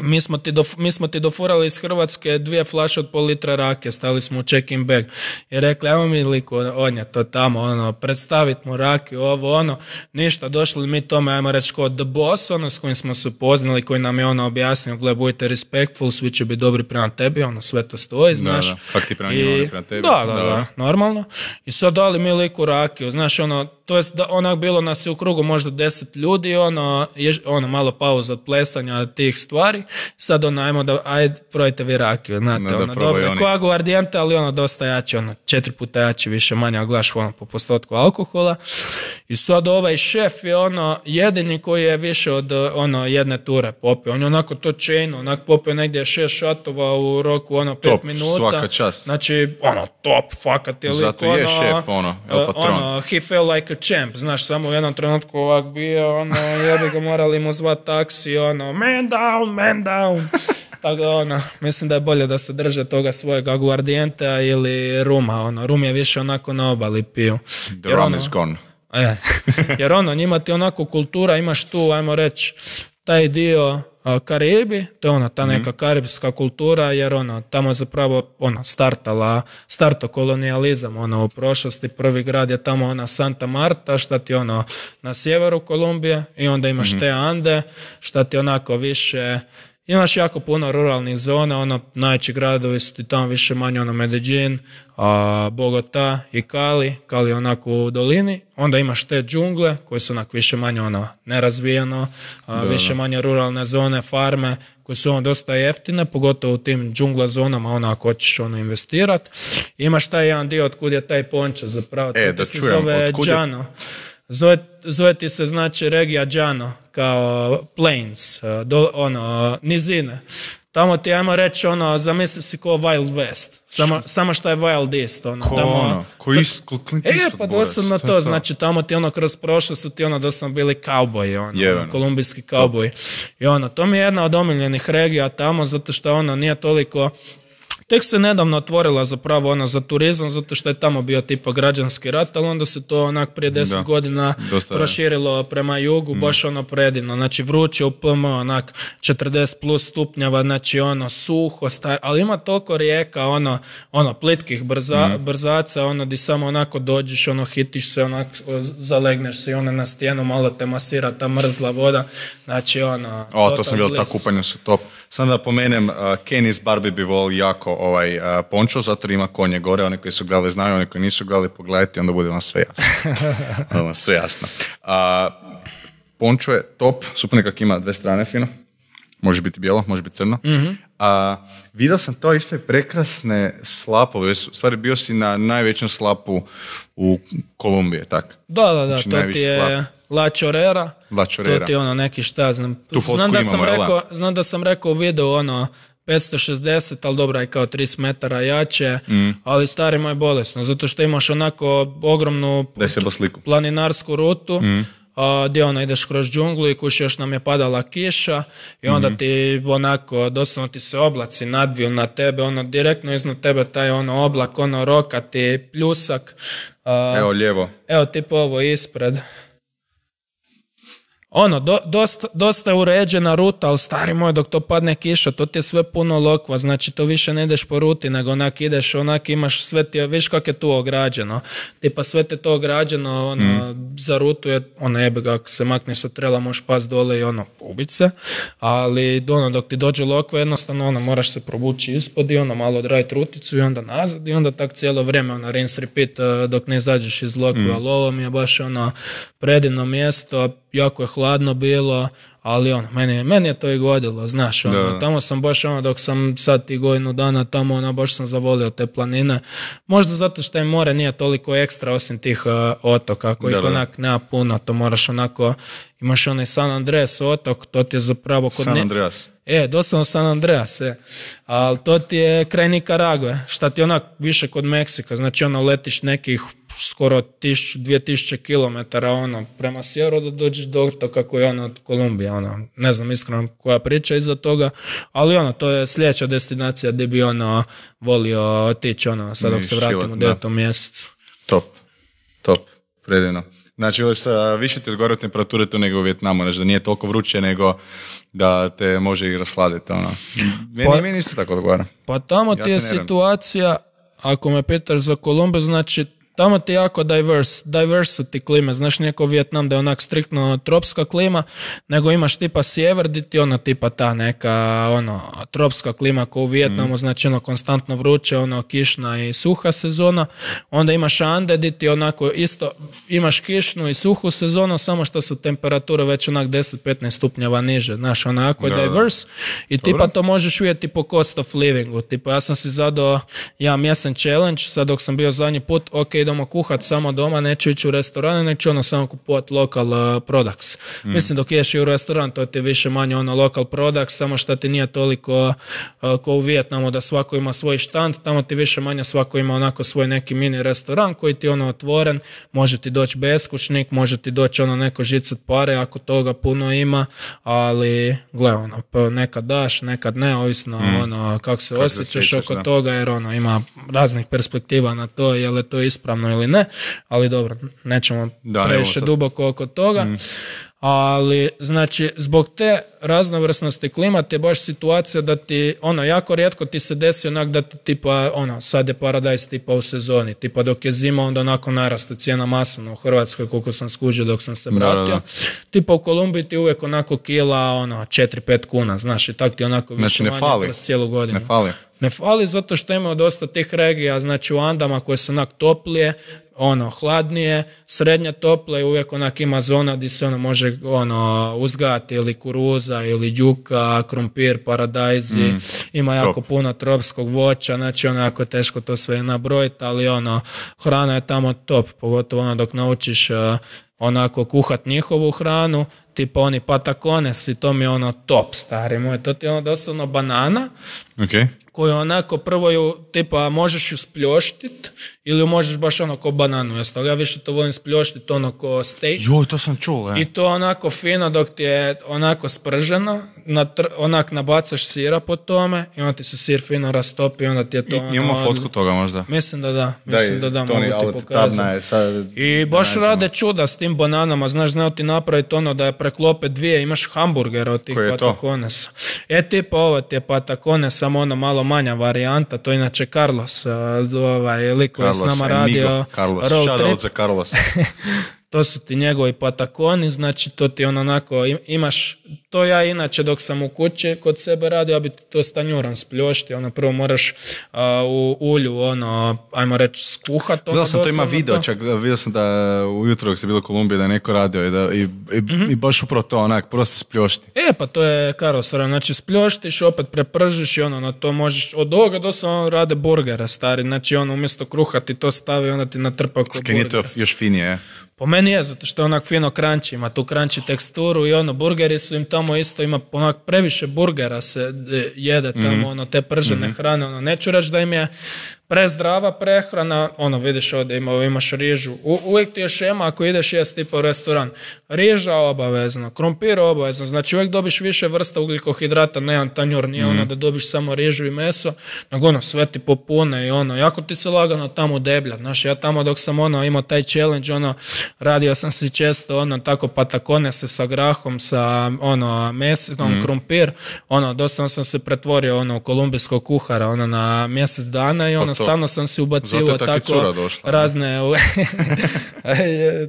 Mi smo, ti do, mi smo ti dofurali iz Hrvatske dvije flaše od pol litra rakije, stali smo u check-in bag i rekli, ajmo mi liku odnijeti to tamo, ono, predstaviti mu rakiju, ovo, ono, ništa, došli mi tome, ajmo reći, kod The Boss, ono, s kojim smo se upoznali, koji nam je ono objasnio, gle, budite respectful, svi će biti dobri prema tebi, ono, sve to stoji, znaš. Da, da, pak ti prema njima, oni prema tebi. Da, da, da, da, normalno. I sad dali mi liku rakiju, znaš, ono, to jest da onak bilo nas je u krugu možda deset ljudi, ono, je, ono malo pauza od plesanja tih stvari, sad ono, ajmo da, ajde, probajte vi rakiju, znate, no, ono, dobro, ko aguardijente, ali ono, dosta jači, ono, četiri puta jači, više manje, a glaš, ono, po postotku alkohola, i sad ovaj šef je, ono, jedini koji je više od, ono, jedne ture popio, on je onako to chain, onak popio negdje šest šatova u roku, ono, pet top, minuta, svaka čast, znači, ono, top, fakat je lik, zato ono, je šef, ono, el patron, ono, he felt like a champ, znaš, samo u jednom trenutku ovak bio, ono, jebi ga morali mu zvat taksi, ono, man down, man down. Tako da, ono, mislim da je bolje da se drže toga svojeg aguardijenta ili ruma, ono, rum je više onako na obali piju. The rum ono, is gone. Je, jer ono, njima ti onako kultura, imaš tu, ajmo reći, taj dio Karibi, to je ona, ta neka mm. karibska kultura, jer ono, tamo je zapravo ono, startala, starto kolonijalizam, ono, u prošlosti, prvi grad je tamo ona Santa Marta, šta ti ono, na sjeveru Kolumbije, i onda imaš mm. te Ande, šta ti onako više Imaš jako puno ruralnih zona, ono, najveći gradovi su ti tamo više manje, ono, Medellin, a, Bogota i Cali, Cali je onako u dolini, onda imaš te džungle koje su onako više manje, ono, nerazvijeno, a, više manje ruralne zone, farme, koje su ono dosta jeftine, pogotovo u tim džungla zonama, ono, ako hoćeš ono investirati. Imaš taj jedan dio otkud je taj pončo zapravo, to e, ti se čujem, zove Džano. Je... Zove, zove ti se, znači, regija Džano, kao plains, do, ono, nizine. Tamo ti, ajmo reći, ono, zamisli si ko Wild West. Samo, samo što je Wild East, ono. Ko tamo, ono? Ko ist, ko Clint Eastwood, E, pa doslovno to, to, znači, tamo ti, ono, kroz prošlo su ti, ono, doslovno bili kauboji, ono, ono kolumbijski kauboji. I ono, to mi je jedna od omiljenih regija tamo, zato što, ono, nije toliko... Tek se nedavno otvorila zapravo ona za turizam, zato što je tamo bio tipa građanski rat, ali onda se to onak prije deset da, godina proširilo je. Prema jugu, mm. baš ono predivno, znači vruće u P M, onak četrdeset plus stupnjeva, znači ono suho, star, ali ima toliko rijeka, ono, ono plitkih brza, mm. brzaca, ono di samo onako dođeš, ono hitiš se, onak zalegneš se i ono na stijenu, malo te masira ta mrzla voda, znači ono... O, to sam vidio, ta kupanja su top. Sam da pomenem, uh, Ken iz Barbie bi volio jako ovaj uh, pončo, zato ima konje gore, oni koji su gledali znaju, oni koji nisu gledali pogledajte, onda bude vam sve jasno. Onda vam sve jasno. Uh, pončo je top, super nekak ima dve strane fino, može biti bijelo, može biti crno. Mm-hmm. Uh, vidio sam to isto prekrasne slapove, u stvari bio si na najvećem slapu u Kolumbiji, tak? Da, da, da, znači, to ti je... Slap. La Chorera, La Chorera, to ti je ono neki šta znam. Znam da, sam imamo, rekao, znam da sam rekao u videu ono petsto šezdeset, ali dobra je kao trideset metara jače, mm. ali stari moj bolesno, zato što imaš onako ogromnu planinarsku rutu, mm. a, gdje ono ideš kroz džunglu i kuš još nam je padala kiša i onda mm. ti onako doslovno ti se oblaci nadviju na tebe, ono direktno iznad tebe taj ono oblak, ono rokati pljusak. A, evo lijevo. Evo tipo ovo ispred. Ono, do, dosta, dosta je uređena ruta, ali stari moj, dok to padne kiša, to ti je sve puno lokva, znači to više ne ideš po ruti, nego onak ideš, onak imaš sve ti, viš kako je tu ograđeno, tipa sve te to ograđeno, ono, mm. za rutu je, ono jebe ga, ako se makneš sa trela, možeš pas dole i ono, ubit se, ali ono, dok ti dođe lokva, jednostavno, ono, moraš se probući ispod i ono, malo odraditi ruticu i onda nazad i onda tak cijelo vrijeme, ono, rinse repeat, dok ne izađeš iz lokve, mm. ali ovo mi je baš, ono, predivno mjesto, jako je hladno bilo, ali ono, meni, meni je to i godilo, znaš, ono, tamo sam baš, ono, dok sam sad ti godinu dana tamo, ono, baš sam zavolio te planine, možda zato što je more nije toliko ekstra osim tih uh, otoka, kojih da, onak nema puno, to moraš onako, imaš onaj San Andreas otok, to ti je zapravo kod... San Andreas. E, doslovno San Andreas, e. Ali to ti je kraj Nikaragve, šta ti onak više kod Meksika, znači ono letiš nekih skoro tisuću, dvije tisuće kilometara ono, prema sjeveru da dođeš do otoka koji je ono od Kolumbije, ono, ne znam iskreno koja priča iza toga, ali ono, to je sljedeća destinacija gdje bi ono volio otići, ono, sad dok se vratim u devetom mjesecu. Top, top, predivno. Znači, više ti odgovara temperature tu nego u Vijetnamu, znači da nije toliko vruće nego da te može i rasladiti. Ono. Meni, pa, meni isto tako odgovara. Pa tamo ja ti je situacija, ako me pitaš za Kolumbiju, znači tamo ti je jako diverse, diversity klime, znaš nijeko Vijetnam da je onak striktno tropska klima, nego imaš tipa sjever di ti ono tipa ta neka ono tropska klima kao u Vijetnamu, mm. znači ono konstantno vruće, ono kišna i suha sezona, onda imaš Ande di ti onako isto imaš kišnu i suhu sezonu, samo što su temperature već onak deset do petnaest stupnjeva niže, znaš onako je diverse i tipa Dobro. To možeš vidjeti po cost of livingu, tipa ja sam si zadao ja mjesen challenge, sad dok sam bio zadnji put, ok, idemo kuhat samo doma, neću ići u restorane, neću ono samo kupovati local uh, products. Mm. Mislim dok ješ i u restoran, to ti više manje ono local products, samo što ti nije toliko uh, kao u Vijetnamu da svako ima svoj štand, tamo ti više manje svako ima onako svoj neki mini restoran koji ti ono otvoren, može ti doći beskućnik, može ti doći ono neko žicat pare ako toga puno ima, ali gle ono, nekad daš, nekad ne, ovisno mm. ono kako se kako osjećaš se oko da. Toga, jer ono ima raznih perspektiva na to, je li to ispravno ili ne, ali dobro, nećemo da, previše duboko oko toga. Mm. ali znači zbog te raznovrsnosti klimata je baš situacija da ti, ono, jako rijetko ti se desi onak da ti tipa, ono, sad je paradajz tipa u sezoni, tipa dok je zima onda onako naraste cijena masovno u Hrvatskoj koliko sam skužio dok sam se vratio. Da, da, da. Tipa u Kolumbiji ti uvijek onako kila, ono, četiri pet kuna, znaš, i tak ti onako više znači, manje kroz cijelu godinu. Ne fali. Ne fali zato što imamo dosta tih regija, znači u Andama koje su onak toplije, ono, hladnije, srednje tople i uvijek onak ima zona gdje se ono može ono, uzgajati ili kuruza ili đuka, krumpir, paradajzi, mm, ima jako top. Puno tropskog voća, znači ono jako teško to sve nabrojiti, ali ono, hrana je tamo top, pogotovo ono dok naučiš uh, onako kuhat njihovu hranu, tipa oni patacones i to mi je ono top, stari moj, to ti je ono doslovno banana, okay. koju onako prvo ju, tipa, možeš ju spljoštit ili ju možeš baš ono ko bananu jesti, ali ja više to volim spljoštit ono ko steak. Joj, to sam čuo, je. I to onako fino dok ti je onako sprženo, natr- onak nabacaš sira po tome i onda ti se sir fino rastopi i onda ti je to... I, imamo ono, fotku toga možda? Mislim da da, mislim Daj, da da, Toni, mogu ti pokazati. Sad, I baš rade čuda s tim bananama, znaš, znao ti napraviti ono da je preklope dvije, imaš hamburgera od tih pataconesa. E tipa ovo ti je patacones, samo ono malo manja varijanta, to je inače Carlos, ovaj lik koji je s nama radio Carlos, road trip. za Carlos. To su ti njegovi patakoni, znači to ti on onako imaš, to ja inače dok sam u kući kod sebe radio, ja bi to s tanjurom spljošti, ono prvo moraš uh, u ulju, ono, ajmo reći skuhat. Gledao sam to, ima video, to. Čak vidio sam da ujutro dok se bilo u Kolumbiji da je neko radio i, da, i, i, mm-hmm. i baš upravo to onak, prvo se spljošti. E pa to je karosara, znači spljoštiš, opet prepržiš i ono, na to možeš, od ovoga doslovno rade burgera stari, znači ono umjesto kruha ti to stavi, onda ti natrpa ko burger. Nije to još finije, po meni je, zato što je onak fino crunchy, ima tu crunchy teksturu i ono, burgeri su im tamo isto, ima onak previše burgera se jede tamo, mm-hmm. ono, te pržene mm-hmm. hrane, ono, neću reći da im je prezdrava prehrana, ono, vidiš ovdje ima, imaš rižu, U, uvijek ti je šema ako ideš jesti tipa u restoran, riža obavezno, krumpir obavezno, znači uvijek dobiš više vrsta ugljikohidrata, ne jedan tanjur, nije mm-hmm. ono da dobiš samo rižu i meso, nego ono, sve ti popune i ono, jako ti se lagano tamo deblja, znaš, ja tamo dok sam ono, imao taj challenge, ono, radio sam si često, ono, tako pataconese sa grahom, sa, ono, mesom, mm-hmm. krumpir, ono, doslovno sam se pretvorio, ono, u kolumbijskog kuhara, ono, na mjesec dana i ono, stalno sam si ubacivo tako došla, razne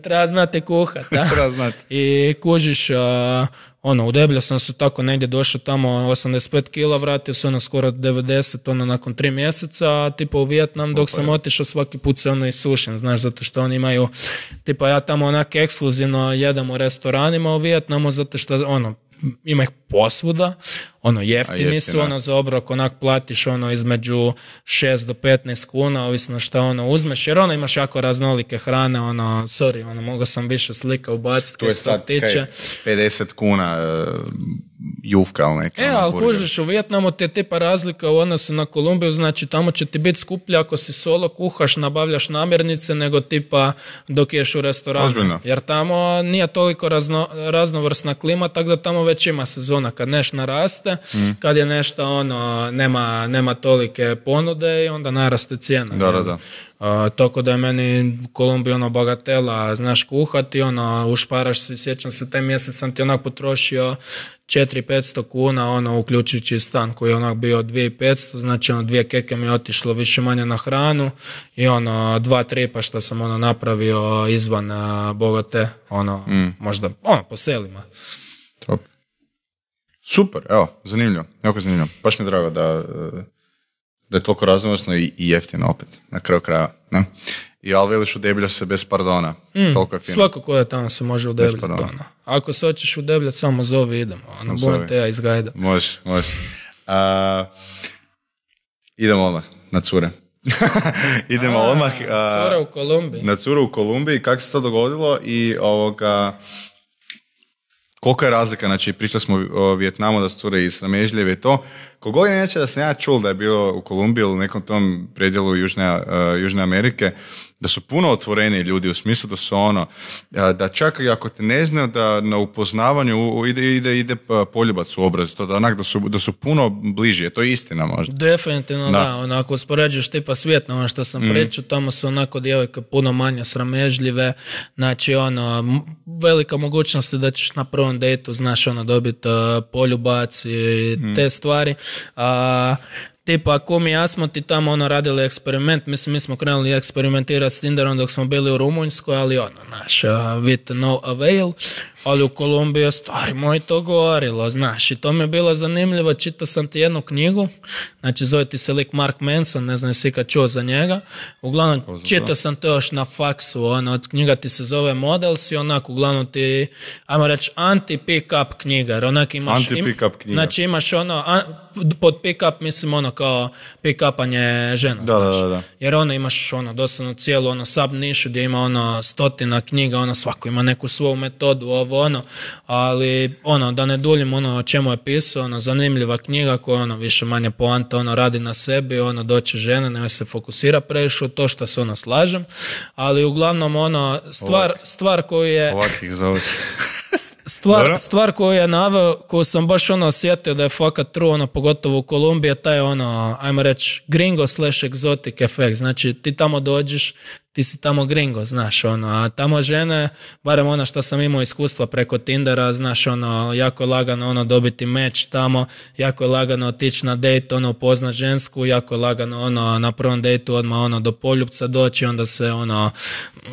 treba znati kuhat treba znati. I kužiš uh, ono, udeblja sam se tako negdje došao tamo osamdeset pet kila, vratio se ono skoro devedeset ono nakon tri mjeseca, tipa u Vijetnam dok sam otišao svaki put se ono isušen, znaš, zato što oni imaju, tipa ja tamo onak ekskluzivno jedem u restoranima u Vijetnamu zato što ono, ima ih posvuda, ono jeftini su, ono za obrok onak platiš ono između šest do petnaest kuna, ovisno šta ono uzmeš, jer ono imaš jako raznolike hrane, ono, sorry, ono, mogao sam više slika ubaciti to je sad tiče. pedeset kuna uh, jufka ili neka. E, ali kužiš, u Vijetnamu ti je tipa razlika u odnosu na Kolumbiju, znači tamo će ti biti skuplje ako si solo kuhaš, nabavljaš namirnice, nego tipa dok ješ u restoranu. Ozbiljno. Jer tamo nije toliko razno, raznovrsna klima, tako da tamo već ima sezona kad nešto naraste, mm. kad je nešto ono, nema, nema tolike ponude i onda naraste cijena. Da, da, da. Uh, tako da je meni Kolumbija ono bagatela, znaš kuhati, ono, ušparaš se, sjećam se, taj mjesec sam ti onak potrošio četiri do petsto kuna, ono, uključujući stan koji je onak bio dvije tisuće petsto, znači ono, dvije keke mi je otišlo više manje na hranu i ono, dva tripa što sam ono napravio izvan uh, Bogate, ono, mm. možda, ono, po selima. Top. Super, evo, zanimljivo, jako zanimljivo. Baš mi je drago da, da je toliko raznovrsno i, i jeftino opet, na kraju kraja. Ne? I ali veliš udebljaš se bez pardona. Mm, toliko je fino. Svako ko je tamo se može udebljati. Ono. Ako se hoćeš udebljati, samo zovi, idemo. Ono, budem te ja iz gajda. Može, može. Uh, idemo odmah na cure. idemo A, odmah. Uh, cura u Kolumbiji. Na curu u Kolumbiji, kako se to dogodilo i ovoga... Koliko je razlika, znači pričali smo o Vijetnamu da su cure iz sramežljive i to, kogod je neće da sam ja čul da je bio u Kolumbiji ili u nekom tom predjelu Južne, uh, Južne Amerike, da su puno otvoreni ljudi u smislu da su ono, da čak i ako te ne znaju da na upoznavanju ide, ide, ide poljubac u obraz, to da, onak, da, su, da su puno bliži, to je istina možda. Definitivno da, da onako uspoređuješ tipa svijet na ono što sam mm. pričao, tamo su onako djevojke puno manje sramežljive, znači ono, velika mogućnost je da ćeš na prvom dejtu, znaš ono, dobiti uh, poljubac i mm. te stvari, a uh, tipa, ako mi ja smo ti tamo ono radili eksperiment, mislim, mi smo krenuli eksperimentirati s Tinderom dok smo bili u Rumunjskoj, ali ono, naš, uh, with no avail, ali u Kolumbiji, stari moj, to govorilo, znaš, i to mi je bilo zanimljivo, čitao sam ti jednu knjigu, znači zove ti se lik Mark Manson, ne znam jesi kad čuo za njega, uglavnom čitao sam to još na faksu, ono, od knjiga ti se zove Models i onako, uglavnom ti, ajmo reći, anti-pick-up knjiga, jer onak imaš, anti-pick-up knjiga. Znači imaš ono, an, pod pick-up mislim ono kao pick-upanje žena, da, znaš, da, da. jer ono imaš ono, doslovno cijelu ono sub nišu gdje ima ono stotina knjiga, ono svako ima neku svoju metodu, ovo ono, ali ono, da ne duljim ono o čemu je pisao, ono, zanimljiva knjiga koja ono, više manje poanta, ono, radi na sebi, ono, doće žene, ne se fokusira previše u to što se ono slažem, ali uglavnom ono, stvar, stvar koju je... Ovakih zove. Stvar, stvar koju je naveo, koju sam baš ono osjetio da je fakat true, ono, pogotovo u Kolumbiji, taj ono, ajmo reći, gringo slash exotic efekt, znači ti tamo dođeš, ti si tamo gringo, znaš, ono, a tamo žene, barem ono što sam imao iskustva preko Tindera, znaš, ono, jako je lagano, ono, dobiti meč tamo, jako je lagano otići na date, ono, upoznat žensku, jako je lagano, ono, na prvom dejtu odmah, ono, do poljupca doći, onda se, ono,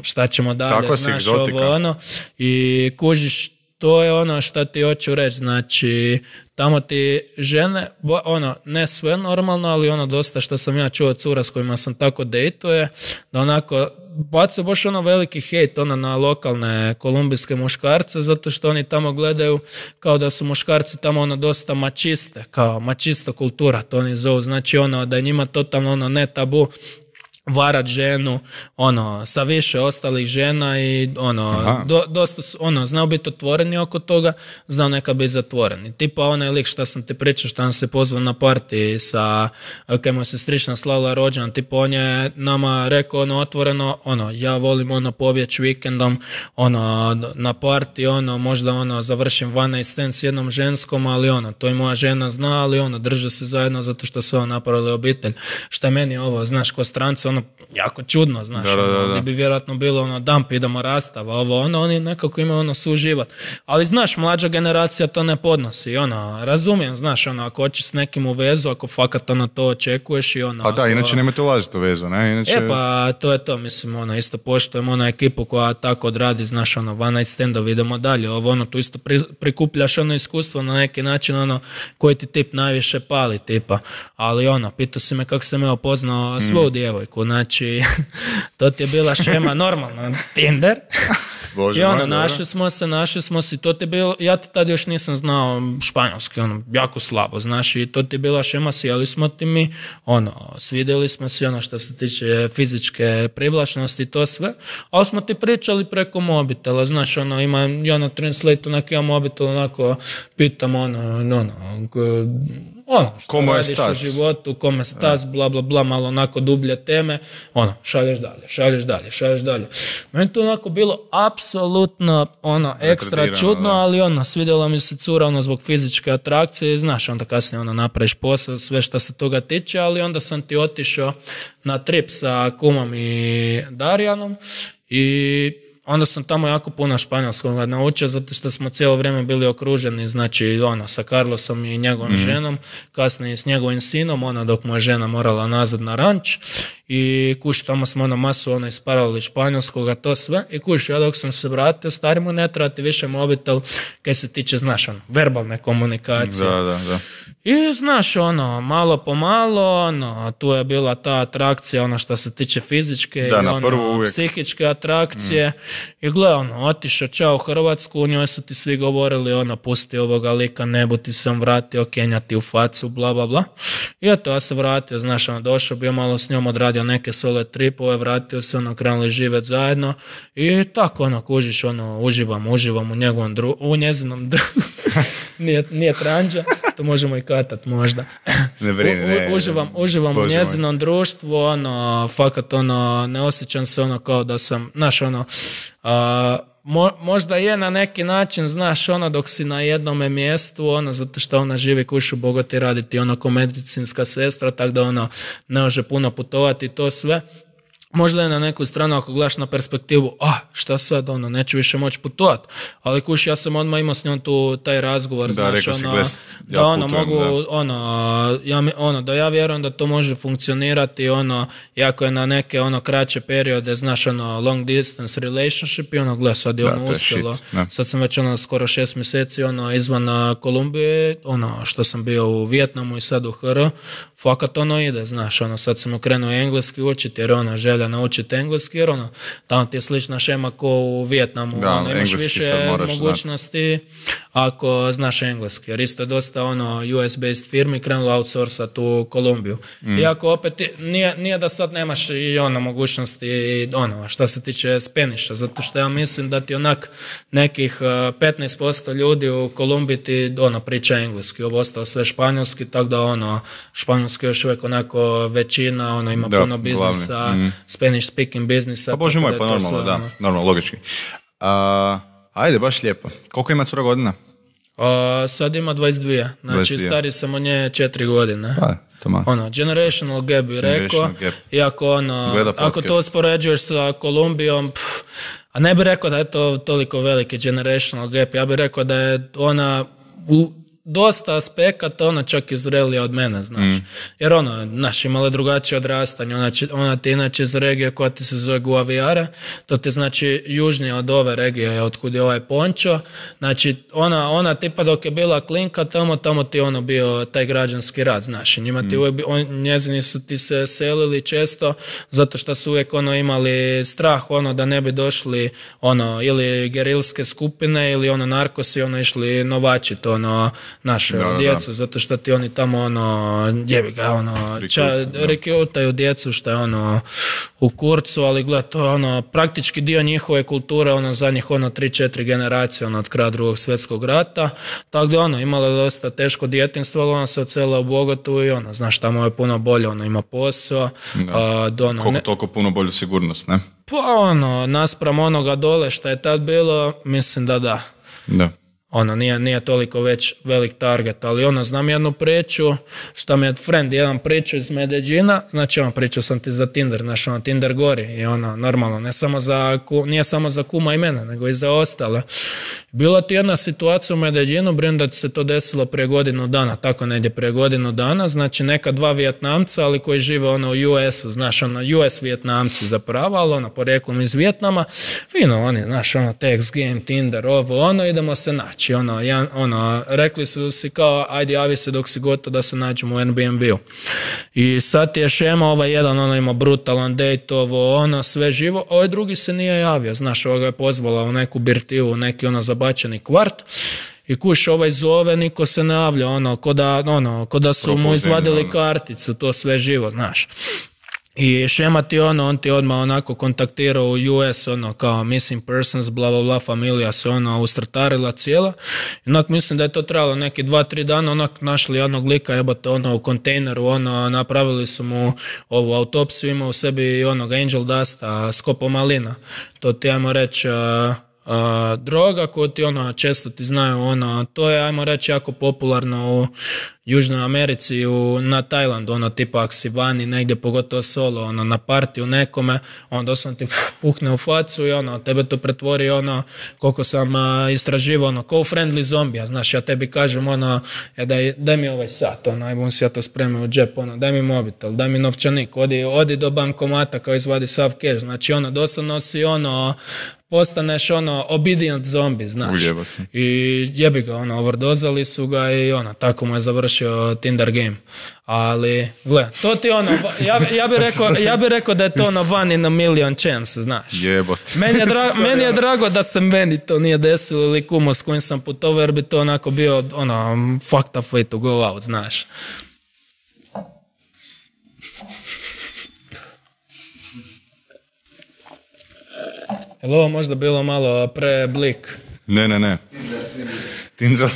šta ćemo dalje, tako znaš, ovo, ono, i kužiš, to je ono što ti hoću reći, znači tamo ti žene, ono, ne sve normalno, ali ono dosta što sam ja čuo od cura s kojima sam tako dejtuje, da onako baca baš ono veliki hejt ono na lokalne kolumbijske muškarce, zato što oni tamo gledaju kao da su muškarci tamo ono dosta mačiste, kao mačista kultura, to oni zovu, znači ono da je njima totalno ono ne tabu varat ženu, ono, sa više ostalih žena i ono, do, dosta su, ono, znao biti otvoreni oko toga, znao neka biti zatvoreni. Tipa onaj lik što sam ti pričao, što nam se pozvao na partiji sa, kaj mu se sestrična slala rođendan, tipa on je nama rekao ono otvoreno, ono, ja volim ono pobjeći vikendom, ono, na partiji, ono, možda ono, završim one night stand s jednom ženskom, ali ono, to i moja žena zna, ali ono, drže se zajedno zato što su ono napravili obitelj. Šta meni ovo, znaš, ko stranca, ono, jako čudno, znaš, da, da, da. Ono, gdje bi vjerojatno bilo ono, damp, idemo rastava, ovo, ono, oni nekako imaju ono suživat. Ali, znaš, mlađa generacija to ne podnosi, ono, razumijem, znaš, ono, ako hoćeš s nekim u vezu, ako fakat ono to očekuješ i ono... A da, ako... inače nemojte ulaziti u vezu, ne? Inače... E pa, to je to, mislim, ono, isto poštujem ono ekipu koja tako odradi, znaš, ono, one night standovi, idemo dalje, ovo, ono, tu isto pri, prikupljaš ono iskustvo na neki način, ono, koji ti tip najviše pali, tipa, ali ono, pitao si me kako sam ja upoznao mm. svoju djevojku, znači, to ti je bila šema normalno, Tinder. Bože, i ono, moj, našli smo se, našli smo se, to ti je bilo, ja ti tad još nisam znao španjolski, ono, jako slabo, znaš, i to ti je bila šema, sjeli smo ti mi, ono, svidjeli smo se, ono, što se tiče fizičke privlačnosti i to sve, ali smo ti pričali preko mobitela, znaš, ono, ima, ja na translate-u neki ja mobitel, onako, pitam, ono, ono, ono, što Komo radiš u životu, kome stas, bla, bla, bla, malo onako dublje teme, ono, šalješ dalje, šalješ dalje, šalješ dalje. Meni to onako bilo apsolutno, ono, ekstra čudno, da. Ali ono, svidjela mi se cura, ono, zbog fizičke atrakcije, znaš, onda kasnije, ono, napraviš posao, sve što se toga tiče, ali onda sam ti otišao na trip sa kumom i Darijanom i onda sam tamo jako puno španjolskog naučio, zato što smo cijelo vrijeme bili okruženi, znači ono, sa Carlosom i njegovom mm-hmm. ženom, kasnije s njegovim sinom, ona dok mu je žena morala nazad na ranč i kuš, tamo smo ono masu ono isparali španjolskoga, to sve i kuš, ja dok sam se vratio, stari mu ne treba ti više mobitel kaj se tiče, znaš, ono, verbalne komunikacije. Da, da, da. I znaš, ono, malo po malo, ono, tu je bila ta atrakcija, ono što se tiče fizičke da, i ono, psihičke atrakcije. Mm. I gle, ono, otišao čao u Hrvatsku, u njoj su ti svi govorili, ono, pusti ovoga lika, ne bu ti sam vratio, kenjati u facu, bla, bla, bla. I eto, ja se vratio, znaš, ono, došao, bio malo s njom, odradio neke solo tripove, vratio se, ono, krenuli živjeti zajedno i tako, ono, kužiš, ono, uživam, uživam u njegovom dru... u njezinom dru... nije, nije tranđa, to možemo i katat možda. Ne brini, ne, U, uživam, uživam u njezinom društvu, ono, fakat, ono, ne osjećam se ono kao da sam, znaš, ono, a, Mo, možda je na neki način, znaš, ono, dok si na jednome mjestu, ono, zato što ona živi kušu bogati raditi, ono, ko medicinska sestra, tako da, ono, ne može puno putovati i to sve. Možda je na neku stranu, ako gledaš na perspektivu, ah, šta sad, ono, neću više moći putovati. Ali kuš, ja sam odmah imao s njom tu taj razgovor, da, znaš, ono, gles, ja da ono, putujem, mogu, da. ono, ja, ono, da ja vjerujem da to može funkcionirati, ono, jako je na neke, ono, kraće periode, znaš, ono, long distance relationship i ono, gle, sad je da, ono uspjelo. Shit, sad sam već, ono, skoro šest mjeseci, ono, izvan Kolumbije, ono, što sam bio u Vijetnamu i sad u H R, fakat ono ide, znaš, ono, sad sam okrenuo engleski učiti, jer ono, želja naučiti engleski, jer ono, tamo ti je slična šema ko u Vijetnamu, da, ono, imaš više mogućnosti znat. Ako znaš engleski, jer isto je dosta ono U S-based firmi krenulo outsourcat u Kolumbiju. Mm. Iako opet nije, nije da sad nemaš i ono mogućnosti ono, šta se tiče Spanisha, zato što ja mislim da ti onak nekih petnaest posto ljudi u Kolumbiji ti ono, priča engleski, ovo ostalo sve španjolski, tako da ono, španjolski još uvijek onako većina, ono ima da, puno biznisa, mm. Spanish speaking biznisa. Pa bože moj, pa normalno, sve, da, ono. Normalno, logički. Uh, ajde, baš lijepo. Koliko ima cura godina? Uh, sad ima dvadeset dvije, znači dvadeset dvije. Stari sam od nje četiri godine. Pa, tamo. Ono, generational gap bi rekao, iako ono, ako to uspoređuješ sa Kolumbijom, pff, a ne bih rekao da je to toliko veliki generational gap, ja bih rekao da je ona u dosta aspekata, ona čak izrelija od mene, znaš. Mm. Jer ono, znaš, imala drugačije odrastanje, ona, ona ti inače iz regije koja ti se zove Guaviare, to ti znači južnije od ove regije, otkud je ovaj Pončo, znači ona, ona tipa dok je bila klinka, tamo, tamo ti ono bio taj građanski rat, znaš, i njima ti mm. uvijek, on, njezini su ti se selili često, zato što su uvijek ono imali strah, ono, da ne bi došli, ono, ili gerilske skupine, ili ono, narkosi, ono, išli novačit, ono, naše da, djecu, da. Zato što ti oni tamo ono, jebi ga, ono, rekrutaju djecu što je ono u kurcu, ali gled, to je ono, praktički dio njihove kulture, ono, zadnjih ono, tri četiri generacije, ono, od kraja drugog svjetskog rata, tako da ono, imala je dosta teško djetinjstvo, ali ona se odsela u Bogotu i ono, znaš, tamo je puno bolje, ono, ima posao. Da. Do, ono, koliko ne... toliko puno bolju sigurnost, ne? Pa ono, naspram onoga dole što je tad bilo, mislim da da. Da. Ono, nije, nije toliko već velik target, ali ono, znam jednu priču, što mi je friend jedan priču iz Medellina, znači ono, pričao sam ti za Tinder, znači ono, Tinder gori i ono, normalno, ne samo za, nije samo za kuma i mene, nego i za ostale. Bila ti jedna situacija u Medellinu, brinem da ti se to desilo prije godinu dana, tako negdje prije godinu dana, znači neka dva Vijetnamca, ali koji žive ono u U S-u, znaš, ono, U S Vijetnamci zapravo, ali ono, porijeklom iz Vijetnama, fino, oni, znaš, ono, text game, Tinder, ovo, ono, idemo se naći. Znači, ono, ja, ono, rekli su si kao, ajde javi se dok si gotov da se nađemo u Airbnb-u. I sad je šema, ovaj jedan, ono, ima brutalan date, ovo, ono, sve živo, a ovaj drugi se nije javio, znaš, ovo ga je pozvala u neku birtiju, u neki, ono, zabačeni kvart. I kuš, ovaj zove, niko se ne javlja, ono, ko da, ono, ko da su Propozim, mu izvadili ono. karticu, to sve živo, znaš. I šema ti ono, on ti odmah onako kontaktirao u U S, ono, kao missing persons, bla, bla, bla, familija se ono ustrtarila cijela. Onak mislim da je to trebalo neki dva, tri dana, onak našli jednog lika, jebate, ono, u kontejneru, ono, napravili su mu ovu autopsiju, ima u sebi onog angel dusta, skopomalina. To ti, ajmo reći, uh, Uh, droga koju ti ono često ti znaju, ono, to je, ajmo reći, jako popularno u Južnoj Americi, u, na Tajlandu, ono, tipa ako si vani negdje, pogotovo solo, ono, na partiju nekome, onda sam ti puhne u facu i ono, tebe to pretvori, ono, koliko sam uh, istraživao, ono, ko u Friendly zombija, znaš, ja tebi kažem, ono, ja, daj, daj mi ovaj sat, ono, aj bom si ja to spremio u džep, ono, daj mi mobitel, daj mi novčanik, odi, odi do bankomata kao izvadi sav cash, znači, ono, doslovno si, ono, postaneš ono obedient zombi, znaš. Ujebati. I jebi ga, ono, overdozali su ga i ono, tako mu je završio Tinder game. Ali, gle, to ti ono, ja, ja bih rekao, ja bi rekao da je to ono one in a million chance, znaš. Jebati. Meni je, dra, meni je drago da se meni to nije desilo ili kumo s kojim sam putovao, jer bi to onako bio, ono, fucked up way to go out, znaš. Je li ovo možda bilo malo preblik? Ne, ne, ne. Tinder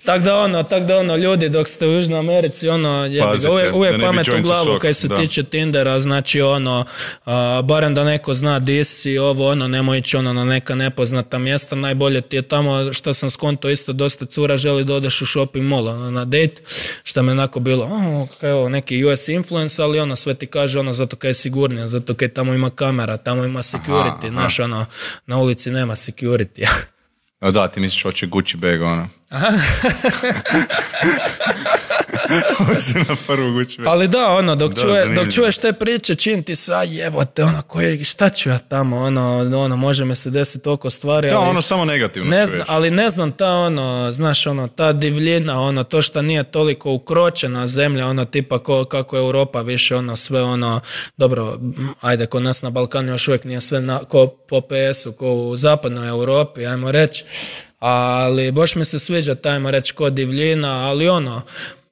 Tak da ono, tak da ono, ljudi dok ste u Južnoj Americi, ono, jebi ga, uvijek, uvijek pamet u glavu kaj se da. tiče Tindera, znači ono, uh, barem da neko zna di si, ovo, ono, nemoj ići ono na neka nepoznata mjesta, najbolje ti je tamo, što sam skonto isto, dosta cura želi da odeš u shopping mall, ono, na date, što me onako bilo, oh, kaj ovo, neki U S influence, ali ono, sve ti kaže, ono, zato kaj je sigurnije, zato kaj tamo ima kamera, tamo ima security, aha, znaš, ono, na ulici nema security. No da, ti misliš hoće Gucci bag, ono. Aha. na prvu Gucci bag. Ali da, ono, dok, da, čuje, dok čuješ te priče, čim ti se, a jebote, ono, koje, šta ću ja tamo, ono, ono, može me se desiti oko stvari. Da, ali, ono, samo negativno ne čuješ. Zna, ali ne znam, ta, ono, znaš, ono, ta divljina, ono, to što nije toliko ukročena zemlja, ono, tipa ko, kako je Europa više, ono, sve, ono, dobro, ajde, kod nas na Balkanu još uvijek nije sve na, ko po P S-u, ko u zapadnoj Europi, ajmo reći. Ali baš mi se sviđa tajmo reći kod divljina, ali ono,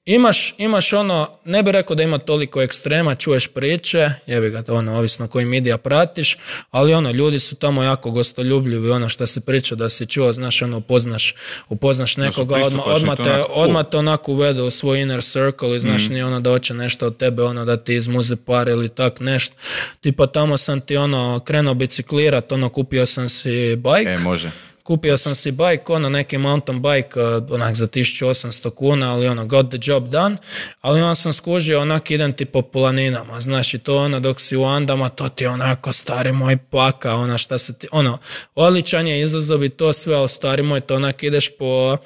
imaš, imaš ono, ne bih rekao da ima toliko ekstrema, čuješ priče, jebi ga to ono, ovisno koji medija pratiš, ali ono, ljudi su tamo jako gostoljubljivi, ono što se priča da si čuo, znaš, ono, upoznaš, upoznaš nekoga, odmah odma te, odma te onako uvede u svoj inner circle i znaš, mm. nije ono da hoće nešto od tebe, ono da ti izmuze par ili tak nešto. Tipa tamo sam ti ono, krenuo biciklirat, ono, kupio sam si bike. E, može. Kupio sam si bike, ono neki mountain bike, onak za tisuću osamsto kuna, ali ono, got the job done, ali onda sam skužio, onak idem ti po planinama, znaš, i to ono, dok si u Andama, to ti onako, stari moj, paka, ono, šta se ti, ono, odličan je izazov i to sve, ali stari moj, to onak ideš po,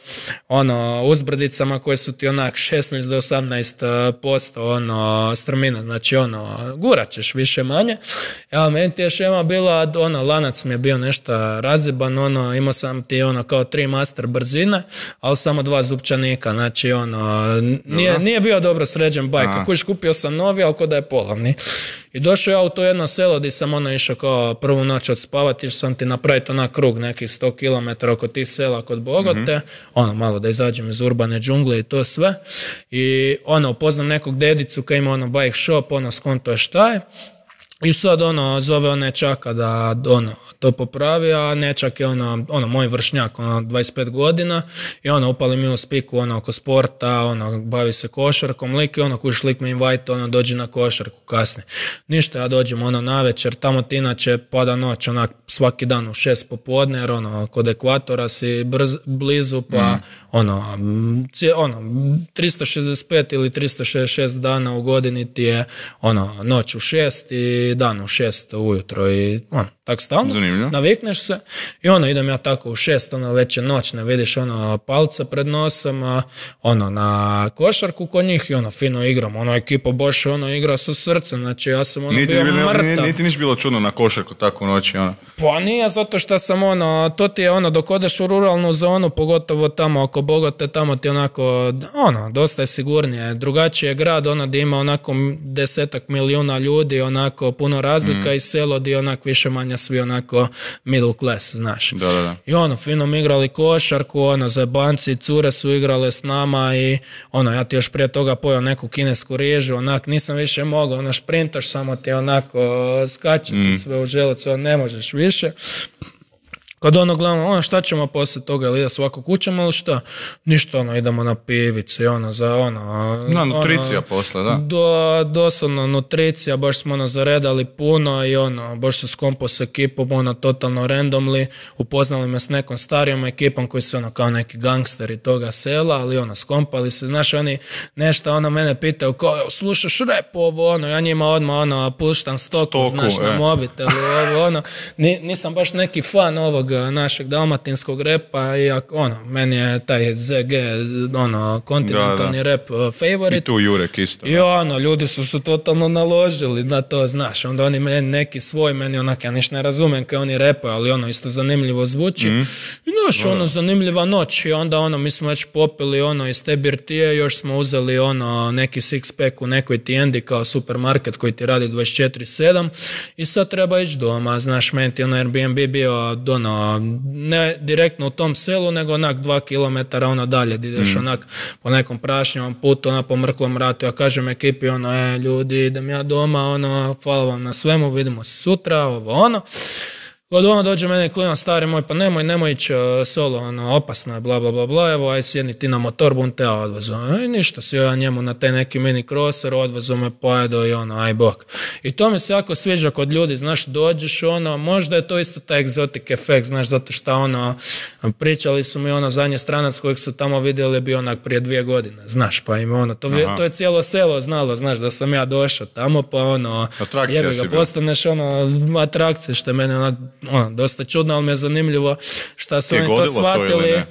ono, uzbrdicama koje su ti onak šesnaest do osamnaest posto, ono, strmina, znači, ono, gurat ćeš više manje, ali meni ti je šema bila, ono, lanac mi je bio nešto raziban, ono, ima sam ti ono kao tri master brzine, ali samo dva zupčanika, znači ono, nije, nije bio dobro sređen bajk, kako iš kupio sam novi, ali ko da je polovni. I došao ja u to jedno selo gdje sam ono išao kao prvu noć odspavati, išao sam ti napraviti onak krug nekih sto kilometara oko tih sela kod Bogote, mm-hmm. ono malo da izađem iz urbane džungle i to sve. I ono, upoznam nekog dedicu koji ima ono bike shop, ono skonto je šta je. I sad ono, zove on nečaka da ono, to popravi, a nečak je ono, ono moj vršnjak, ono, dvadeset pet godina i ono, upali mi u spiku ono, oko sporta, ono, bavi se košarkom, lik i ono, kuš lik me invite, ono, dođi na košarku kasnije. Ništa, ja dođem ono na večer, tamo ti inače pada noć, onak, svaki dan u šest popodne, jer ono, kod ekvatora si brz, blizu, pa mm. ono, cije, ono, tristo šezdeset pet ili tristo šezdeset šest dana u godini ti je, ono, noć u šest i dan u šest ujutro i ono, tak stalno, zanimljivo. Navikneš se i ono, idem ja tako u šest, ono, već je noć, ne vidiš ono, palca pred nosom, a, ono, na košarku kod njih i ono, fino igram, ono, ekipa baš ono, igra sa srcem, znači ja sam ono, niti bio bilo, mrtav. Niti niš bilo čudno na košarku tako u noći, ono. Pa nije, zato što sam ono, to ti je ono, dok odeš u ruralnu zonu, pogotovo tamo oko Bogote, tamo ti onako, ono, dosta je sigurnije, drugačiji je grad, ono, gdje ima onako desetak milijuna ljudi, onako, puno razlika mm. i selo gdje onak više manje svi onako middle class, znaš. Da, da, da. I ono, fino mi igrali košarku, ono, zajebanci, cure su igrale s nama i ono, ja ti još prije toga pojao neku kinesku rižu, onak, nisam više mogao, ono, šprintaš, samo ti onako skače mm. sve u želucu, ono, ne možeš više. Kad ono gledamo, ono, šta ćemo poslije toga, ili da svako kućamo ili šta? Ništa, ono, idemo na pivice, ono, za ono... Na, nutricija ono, posle, da. Do, doslovno, nutricija, baš smo, ono, zaredali puno i, ono, baš su skompo s ekipom, ono, totalno randomly, upoznali me s nekom starijom ekipom koji su, ono, kao neki gangsteri toga sela, ali, ono, skompali se, znaš, oni nešto, ono, mene pitaju, kao, slušaš rap ovo, ono, ja njima odmah, ono, puštam stoku, stoku znaš, e. na mobitelu, ovo, ono, Ni, nisam baš neki fan ovog našeg dalmatinskog repa i ono, meni je taj Z G, ono, kontinentalni da, da. rap uh, favorite. I tu Jurek isto. I ono, ljudi su se totalno naložili na to, znaš, onda oni meni neki svoj, meni onak, ja niš ne razumijem kao oni repaju, ali ono, isto zanimljivo zvuči. Mm. I znaš, ono, zanimljiva noć i onda ono, mi smo već popili ono iz te birtije, još smo uzeli ono, neki six pack u nekoj tijendi kao supermarket koji ti radi dvadeset četiri sedam i sad treba ići doma, znaš, meni ti ono Airbnb bio ono, ne direktno u tom selu, nego onak dva kilometara ono dalje, gdje ideš mm. onak po nekom prašnjavom putu, ono po mrklom ratu, ja kažem ekipi, ono, e, ljudi, idem ja doma, ono, hvala vam na svemu, vidimo se sutra, ovo, ono. Od ono dođe meni klinac, stari moj, pa nemoj, nemoj ići solo, ono, opasno je, bla, bla, bla, bla, evo, aj sjedni ti na motor, bum te ja odvezu. I ništa, si ja njemu na taj neki mini crosser, odvezu me pojedo i ono, aj bok. I to mi se jako sviđa kod ljudi, znaš, dođeš, ono, možda je to isto taj egzotik efekt, znaš, zato što, ono, pričali su mi, ono, zadnji stranac kojeg su tamo vidjeli bio onak prije dvije godine, znaš, pa im, ono, to, to je cijelo selo znalo, znaš, da sam ja došao tamo, pa, ono, jebi ga, postaneš, ono, atrakcije, što je meni, onak, ono, dosta čudno, ali mi je zanimljivo šta su oni to shvatili.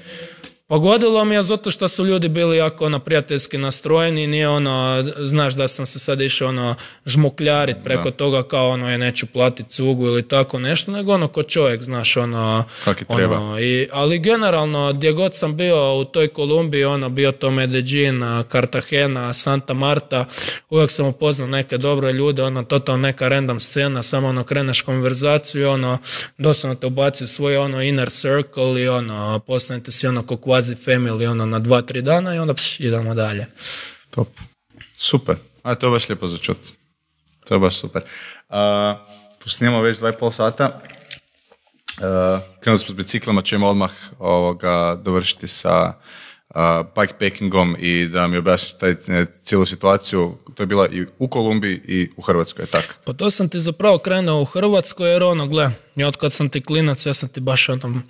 Pogodilo mi je zato što su ljudi bili jako ono, prijateljski nastrojeni, nije ono, znaš da sam se sad išao ono, žmukljarit preko da. toga kao ono, je neću platiti cugu ili tako nešto, nego ono ko čovjek, znaš, ono... Kaki treba. Ono, i, ali generalno, gdje god sam bio u toj Kolumbiji, ono, bio to Medellin, Cartagena, Santa Marta, uvijek sam upoznao neke dobre ljude, ono, totalno neka random scena, samo ono, kreneš konverzaciju i ono, doslovno te ubaci svoj ono, inner circle i ono, postanete si ono, ko family ono na dva, tri dana i onda pš, idemo dalje. Top. Super. A to je baš lijepo za čut. To je baš super. Uh, Snimamo već dva i pol sata. Uh, krenuli smo s biciklama, ćemo odmah ovoga dovršiti sa uh, bikepackingom i da mi objasniš taj, cijelu situaciju. To je bila i u Kolumbiji i u Hrvatskoj, je tako? Pa to sam ti zapravo krenuo u Hrvatskoj jer ono, gle, i od kad sam ti klinac, ja sam ti baš ono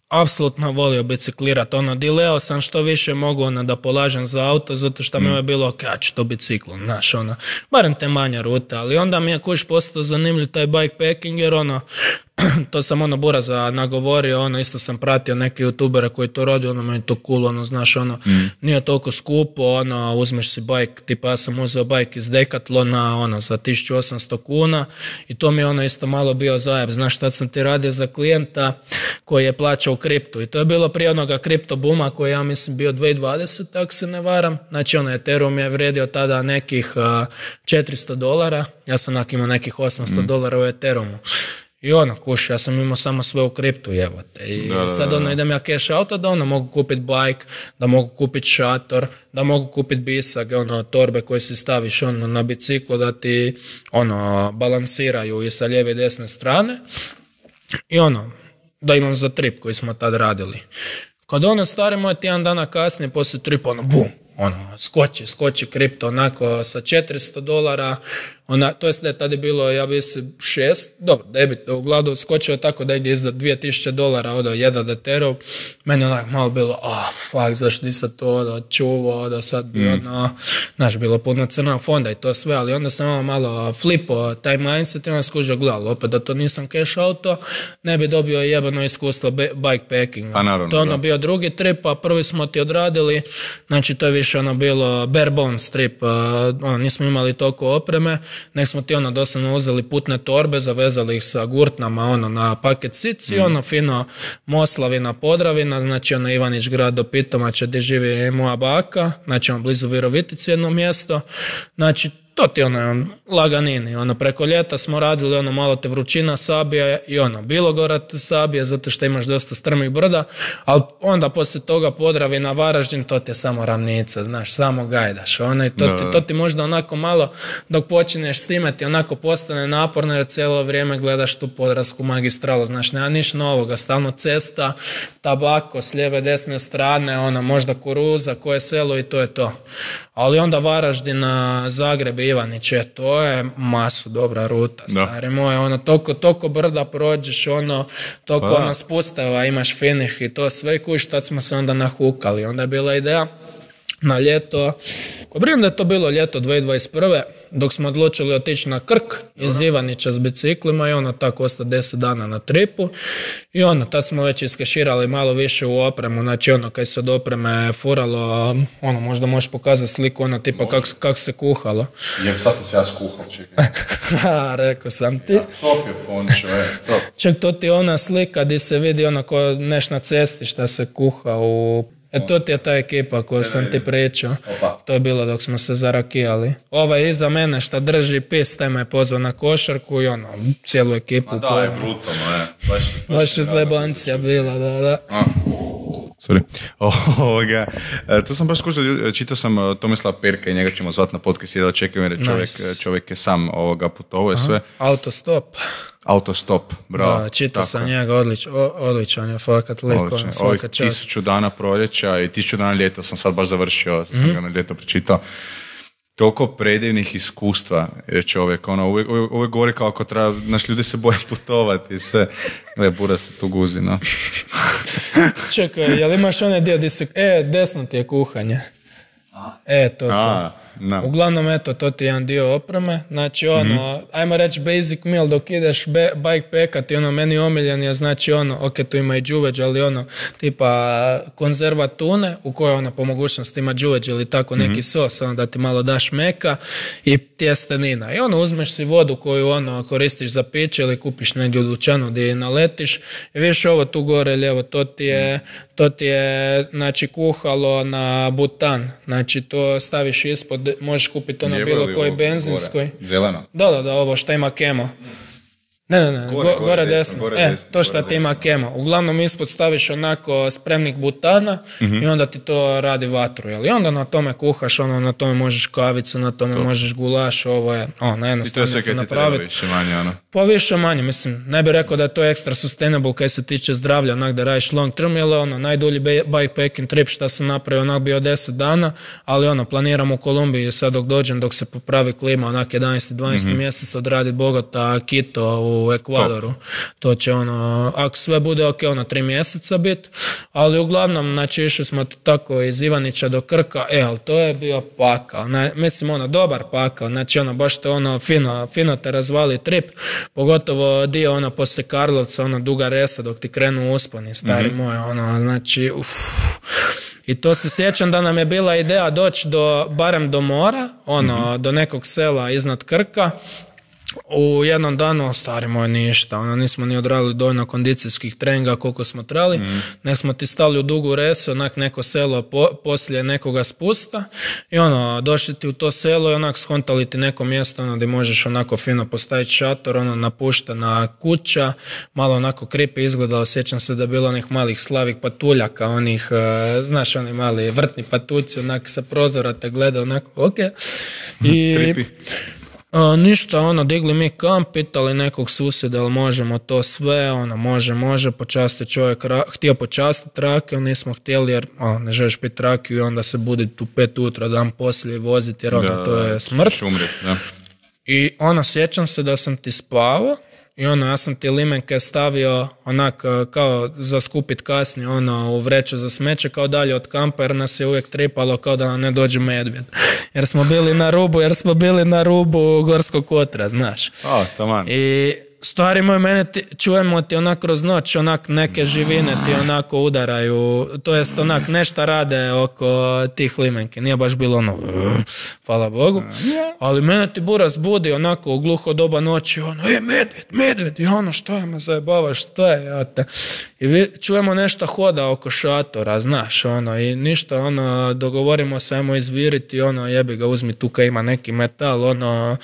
apsolutno volio biciklirati, ono, dileo sam što više mogu, ono, da polažem za auto, zato što mm. mi je bilo, ok, ja ću to biciklom, znaš, ono, barem te manja ruta, ali onda mi je kuš postao zanimljiv taj bikepacking, jer ono, to sam ono Buraza nagovorio, ono, isto sam pratio neke youtubere koji to radi, ono, meni to cool, ono, znaš, ono, mm. nije toliko skupo, ono, uzmeš si bike, tipa ja sam uzeo bike iz Decathlona, ono, za tisuću osamsto kuna i to mi je ono isto malo bio zajeb, znaš, tad sam ti radio za klijenta koji je plaćao kriptu i to je bilo prije onoga kripto buma koji ja mislim bio dvije tisuće dvadesete ako se ne varam, znači ono, Ethereum je vrijedio tada nekih uh, četiristo dolara, ja sam onak imao nekih osamsto mm. dolara u Ethereumu. I ono, kuš, ja sam imao samo sve u kriptu, jebote. I da, sad ono, idem ja cash auto da ono, mogu kupiti bike, da mogu kupiti šator, da mogu kupiti bisag, ono, torbe koje si staviš ono, na biciklu da ti ono, balansiraju i sa lijeve i desne strane. I ono, da imam za trip koji smo tad radili. Kad ono, stari moj, tjedan dana kasnije, poslije tripa, ono, bum, ono, skoči, skoči kripto, onako, sa četiristo dolara, ona, to jest da je tada bilo, ja bi se šest, dobro, debit, u gladu skočio tako da je iza dvije tisuće dolara odo jedan Ethereum, meni onak malo bilo, ah, oh, fuck, zašto nisam to odo čuvao, da sad bi mm. ono, znaš, bilo puno crnog fonda i to sve, ali onda sam malo, malo flipo taj mindset i onda skužio, gledalo, opet da to nisam cash auto, ne bi dobio jebano iskustvo bikepacking. Pa naravno, to ono bio drugi trip, a prvi smo ti odradili, znači to je više ono bilo bare bones trip, uh, ono, nismo imali toliko opreme, nek smo ti ono doslovno uzeli putne torbe, zavezali ih sa gurtnama ono na paket sici, mm. ono fino Moslavina, Podravina, znači ono Ivanić grad do Pitomača gdje živi moja baka, znači ono blizu Virovitici jedno mjesto, znači to ti ono laganini, ono preko ljeta smo radili ono malo te vrućina sabija i ono Bilogorad sabija zato što imaš dosta strmih brda, ali onda poslije toga Podravina, Varaždin, to ti je samo ravnica, znaš, samo gajdaš, ono i to, no. ti, to ti možda onako malo dok počinješ s time ti onako postane naporno jer cijelo vrijeme gledaš tu podravsku magistralu, znaš, nema niš novoga, stalno cesta, tabako s lijeve desne strane, ono možda kuruza, koje selo i to je to. Ali onda Varaždin, Zagreb, Ivaniće, to je masu dobra ruta, stari moj, ono, toliko, toliko brda prođeš, ono, toliko pa. ono spustava, imaš finish i to sve kuš, tad smo se onda nahukali, onda je bila ideja na ljeto, ko brijem da je to bilo ljeto dvije tisuće dvadeset prve dok smo odlučili otići na Krk iz Ivanića s biciklima i ono tako ostati deset dana na tripu i ono, tad smo već iskeširali malo više u opremu, znači ono, kaj se od opreme furalo, ono, možda možeš pokazati sliku, ono, tipa kako kak se kuhalo. Jem, sad se ja skuhal, čekaj. Ha, rekao sam ti. Ja, top je pončo, je, top. Ček, to ti ona slika gdje se vidi ono ko neš na cesti šta se kuha u... E to ti je ta ekipa koju sam ti pričao. To je bilo dok smo se zarakijali. Ovaj iza mene šta drži pis, taj me je pozvao na košarku i ono, cijelu ekipu. Ma da, je brutalno, je. Baš, baš je zajebancija bila, da, da. A, Sorry. Ovoga, to sam baš skužio, čitao sam Tomislava Perka i njega ćemo zvati na podcast i da očekujem jer čovjek, nice. čovjek je sam ovoga putovao i sve. Autostop. Autostop, bravo. Da, čitao sam njega, odlič, odličan je, fakat liko, svaka čast. Tisuću dana proljeća i tisuću dana ljeta sam sad baš završio, sam mm-hmm. ga na ljeto pročitao. Toliko predivnih iskustva je čovjek, ono, uvijek, uvijek, uvijek govori kao ako treba, naš ljudi se boje putovati i sve. Ne, bura se tu guzi, no. Čekaj, jel imaš onaj dio gdje se, e, desno ti je kuhanje. E, to, to. A, no. Uglavnom, eto, to ti je jedan dio opreme. Znači, ono, mm-hmm. ajmo reći basic meal dok ideš be, bikepackati, ono, meni omiljen je, znači, ono, ok, tu ima i džuveđ, ali ono, tipa konzerva tune, u kojoj, ono, po mogućnosti ima džuveđ ili tako neki mm-hmm. sos, ono, da ti malo daš meka i tjestenina. I ono, uzmeš si vodu koju, ono, koristiš za piće ili kupiš negdje u dućanu gdje je naletiš i viš ovo tu gore lijevo, to ti je, to ti je, znači, kuhalo na butan. Znači, to staviš ispod, možeš kupiti ono bilo koji benzinskoj. Zeleno? Da, da, da, ovo što ima kemo. Ne, ne, ne, gore, gore, gore desno. Gore e, desno, to što ti ima kemo. Uglavnom ispod staviš onako spremnik butana mm-hmm. i onda ti to radi vatru. Jel? I onda na tome kuhaš, ono, na tome možeš kavicu, na tome to. možeš gulaš, ovo je, o, najjednostavnije se napraviti. I to je sve kaj ti treba više manje, ono? Pa više manje, mislim, ne bih rekao da je to ekstra sustainable kaj se tiče zdravlja, onak da radiš long term, jer ono, najdulji bikepacking trip šta sam napravio, onak bio deset dana, ali ono, planiram u Kolumbiji sad dok dođem, dok se popravi klima, onak jedanaesti dvanaesti mm-hmm. mjesec odraditi Bogota, Quito u Ekvadoru. Top. To će ono, ako sve bude ok, ono tri mjeseca bit, ali uglavnom, znači išli smo tako iz Ivanića do Krka, e, ali to je bio pakao, ne, mislim ono, dobar pakao, znači ono, baš to ono, fino, fino te razvali trip, pogotovo dio ono, poslije Karlovca, ono, duga resa dok ti krenu usponi, stari mm-hmm. moj, ono, znači, uff. I to se sjećam da nam je bila ideja doći do, barem do mora, ono, mm-hmm. do nekog sela iznad Krka. U jednom danu, stari moj, ništa, ono, nismo ni odradili dovoljno kondicijskih treninga koliko smo trebali, mm. nek smo ti stali u dugu resu, onak neko selo po, poslije nekoga spusta i ono, došli ti u to selo i onak skontali ti neko mjesto, ono, gdje možeš onako fino postaviti šator, ono, napuštena kuća, malo onako kripi izgledalo, sjećam se da je bilo onih malih slavih patuljaka, onih, uh, znaš, oni mali vrtni patuci, onak sa prozora te gleda, onako, ok. I... Tripi. Uh, ništa, ono, digli mi kamp, pitali nekog susjeda, ali možemo to sve, ono, može, može, počasti čovjek, ra- htio počastiti rakiju, nismo htjeli jer, o, ne želiš piti rakiju i onda se buditi u pet utra, dan poslije voziti, jer onda to je smrt. Umret, da. I ono, sjećam se da sam ti spavao i ono, ja sam ti limenke stavio onak kao za skupit kasnije, ono, u vreću za smeće, kao dalje od kampa, jer nas je uvijek tripalo kao da nam ne dođe medvjed. Jer smo bili na rubu, jer smo bili na rubu Gorskog kotra, znaš. O, taman. I stvari moj, mene ti, čujemo ti onak kroz noć, onak neke živine ti onako udaraju, to jest onak nešto rade oko tih limenke. Nije baš bilo ono, hvala Bogu, ali mene ti bura zbudi onako u gluho doba noći, ono, e, medved, medved, i ono, što je me zajebavaš, što je, ja te. I vi, čujemo nešto hoda oko šatora, znaš, ono, i ništa, ono, dogovorimo se, ajmo izviriti, ono, jebi ga, uzmi tu kaj ima neki metal, ono,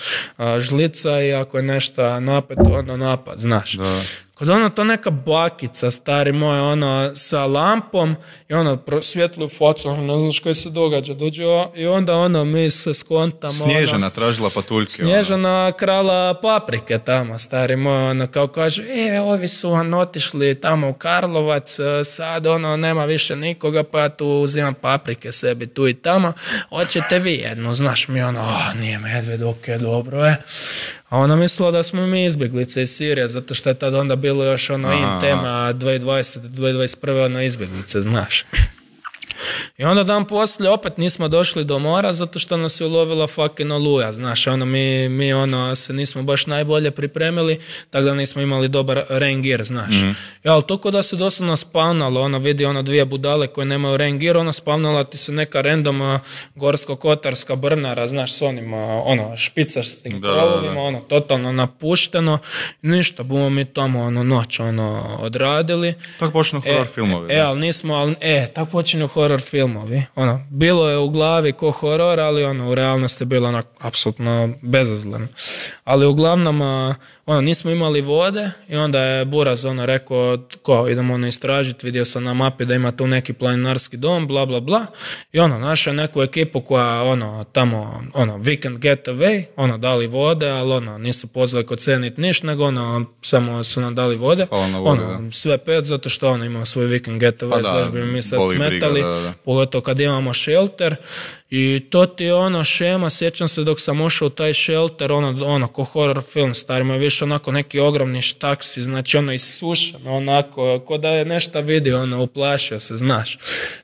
žlica i ako je nešto napet, ono, napad, znaš. Da. Kod ono to neka bakica, stari moj, ono, sa lampom i ono, prosvjetluju facu, ono, ne znaš kaj se događa, dođe i onda ono, mi se skontamo. Snježana ono, tražila patuljke. Snježana ono. Krala paprike tamo, stari moj, ono, kao kaže, e, ovi su ono, otišli tamo u Karlovac, sad, ono, nema više nikoga, pa ja tu uzimam paprike sebi tu i tamo, hoćete vi jedno, znaš, mi ono, a, nije medved, ok, dobro je. A ona mislila da smo mi izbjeglice iz Sirije, zato što je tad onda bilo još ono in tema dvije tisuće dvadesete do dvije tisuće dvadeset prve ono izbjeglice, znaš. I onda dan poslije opet nismo došli do mora zato što nas je ulovila fucking oluja, znaš, ono mi, mi ono se nismo baš najbolje pripremili, tako da nismo imali dobar rain gear, znaš. Mm-hmm. Ja, ali to da se doslovno spavnalo, ono vidi ono dvije budale koje nemaju rain gear, ono spavnala ti se neka random gorsko-kotarska brnara, znaš, s onim ono špicarstim krovovima, ono totalno napušteno, ništa, bumo mi tamo ono noć ono odradili. Tako počinu horror e, filmovi. E, ali nismo, ali, e, tako počinju horror filmovi. filmovi. Ono, bilo je u glavi ko horor, ali ono, u realnosti je bilo ono, apsolutno bezazleno. Ali uglavnom, ono, nismo imali vode i onda je Buraz ono rekao, ko, idemo ono istražiti, vidio sam na mapi da ima tu neki planinarski dom, bla, bla, bla. I ono, našao neku ekipu koja, ono, tamo, ono, weekend getaway, ono, dali vode, ali ono, nisu pozvali kod cenit niš, nego ono, samo su nam dali vode. vode ono, sve pet, zato što ono, imamo svoj weekend getaway, pa zašto bi mi sad smetali, briga, da, da. pogotovo kad imamo shelter. I to ti je ono šema, sjećam se dok sam ušao u taj shelter, ono, ono ko horror film, starima je više onako neki ogromni štaksi, znači ono isušen, onako, ko da je nešto vidio, ono, uplašio se, znaš.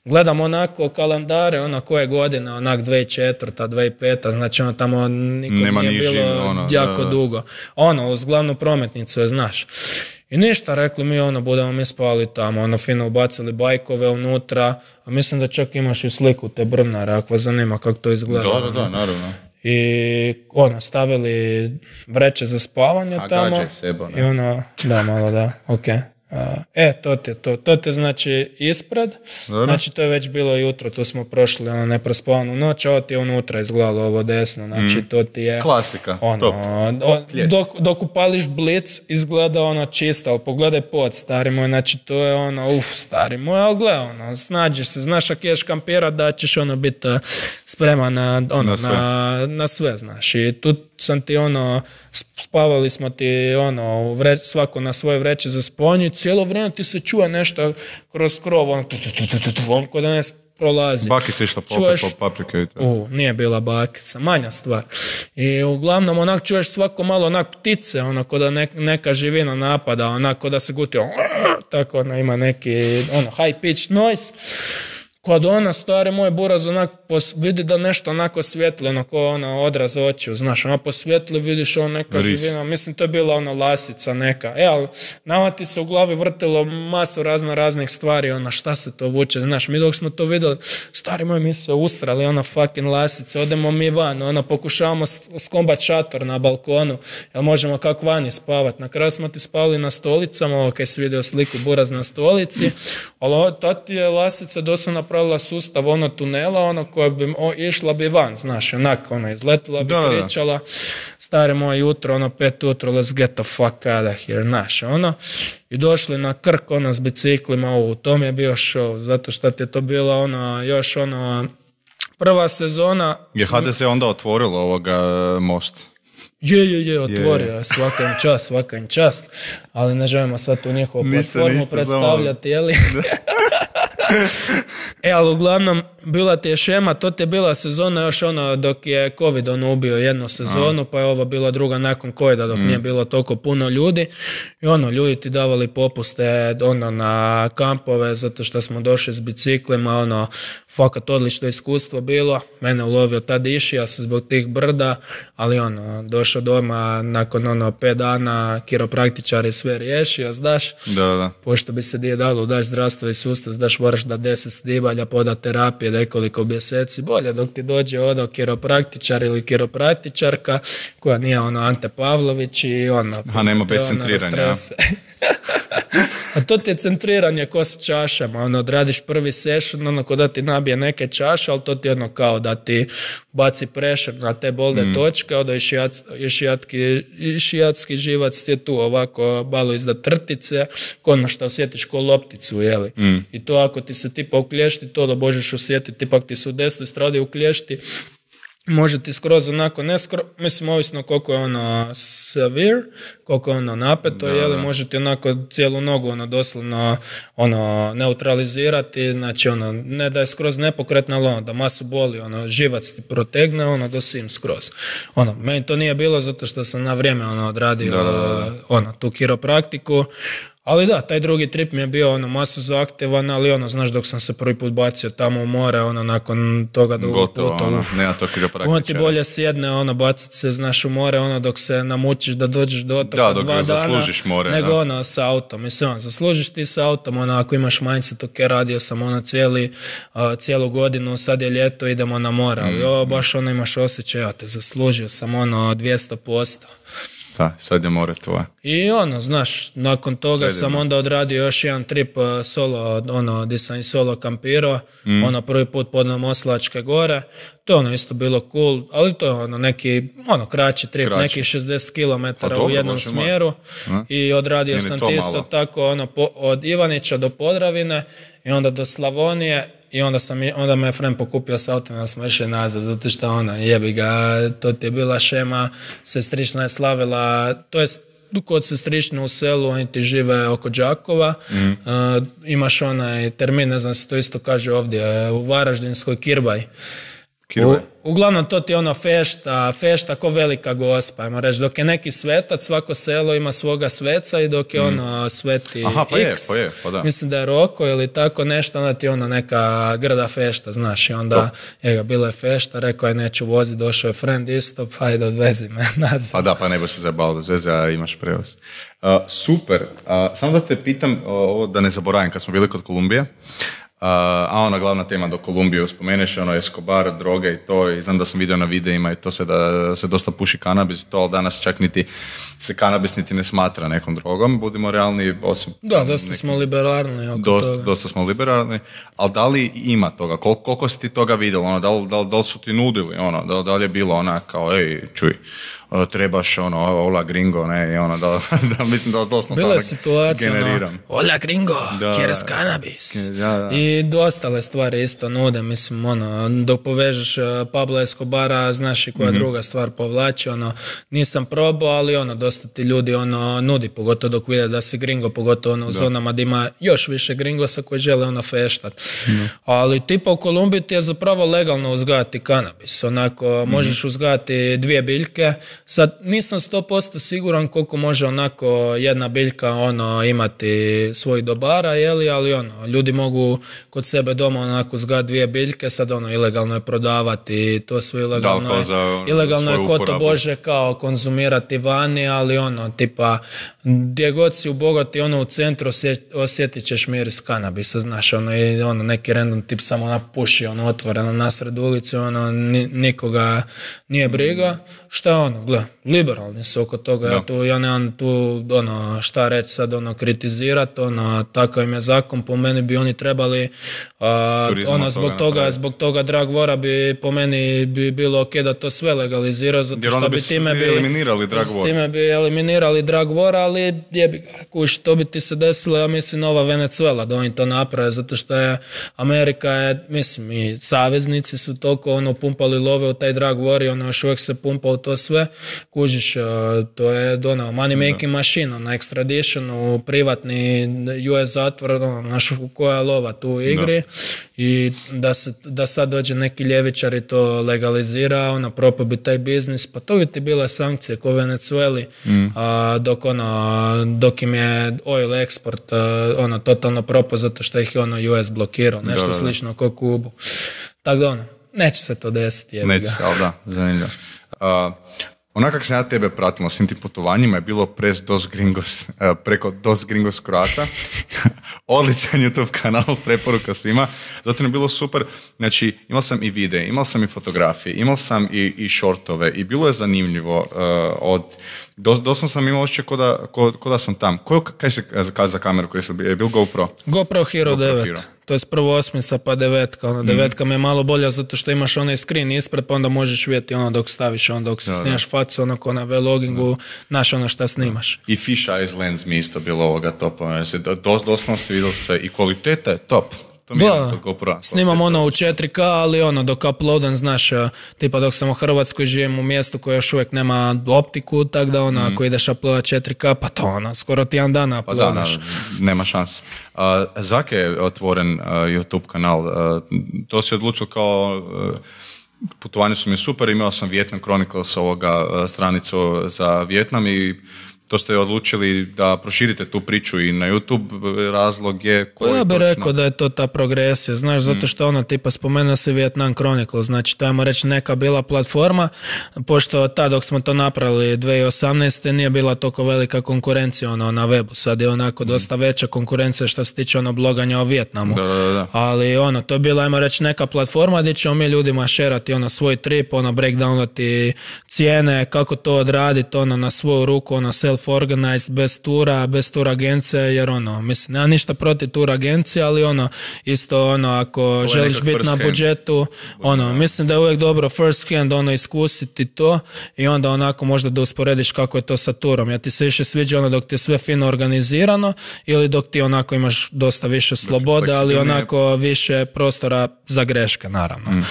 Gledam onako kalendare, ono, koje godine, onak dvije tisuće četvrta, dvije tisuće peta, znači ono tamo nikom Nema nije niži, bilo ono, jako da, da. dugo. Ono, uz glavnu prometnicu je, znaš. I ništa, rekli mi, ono, budemo mi spali tamo, ono, fino ubacili bajkove unutra, a mislim da čak imaš i sliku te brvnare, ako vas zanima kako to izgleda. Da, da, da, naravno. I, ono, stavili vreće za spavanje a tamo. Sebo, I ono, da, malo da, ok. E, to te, to, to te znači ispred, Dobro. Znači to je već bilo jutro, tu smo prošli ono, neprospavanu noć, a ovo ti je unutra izgledalo ovo desno, znači mm. to ti je... Klasika, ono, top. O, dok, dok upališ blic, izgleda ono čisto, ali pogledaj pod, stari moj, znači to je ono, uf, stari moj, ali gledaj, ono, snađiš se, znaš ako ješ kampirat da ćeš ono biti spreman na, ono, na, sve. Na, na sve, znaš, i tu sam ti ono, spavali smo ti ono, vreć, svako na svoje vreće za spavanje, cijelo vrijeme ti se čuje nešto kroz krov, on, on kod da ne prolazi. Bakica išla čuješ, po paprike i to. U, nije bila bakica, manja stvar. I uglavnom onak čuješ svako malo onak ptice, onako da ne, neka živina napada, onako da se guti, on, tako ona ima neki ono, high pitch noise. Kad ona, stari moj Buraz, onak pos, vidi da nešto onako svijetli, onako ona odraz očiju, znaš, ona posvijetli, vidiš ono neka Ris. živina, mislim to je bila ona lasica neka, e, ali nama ti se u glavi vrtilo masu razno raznih stvari, ona šta se to vuče, znaš, mi dok smo to vidjeli, stari moj, mi se usrali, ona fucking lasica, odemo mi van, ona pokušavamo skombat šator na balkonu, jel možemo kako vani spavat, na kraju smo ti spali na stolicama, ovo kaj si vidio sliku Buraz na stolici, ali ta ti je lasica doslovno napravila sustav ono tunela, ono koja bi o, išla bi van, znaš, onako, ono, izletila bi, da, kričala, stare moje jutro, ono, pet jutro, let's get the fuck out of here, znaš, ono, i došli na Krk, ono, s biciklima, u tom je bio show, zato što ti je to bila, ono, još, ono, prva sezona. Je ha de se onda otvorilo ovoga most? Je, je, je, otvorio je, svaka im čast, svaka im čast, ali ne želimo sad tu njihovu platformu ništa, predstavljati, jeli? E, ali uglavnom, bila ti je šema, to ti je bila sezona još ono dok je COVID ono ubio jednu sezonu, A. pa je ovo bila druga nakon covida dok mm. nije bilo toliko puno ljudi i ono, ljudi ti davali popuste ono na kampove zato što smo došli s biciklima, ono, fakat odlično iskustvo bilo, mene ulovio tad išija se zbog tih brda, ali ono, došao doma nakon ono pet dana, kiropraktičar je sve riješio, znaš, da, da. Pošto bi se nije dalo, daš zdravstveni sustav, znaš, moraš da deset snimalja, poda terapije nekoliko mjeseci, bolje dok ti dođe ono kiropraktičar ili kiropraktičarka koja nije ono Ante Pavlović i ono... A nema bez centriranja. A to ti je centriranje ko s čašama, ono, odradiš prvi session, ono, ko da ti nabije neke čaše, ali to ti je ono kao da ti baci pressure na te bolne mm. točke, onda i šijatski živac ti je tu ovako malo iznad trtice, ono što osjetiš ko lopticu, jeli. Mm. I to ako ti se tipa uklješti, to da možeš osjetiti, ipak ti se u desnoj stradi uklješti, može ti skroz onako, ne skroz, mislim, ovisno koliko je ono severe, koliko je ono napeto, jeli, može ti onako cijelu nogu ono doslovno ono neutralizirati, znači ono, ne da je skroz nepokretno, ali ono, da masu boli, ono, živac ti protegne, ono, do sim skroz. Ono, meni to nije bilo zato što sam na vrijeme ono odradio, da, da, da. ono, tu kiropraktiku. Ali da, taj drugi trip mi je bio ono masu zaaktivan, ali ono, znaš, dok sam se prvi put bacio tamo u more, ono, nakon toga drugog puta, ono, uf, nema to kiropraktičara. On ti bolje sjedne, ono, bacit se, znaš, u more, ono, dok se namučiš da dođeš do otoka da, dok dva dana, zaslužiš more, nego da. ono, sa autom. Mislim, on, zaslužiš ti sa autom, ono, ako imaš mindset, ok, radio sam, ono, cijeli, uh, cijelu godinu, sad je ljeto, idemo na more, ali mm. ovo, baš, ono, imaš osjećaj, ja te zaslužio sam, ono, dvjesto posto. Da, sad je more tvoje. I ono, znaš, nakon toga Predivno. sam onda odradio još jedan trip uh, solo, ono, gdje sam i solo kampirao, mm. ono, prvi put podno Moslavačke gore, to je ono isto bilo cool, ali to je ono neki, ono, kraći trip, Kraći. neki šezdeset kilometara Pa dobro, u jednom Bože moj. smjeru A? i odradio Nije ni sam to ti isto malo. tako, ono, po, od Ivanića do Podravine i onda do Slavonije. I onda, sam, onda me je friend pokupio s autom, da smo išli nazad, zato što ona, jebi ga, to ti je bila šema, sestrična je slavila, to je kod sestrične u selu, oni ti žive oko Đakova, mm. uh, imaš onaj termin, ne znam se to isto kaže ovdje, u Varaždinskoj Kirbaj. U, uglavnom to ti je ono fešta, fešta ko velika gospa, ajmo reći, dok je neki svetac, svako selo ima svoga sveca i dok je mm. ono sveti Aha, pa X, je, pa je, pa da. mislim da je Roko ili tako nešto, onda ti je ono neka grda fešta, znaš, i onda je ga bilo je fešta, rekao je neću voziti, došao je friend isto, pa ajde odvezi me nazad. Pa da, pa ne bi se zabavio bez veze, a imaš prevoz. Uh, super, uh, samo da te pitam, uh, ovo da ne zaboravim, kad smo bili kod Kolumbije, Uh, a ona glavna tema do Kolumbije spomeneš, ono Escobar, droge i to, i znam da sam vidio na videima i to sve da se dosta puši kanabis i to, ali danas čak niti se kanabis niti ne smatra nekom drogom, budimo realni, osim... Da, dosta neki, smo liberalni oko dosta, toga. Dosta smo liberalni, ali da li ima toga, Kol, koliko si ti toga vidjeli, ono, da, li, da, li, da li su ti nudili, ono, da, da li je bilo ona kao, ej, čuj, trebaš ono, hola gringo, ne, i ono, da, da mislim da doslovno bila je situacija, generiram. Ono, hola gringo, da, kjeres kanabis. Da, da. I dostale stvari isto nude, mislim, ono, dok povežeš Pablo Escobara, znaš i koja mm-hmm. druga stvar povlači, ono, nisam probao, ali ono, dosta ti ljudi, ono, nudi, pogotovo dok vide da si gringo, pogotovo ono, u da. zonama gdje ima još više gringosa koji žele, ono, feštat. Mm-hmm. Ali tipa u Kolumbiji ti je zapravo legalno uzgajati kanabis, onako, mm-hmm. možeš uzgajati dvije biljke. Sad nisam sto posto siguran koliko može onako jedna biljka ono imati svojih dobara, jeli, ali ono, ljudi mogu kod sebe doma onako uzgajati dvije biljke, sad ono, ilegalno je prodavati, to sve ilegalno je, za, ilegalno je ko to Bože kao konzumirati vani, ali ono, tipa, gdje god si u Bogoti, ono, u centru osjetit ćeš miris kanabisa, znaš, ono, i ono, neki random tip samo napuši, ono, otvoreno nasred ulice, ono, nikoga nije briga, šta je ono, gle, liberalni su oko toga, ja, tu, ja nemam tu ono, šta reći sad, ono, kritizirati, ono, takav im je zakon, po meni bi oni trebali, a, ono, zbog toga, toga zbog toga Drag Vora bi po meni bi bilo ok da to sve legalizira, zato što bi time bi eliminirali Drag Vora. Time bi eliminirali Drag Vora, ali jebi ga, kuš, to bi ti se desilo, ja mislim, nova Venezuela, da oni to naprave, zato što je Amerika je, mislim, i saveznici su toliko, ono, pumpali love u taj Drag War i ono, još uvijek se pumpa u to sve, kužiš, to je ono, money making machine, na extraditionu, privatni U S zatvor, ono, naš koja lova tu u igri, da. I da, se, da sad dođe neki ljevičar i to legalizira, ono, propao bi taj biznis, pa to bi ti bile sankcije ko u Venezueli, mm. a, dok, ono, dok im je oil export a, ono, totalno propao zato što ih je ono, U S blokirao, nešto da, da, da. slično kao Kubu. Tako da, ono, neće se to desiti. Neće, ali da, zanimljivo. Uh, Onako kako sam ja tebe pratila s tim putovanjima je bilo pres Dos Gringos, preko Dos Gringos Croata. Odličan YouTube kanal, preporuka svima. Zato je bilo super. Znači, imao sam i videe, imao sam i fotografije, imao sam i, i shortove i bilo je zanimljivo. Uh, od, dos, doslovno sam imao ošće ko da, ko, ko da sam tam. Ko, kaj se kaza za kameru koji sam, je bil GoPro? GoPro Hero GoPro devet. Hero. To je prvo osmica pa devetka. Ono, devetka mm. mi je malo bolja zato što imaš onaj screen ispred, pa onda možeš vidjeti ono dok staviš, ono dok se da, snimaš da. facu, ono ko na vlogingu, znaš ono šta snimaš. I fish eyes lens mi isto bilo ovoga topa. Dos, doslovno se vidio sve i kvaliteta je top. To mi je ono GoPro. Snimam ono u četiri K, ali ono dok uploadam, znaš, tipa dok sam u Hrvatskoj živim u mjestu koje još uvijek nema optiku, tako da ono, mm. ako ideš uploadat četiri K, pa to ono, skoro ti jedan dan uploadaš. Pa da, no, nema šanse. Uh, Zake je otvoren uh, YouTube kanal, uh, to si odlučio kao... Uh, putovanje su mi super, imao sam Vietnam Chronicles ovoga uh, stranicu za Vietnam i To ste odlučili da proširite tu priču i na YouTube, razlog je koji Ja bih točno? rekao da je to ta progresija, znaš, zato što ono, tipa, spomenuo se Vietnam Chronicle, znači, to ajmo reći neka bila platforma, pošto tad dok smo to napravili dvije tisuće osamnaeste nije bila toliko velika konkurencija ono, na webu, sad je onako dosta veća konkurencija što se tiče ono bloganja o Vijetnamu, Da, da, da. ali ono, to je bila, ajmo reći, neka platforma gdje ćemo mi ljudima šerati ono svoj trip, ono breakdownati cijene, kako to odraditi, ono na svoju ruku, ono self-organized, bez tura, bez tur agencije, jer ono, mislim, nema ništa protiv tur agencije, ali ono, isto ono, ako želiš biti na budžetu, ono, mislim da je uvijek dobro first hand, ono, iskusiti to i onda onako možda da usporediš kako je to sa turom. Ja ti se više sviđa ono dok ti je sve fino organizirano ili dok ti onako imaš dosta više slobode, ali onako više prostora za greške, naravno. Mm.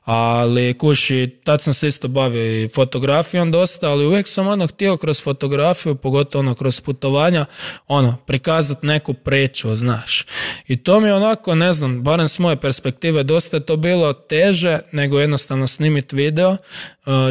Ali kuši, tad sam se isto bavio i fotografijom dosta, ali uvijek sam ono htio kroz fotografiju, pogotovo ono kroz putovanja, ono, prikazati neku priču, znaš. I to mi je onako, ne znam, barem s moje perspektive, dosta je to bilo teže nego jednostavno snimiti video,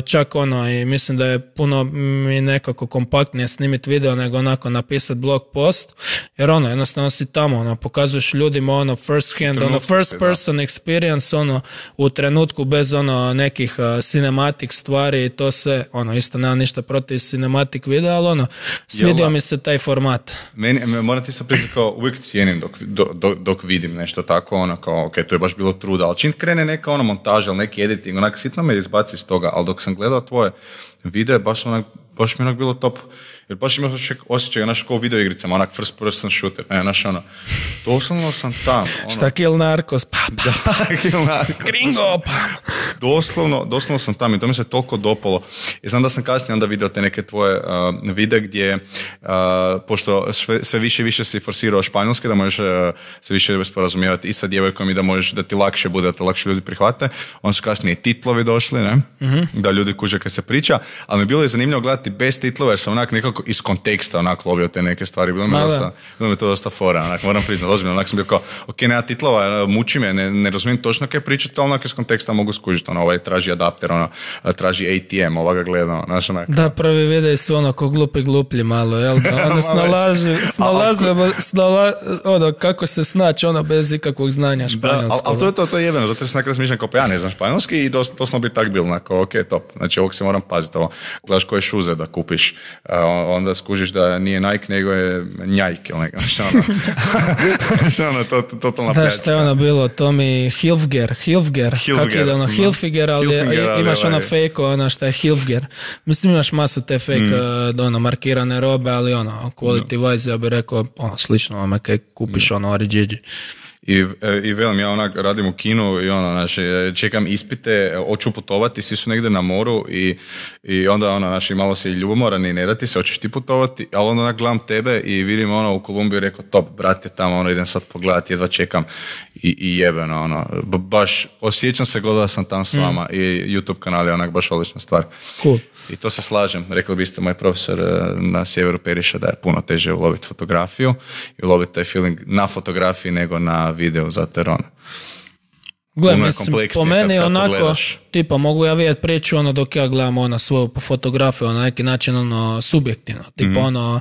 čak ono, i mislim da je puno mi nekako kompaktnije snimiti video nego onako napisati blog post, jer ono, jednostavno si tamo, ono, pokazuješ ljudima ono first hand, ono first person experience, ono, u trenutku bez ono nekih uh, cinematic stvari i to se, ono, isto nema ništa protiv cinematic videa, ali ono, svidio mi se taj format. Meni, moram ti sad priznati kao uvijek cijenim dok, dok, dok vidim nešto tako, ono kao, ok, to je baš bilo truda, ali čim krene neka ono montaža ili neki editing, onak sitno me izbaci iz toga, ali dok sam gledao tvoje videe, baš, onak, baš mi onak bilo top. Jer baš imao osjećaj, naš kao u videoigricama, onak first person shooter, ne, naš ono, doslovno sam tam. Ono, šta kill narkos, pa, pa, da, kill narkos. Gringo, pa. Doslovno, doslovno sam tam i to mi se toliko dopalo. I znam da sam kasnije onda vidio te neke tvoje uh, videe gdje, uh, pošto sve, sve više i više si forsirao španjolski, da možeš uh, se više sporazumijevati i sa djevojkom i da možeš, da ti lakše bude, da te lakše ljudi prihvate. Onda su kasnije i titlovi došli, ne? Mm-hmm. Da ljudi kuže kad se priča, ali mi bilo je zanimljivo gledati bez titlova jer sam onak nekako iz konteksta onak lovio te neke stvari. Bilo mi, dosta, bilo mi to dosta fora, onak, moram priznati, ozbiljno, onak sam bio kao, ok, nema titlova, muči me, ne, ne razumijem točno kaj pričati, ali onak iz konteksta mogu skužiti, ono, ovaj traži adapter, ono, traži A T M, ovoga gleda, znaš, onak. Da, prvi videi su ono ko glupi gluplji malo, jel da, ono snalaže, snalaže, snala, ono, kako se snaći, ono, bez ikakvog znanja španjolskog. Ali to je to, to je jebeno, zato jer sam nekada smišljam kao, pa ja ne znam španjolski i doslovno bi tak bilo, onako, ok, top, znači ovog se moram paziti, ovo, gledaš koje šuze da kupiš, onda skužiš da nije Nike, nego je njajk, ili neka, što ono, što ono, to, to, totalna pljačka. Da, što je ono bilo, Tommy Hilfiger, Hilfiger, Hilfiger, kak ide ono, Hilfiger, ali Hilfiger, ali imaš ovaj... ono fake, ono što je Hilfiger. Mislim, imaš masu te fake, mm. ono, markirane robe, ali ono, quality wise, ja bih rekao, ono, slično ono, kaj kupiš, ono, Origigi. I, i velim, ja onak radim u kinu i ono, znači, čekam ispite, hoću putovati, svi su negdje na moru i, i onda ono, znači, malo si ljubomoran i ne da ti se, hoćeš ti putovati, ali onda onak gledam tebe i vidim ono u Kolumbiju, rekao, top, brate, tamo, ono, idem sad pogledati, jedva čekam i, i jebeno, ono, baš, osjećam se god da sam tam s vama mm. i YouTube kanal je onak baš odlična stvar. Cool. I to se slažem, rekli biste moj profesor na sjeveru Periša da je puno teže uloviti fotografiju i uloviti taj feeling na fotografiji nego na videu, zato jer ono. Gle, mislim, po meni kad, onako, pogledaš. Tipa, mogu ja vidjeti priču ono dok ja gledam ono svoju fotografiju, na neki način ono subjektivno, tipa mm-hmm. ono,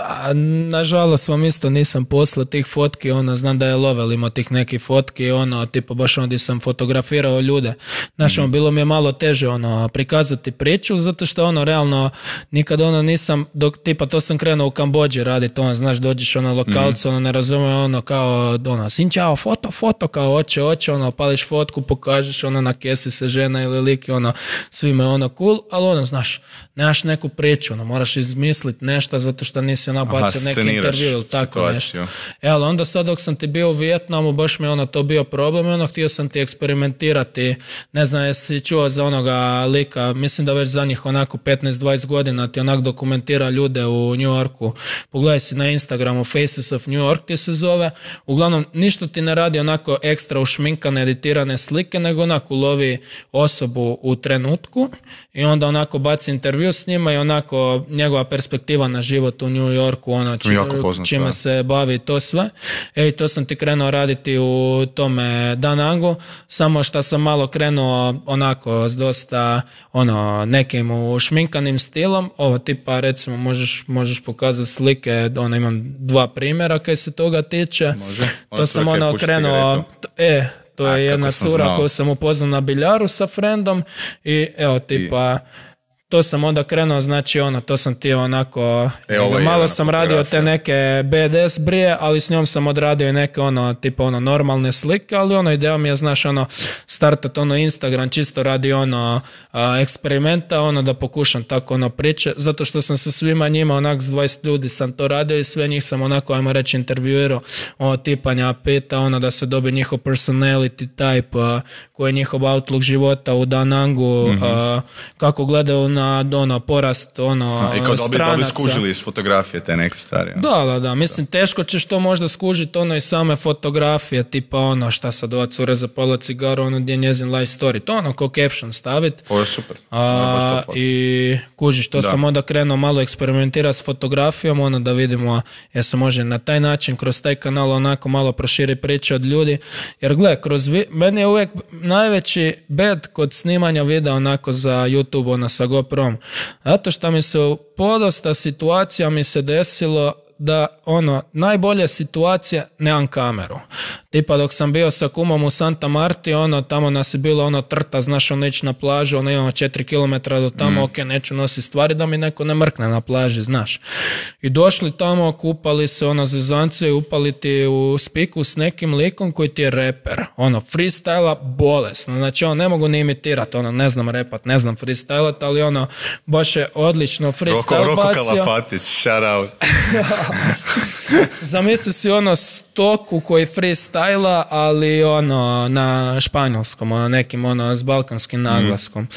a, nažalost vam isto nisam poslao tih fotki, ono, znam da je Lovel imao tih nekih fotki, ono, tipa baš onda sam fotografirao ljude, znaš, mm-hmm. ono, bilo mi je malo teže, ono, prikazati priču, zato što, ono, realno, nikad, ono, nisam, dok, tipa, to sam krenuo u Kambodži raditi, ono, znaš, dođeš, ono, lokalcu, mm-hmm. ono, ne razumije, ono, kao, ono, sin čao, foto, foto, kao, oče, oče, ono, pališ fotku, pokažeš, ono, na kesi se žena ili lik, ono, svime, ono, cool, ali, ono, znaš, nemaš neku priču, ono, moraš izmisliti nešto zato što nisi, ono, bacio neki intervju ili tako situaciju. Nešto. E, ali onda sad dok sam ti bio u Vijetnamu, baš mi, ono, to bio problem i, ono, htio sam ti eksperimentirati, ne znam, jesi čuo za onoga lika, mislim da već za njih, onako, petnaest dvadeset godina ti, onak, dokumentira ljude u New Yorku, pogledaj si na Instagramu, Faces of New York ti se zove, uglavnom, ništa ti ne radi, onako, ekstra ušminkane, editirane slike, nego onako ulovi osobu u trenutku i onda onako baci intervju s njima i onako njegova perspektiva na život u New Yorku, ono či, poznat, čime da. se bavi to sve. Ej, to sam ti krenuo raditi u tome Da Nangu, samo što sam malo krenuo onako s dosta ono, nekim ušminkanim stilom. Ovo tipa recimo možeš, možeš pokazati slike, ono imam dva primjera kaj se toga tiče. Može. To sam ono krenuo, e, to je A, jedna cura koju sam upoznao na biljaru sa frendom i evo tipa... I... To sam onda krenuo, znači ono, to sam ti onako, e, malo sam radio te neke B D S brije, ali s njom sam odradio i neke ono, tipa ono, normalne slike, ali ono, ideja mi je, znaš, ono, startat ono Instagram, čisto radi ono, a, eksperimenta, ono, da pokušam tako ono priče, zato što sam sa svima njima, onak, s dvadeset ljudi sam to radio i sve njih sam onako, ajmo reći, intervjuirao, ono, tipanja pita, ono, da se dobi njihov personality type, a, koji je njihov outlook života u Da Nangu, mm-hmm. a, kako gledaju na ono, porast ono, a, i kao da bi, da bi stranaca. skužili iz fotografije te neke stvari. Ja. Da, da, da. Mislim, teško ćeš to možda skužiti ono i same fotografije, tipa ono šta sad ova cura zapala cigaru, ono gdje je njezin life story. To ono kao caption staviti. Ovo je super. A, I kužiš, to da. Sam onda krenuo malo eksperimentirati s fotografijom, ono da vidimo jer se može na taj način, kroz taj kanal onako malo proširi priče od ljudi. Jer gle, kroz vi... meni je uvijek najveći bed kod snimanja videa onako za YouTube, ono sa GoProm. Zato što mi se u podosta situacija mi se desilo da ono, najbolja situacija, nemam kameru. Tipa dok sam bio sa kumom u Santa Marti, ono, tamo nas je bilo ono trta, znaš, ono ići na plažu, ono imamo četiri kilometra do tamo, mm. ok, neću nositi stvari da mi neko ne mrkne na plaži, znaš. I došli tamo, kupali se, ono, zezance i upali ti u spiku s nekim likom koji ti je reper. Ono, freestyla bolesno, znači ono, ne mogu ni imitirati, ono, ne znam repat, ne znam freestylat, ali ono, baš je odlično freestyle Roko, bacio. Roko Kalafatić, shout out. Zamisli si ono stoku koji freestyla, ali ono na španjolskom, ono nekim ono s balkanskim naglaskom. Mm.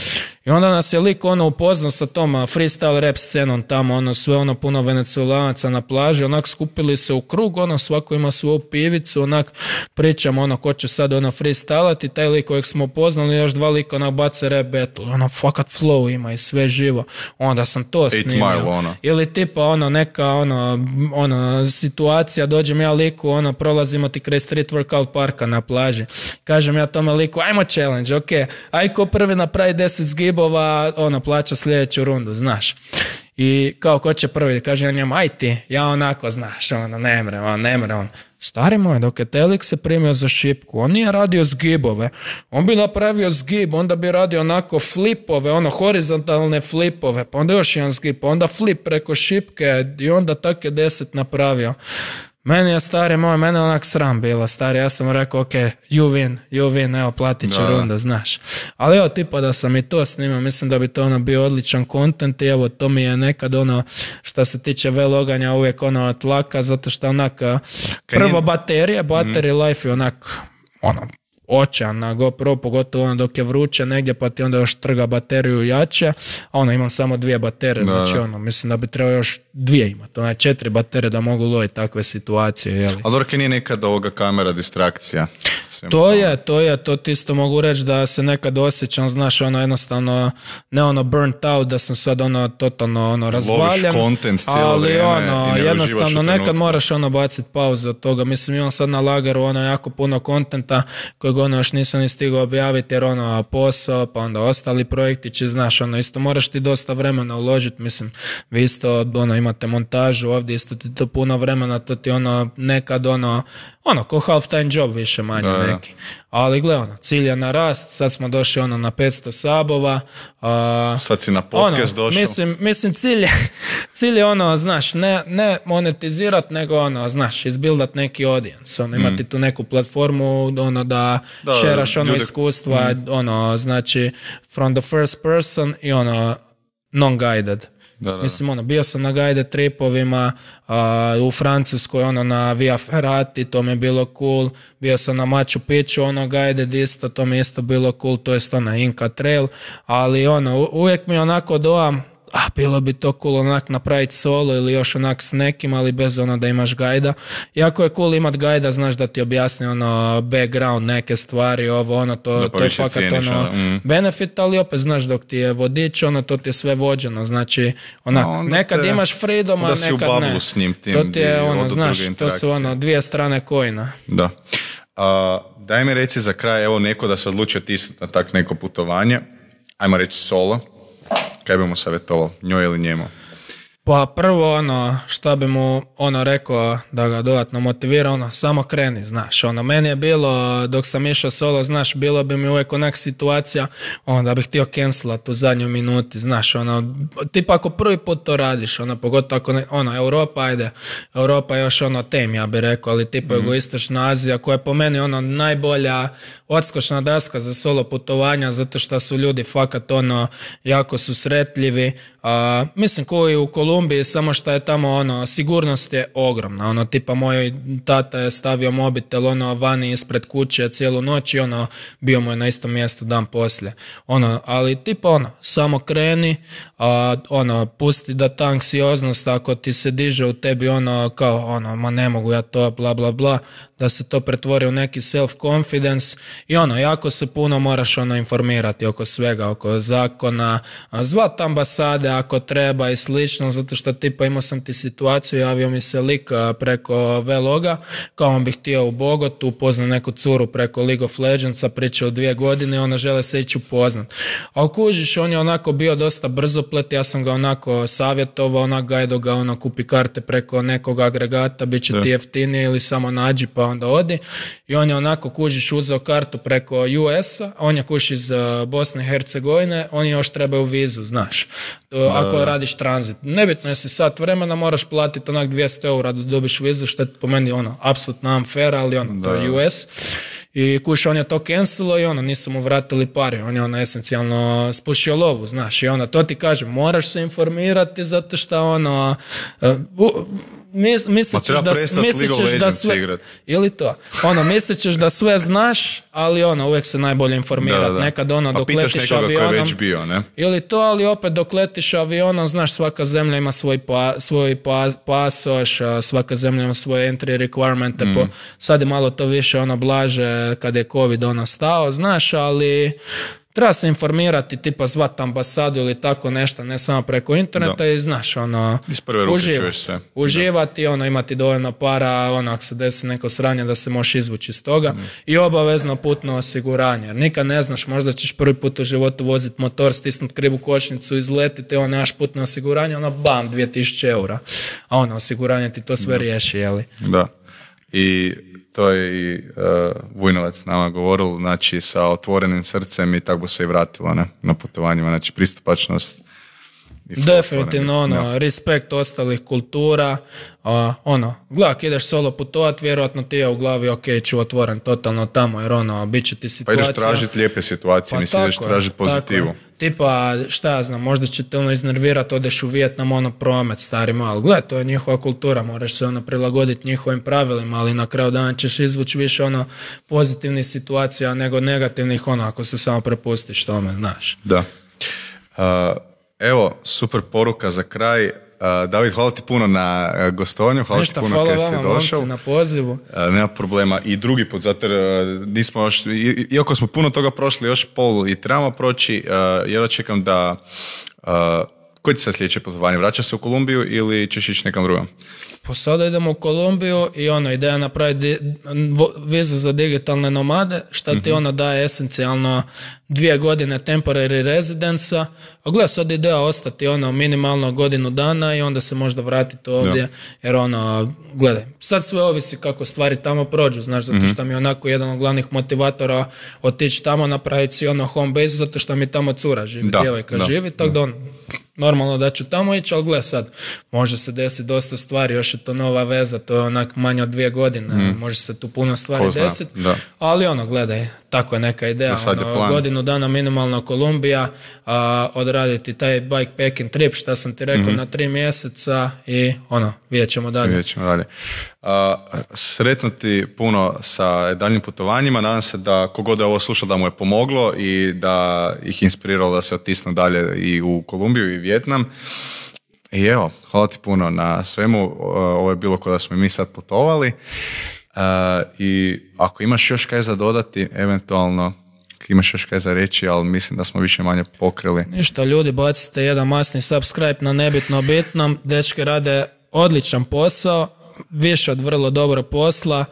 I onda nas je lik ono upoznao sa tom freestyle rap scenom tamo, ono sve ono puno venecuelanaca na plaži, onak skupili se u krug, ono svako ima svoju pivicu, onak pričamo ono ko će sad ono freestylati, taj lik kojeg smo upoznali, još dva lika onak bace rap battle, ono fakat flow ima i sve živo. Onda sam to snimio. Ono. Ili tipa ono neka ono, ono situacija, dođem ja liku, ono prolazimo ti kraj street workout parka na plaži. Kažem ja tome liku, ajmo challenge, ok, aj ko prvi napravi deset zgibova, ono plaća sljedeću rundu, znaš. I kao ko će prvi, kaže ja njemu, aj ti, ja onako, znaš, ono, ne mre, on, ne mre, on. Stari moj, dok je Telik se primio za šipku, on nije radio zgibove, on bi napravio zgib, onda bi radio onako flipove, ono horizontalne flipove, pa onda još jedan zgib, pa onda flip preko šipke i onda tak je deset napravio. Meni je stari moj, mene onak sram bila, stari, ja sam rekao, ok, you win, you win, evo, platit ću runda, znaš. Ali evo, tipa da sam i to snimao, mislim da bi to ono bio odličan kontent i evo, to mi je nekad ono, što se tiče veloganja, uvijek ono tlaka, zato što onak, prvo baterije, battery mm. life je onak, ono, očajan na GoPro, pogotovo ono dok je vruće negdje, pa ti onda još trga bateriju jače, a ono imam samo dvije baterije, da, znači ono, mislim da bi trebao još dvije imati, ono je četiri baterije da mogu loviti takve situacije, jeli. Ali dobro, nije nekad ovoga kamera distrakcija? To je, to je, to ti isto mogu reći da se nekad osjećam, znaš, ono jednostavno, ne ono burnt out, da sam sad ono totalno ono razvaljen, ali ono, jednostavno nekad moraš ono baciti pauzu od toga, mislim imam sad na lagaru ono jako puno kontenta kojeg ono još nisam ni stigao objaviti jer ono posao, pa onda ostali projektići, znaš, ono isto moraš ti dosta vremena uložiti, mislim, vi isto ono imate montažu ovdje, isto ti to puno vremena, to ti ono nekad ono, ono ko half time job više manje da, neki, ali gle ono, cilj je na rast, sad smo došli ono na petsto sabova, a, sad si na podcast ono, došao, mislim, mislim cilj je, cilj je ono, znaš, ne, ne monetizirat, nego ono, znaš, izbildat neki audience, ono, imati mm. tu neku platformu, ono, da, da šeraš ono ljude, iskustva, mm. ono, znači, from the first person i ono, non-guided. Da, da. Mislim, ono, bio sam na guided tripovima uh, u Francuskoj, ono, na Via Ferrati, to mi je bilo cool. Bio sam na Machu Picchu, ono, guided isto, to mi je isto bilo cool, to je to na Inca Trail, ali ono, uvijek mi onako dojam a bilo bi to cool onak napraviti solo ili još onak s nekim, ali bez ono da imaš gajda. Jako je cool imat gajda, znaš da ti objasni ono background, neke stvari, ovo ono, to, to je fakat cijeniš, ono mm. benefit, ali opet znaš dok ti je vodič, ono to ti je sve vođeno, znači onak, nekad te, imaš freedom, a nekad ne. S njim, tim, to ti je ono, znaš, to su ono dvije strane kojina. Da. Uh, daj mi reci za kraj, evo neko da se odlučio tisnuti na tak neko putovanje, ajmo reći solo, kaj bi mu savjetovao, njoj ili njemu? Pa prvo ono što bi mu ono rekao da ga dodatno motivira, ono samo kreni, znaš, ono meni je bilo dok sam išao solo, znaš, bilo bi mi uvijek onak situacija ono da bih htio cancelat u zadnjoj minuti, znaš, ono tipa ako prvi put to radiš, ono pogotovo ako ne, ono Europa, ajde, Europa je još ono tem, ja bih rekao, ali tipa mm-hmm. Jugoistočna Azija koja je po meni ono najbolja odskočna daska za solo putovanja, zato što su ljudi fakat ono jako susretljivi, a, mislim koji u Kolumbiji, samo što je tamo ono, sigurnost je ogromna, ono tipa moj tata je stavio mobitel ono vani ispred kuće cijelu noć i ono bio mu je na istom mjestu dan poslije, ono, ali tipa ono, samo kreni, a, ono, pusti da ta anksioznost ako ti se diže u tebi ono kao ono, ma ne mogu ja to, bla bla bla, da se to pretvori u neki self-confidence i ono, jako se puno moraš ono informirati oko svega, oko zakona, zvat ambasade ako treba i slično, zato što tipa imao sam ti situaciju, javio mi se lik preko Vloga, kao on bi htio u Bogotu, upoznao neku curu preko League of Legendsa, pričao dvije godine, ona žele se ići upoznat. A kužiš, on je onako bio dosta brzoplet, ja sam ga onako savjetovao, onak gajdo ga, ono, kupi karte preko nekog agregata, bit će ti jeftinije ili samo nađi pa onda odi. I on je onako, kužiš, uzeo kartu preko U S-a, on je kuš iz Bosne i Hercegovine, oni još trebaju vizu, znaš, ako radiš tranzit. Nebitno je si sat vremena, moraš platiti onak dvjesto eura da dobiš vizu, što je po meni ono, apsolutno unfair, ali ono, to je U S. I kuš, on je to cancelo i ono, nisu mu vratili pari, on je ono esencijalno spušio lovu, znaš, i ono, to ti kažem, moraš se informirati zato što ono, uh, Mis, mislićeš da, mislićeš da sve ili to, ono, mislićeš da sve znaš, ali ono, uvijek se najbolje informirati, da, da. Nekad ono, pa dok letiš avionom bio, ne? Ili to, ali opet dok letiš avionom, znaš, svaka zemlja ima svoj, pa, svoj pa, pasoš, svaka zemlja ima svoje entry requirements, mm. po, sad je malo to više ono blaže kada je COVID ono stao, znaš, ali treba se informirati, tipa zvat ambasadu ili tako nešto, ne samo preko interneta da. I znaš, ono, uživati, uživati ono, imati dovoljno para, ono, ako se desi neko sranje da se možeš izvući iz toga mm. i obavezno putno osiguranje, jer nikad ne znaš, možda ćeš prvi put u životu voziti motor, stisnut krivu kočnicu, izletiti, on nemaš putno osiguranje, ono, bam, dvije tisuće eura, a ono, osiguranje ti to sve da. Riješi, jeli? Da, i to je i uh, Vujnovac nama govoril, znači sa otvorenim srcem i tako bi se i vratilo, ne, na putovanjima, znači pristupačnost. Definitivno, ono, ja. Respekt ostalih kultura, a, ono, gledak, ideš solo putovat, vjerojatno ti je u glavi, ok, ću otvoren totalno tamo, jer ono, bit će ti situacija. Pa ideš tražiti lijepe situacije, pa nisi ideš tražiti pozitivu. Tipa, šta ja znam, možda će te ono iznervirati, odeš u Vijetnam, ono, promet, stari malo. Gle, to je njihova kultura, moraš se ono prilagoditi njihovim pravilima, ali na kraju dana ćeš izvući više ono pozitivnih situacija nego negativnih, ono, ako se samo prepustiš tome, znaš. Da. Uh, evo, super poruka za kraj. Uh, David, hvala ti puno na uh, gostovanju, hvala Nešta, ti puno kada si došao. Na pozivu. Uh, nema problema. I drugi put, zato jer uh, nismo još, i, iako smo puno toga prošli, još pol i trebamo proći, uh, jer očekam da, uh, koji ti sad sljedeće putovanje? Vraćaš se u Kolumbiju ili ćeš ići nekam drugom? Pa sada idemo u Kolumbiju i ono, ideja napraviti vizu za digitalne nomade, šta ti mm-hmm. ono daje esencijalno dvije godine temporary residence-a, a gledaj, sad ideja ostati ono minimalno godinu dana i onda se možda vratiti ovdje, ja. Jer ono, gledaj, sad sve ovisi kako stvari tamo prođu, znaš, zato što mm-hmm. mi je onako jedan od glavnih motivatora otići tamo, napraviti si ono home base, zato što mi tamo cura živi, da, djevojka da, živi, tako da on, normalno da ću tamo ići, ali gledaj sad, može se desiti dosta stvari, još je to nova veza, to je onak manje od dvije godine, mm. može se tu puno stvari desiti, ali ono, gledaj, tako je neka ideja, ono, godinu dana minimalno Kolumbija, a, odraditi taj bikepacking trip, šta sam ti rekao, mm-hmm. na tri mjeseca i ono, vidjet ćemo dalje. Vidjet ćemo dalje. A, sretno ti puno sa daljnjim putovanjima, nadam se da kogod je ovo slušao da mu je pomoglo i da ih inspiriralo da se otisnu dalje i u Kolumbiju i Vijetnam. I evo, hvala ti puno na svemu, ovo je bilo kada smo i mi sad putovali. Uh, I ako imaš još kaj za dodati, eventualno imaš još kaj za reći, ali mislim da smo više manje pokrili. Ništa, ljudi, bacite jedan masni subscribe na Nebitno bitnom, dečki rade odličan posao, više od vrlo dobro posla.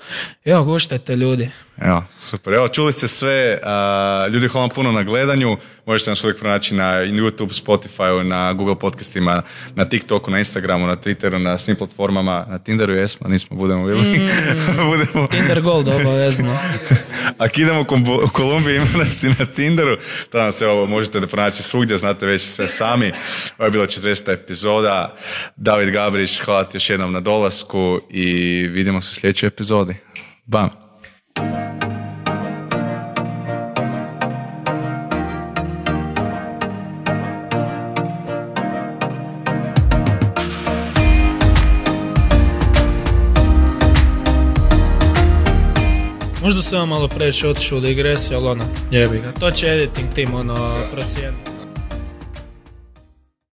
Evo, guštajte ljudi. Evo, super. Evo, čuli ste sve. Uh, ljudi, hvala vam puno na gledanju. Možete nas uvijek pronaći na YouTube, Spotify, na Google podcastima, na TikToku, na Instagramu, na Twitteru, na svim platformama. Na Tinderu jesmo, nismo, budemo bili. Mm, budemo... Tinder Gold, obavezno. Ako idemo u Kolumbiji, ima nas i na Tinderu. Tada nas evo, možete da pronaći svugdje, znate već sve sami. Ovo je bila četrdeset epizoda. David Gabrić, hvala ti još jednom na dolasku i vidimo se u sljedećoj epizodi. Bam! Možda sam malo previše otišao u digresiju, ali ono, jebi ga. To će editing tim ono procijeniti.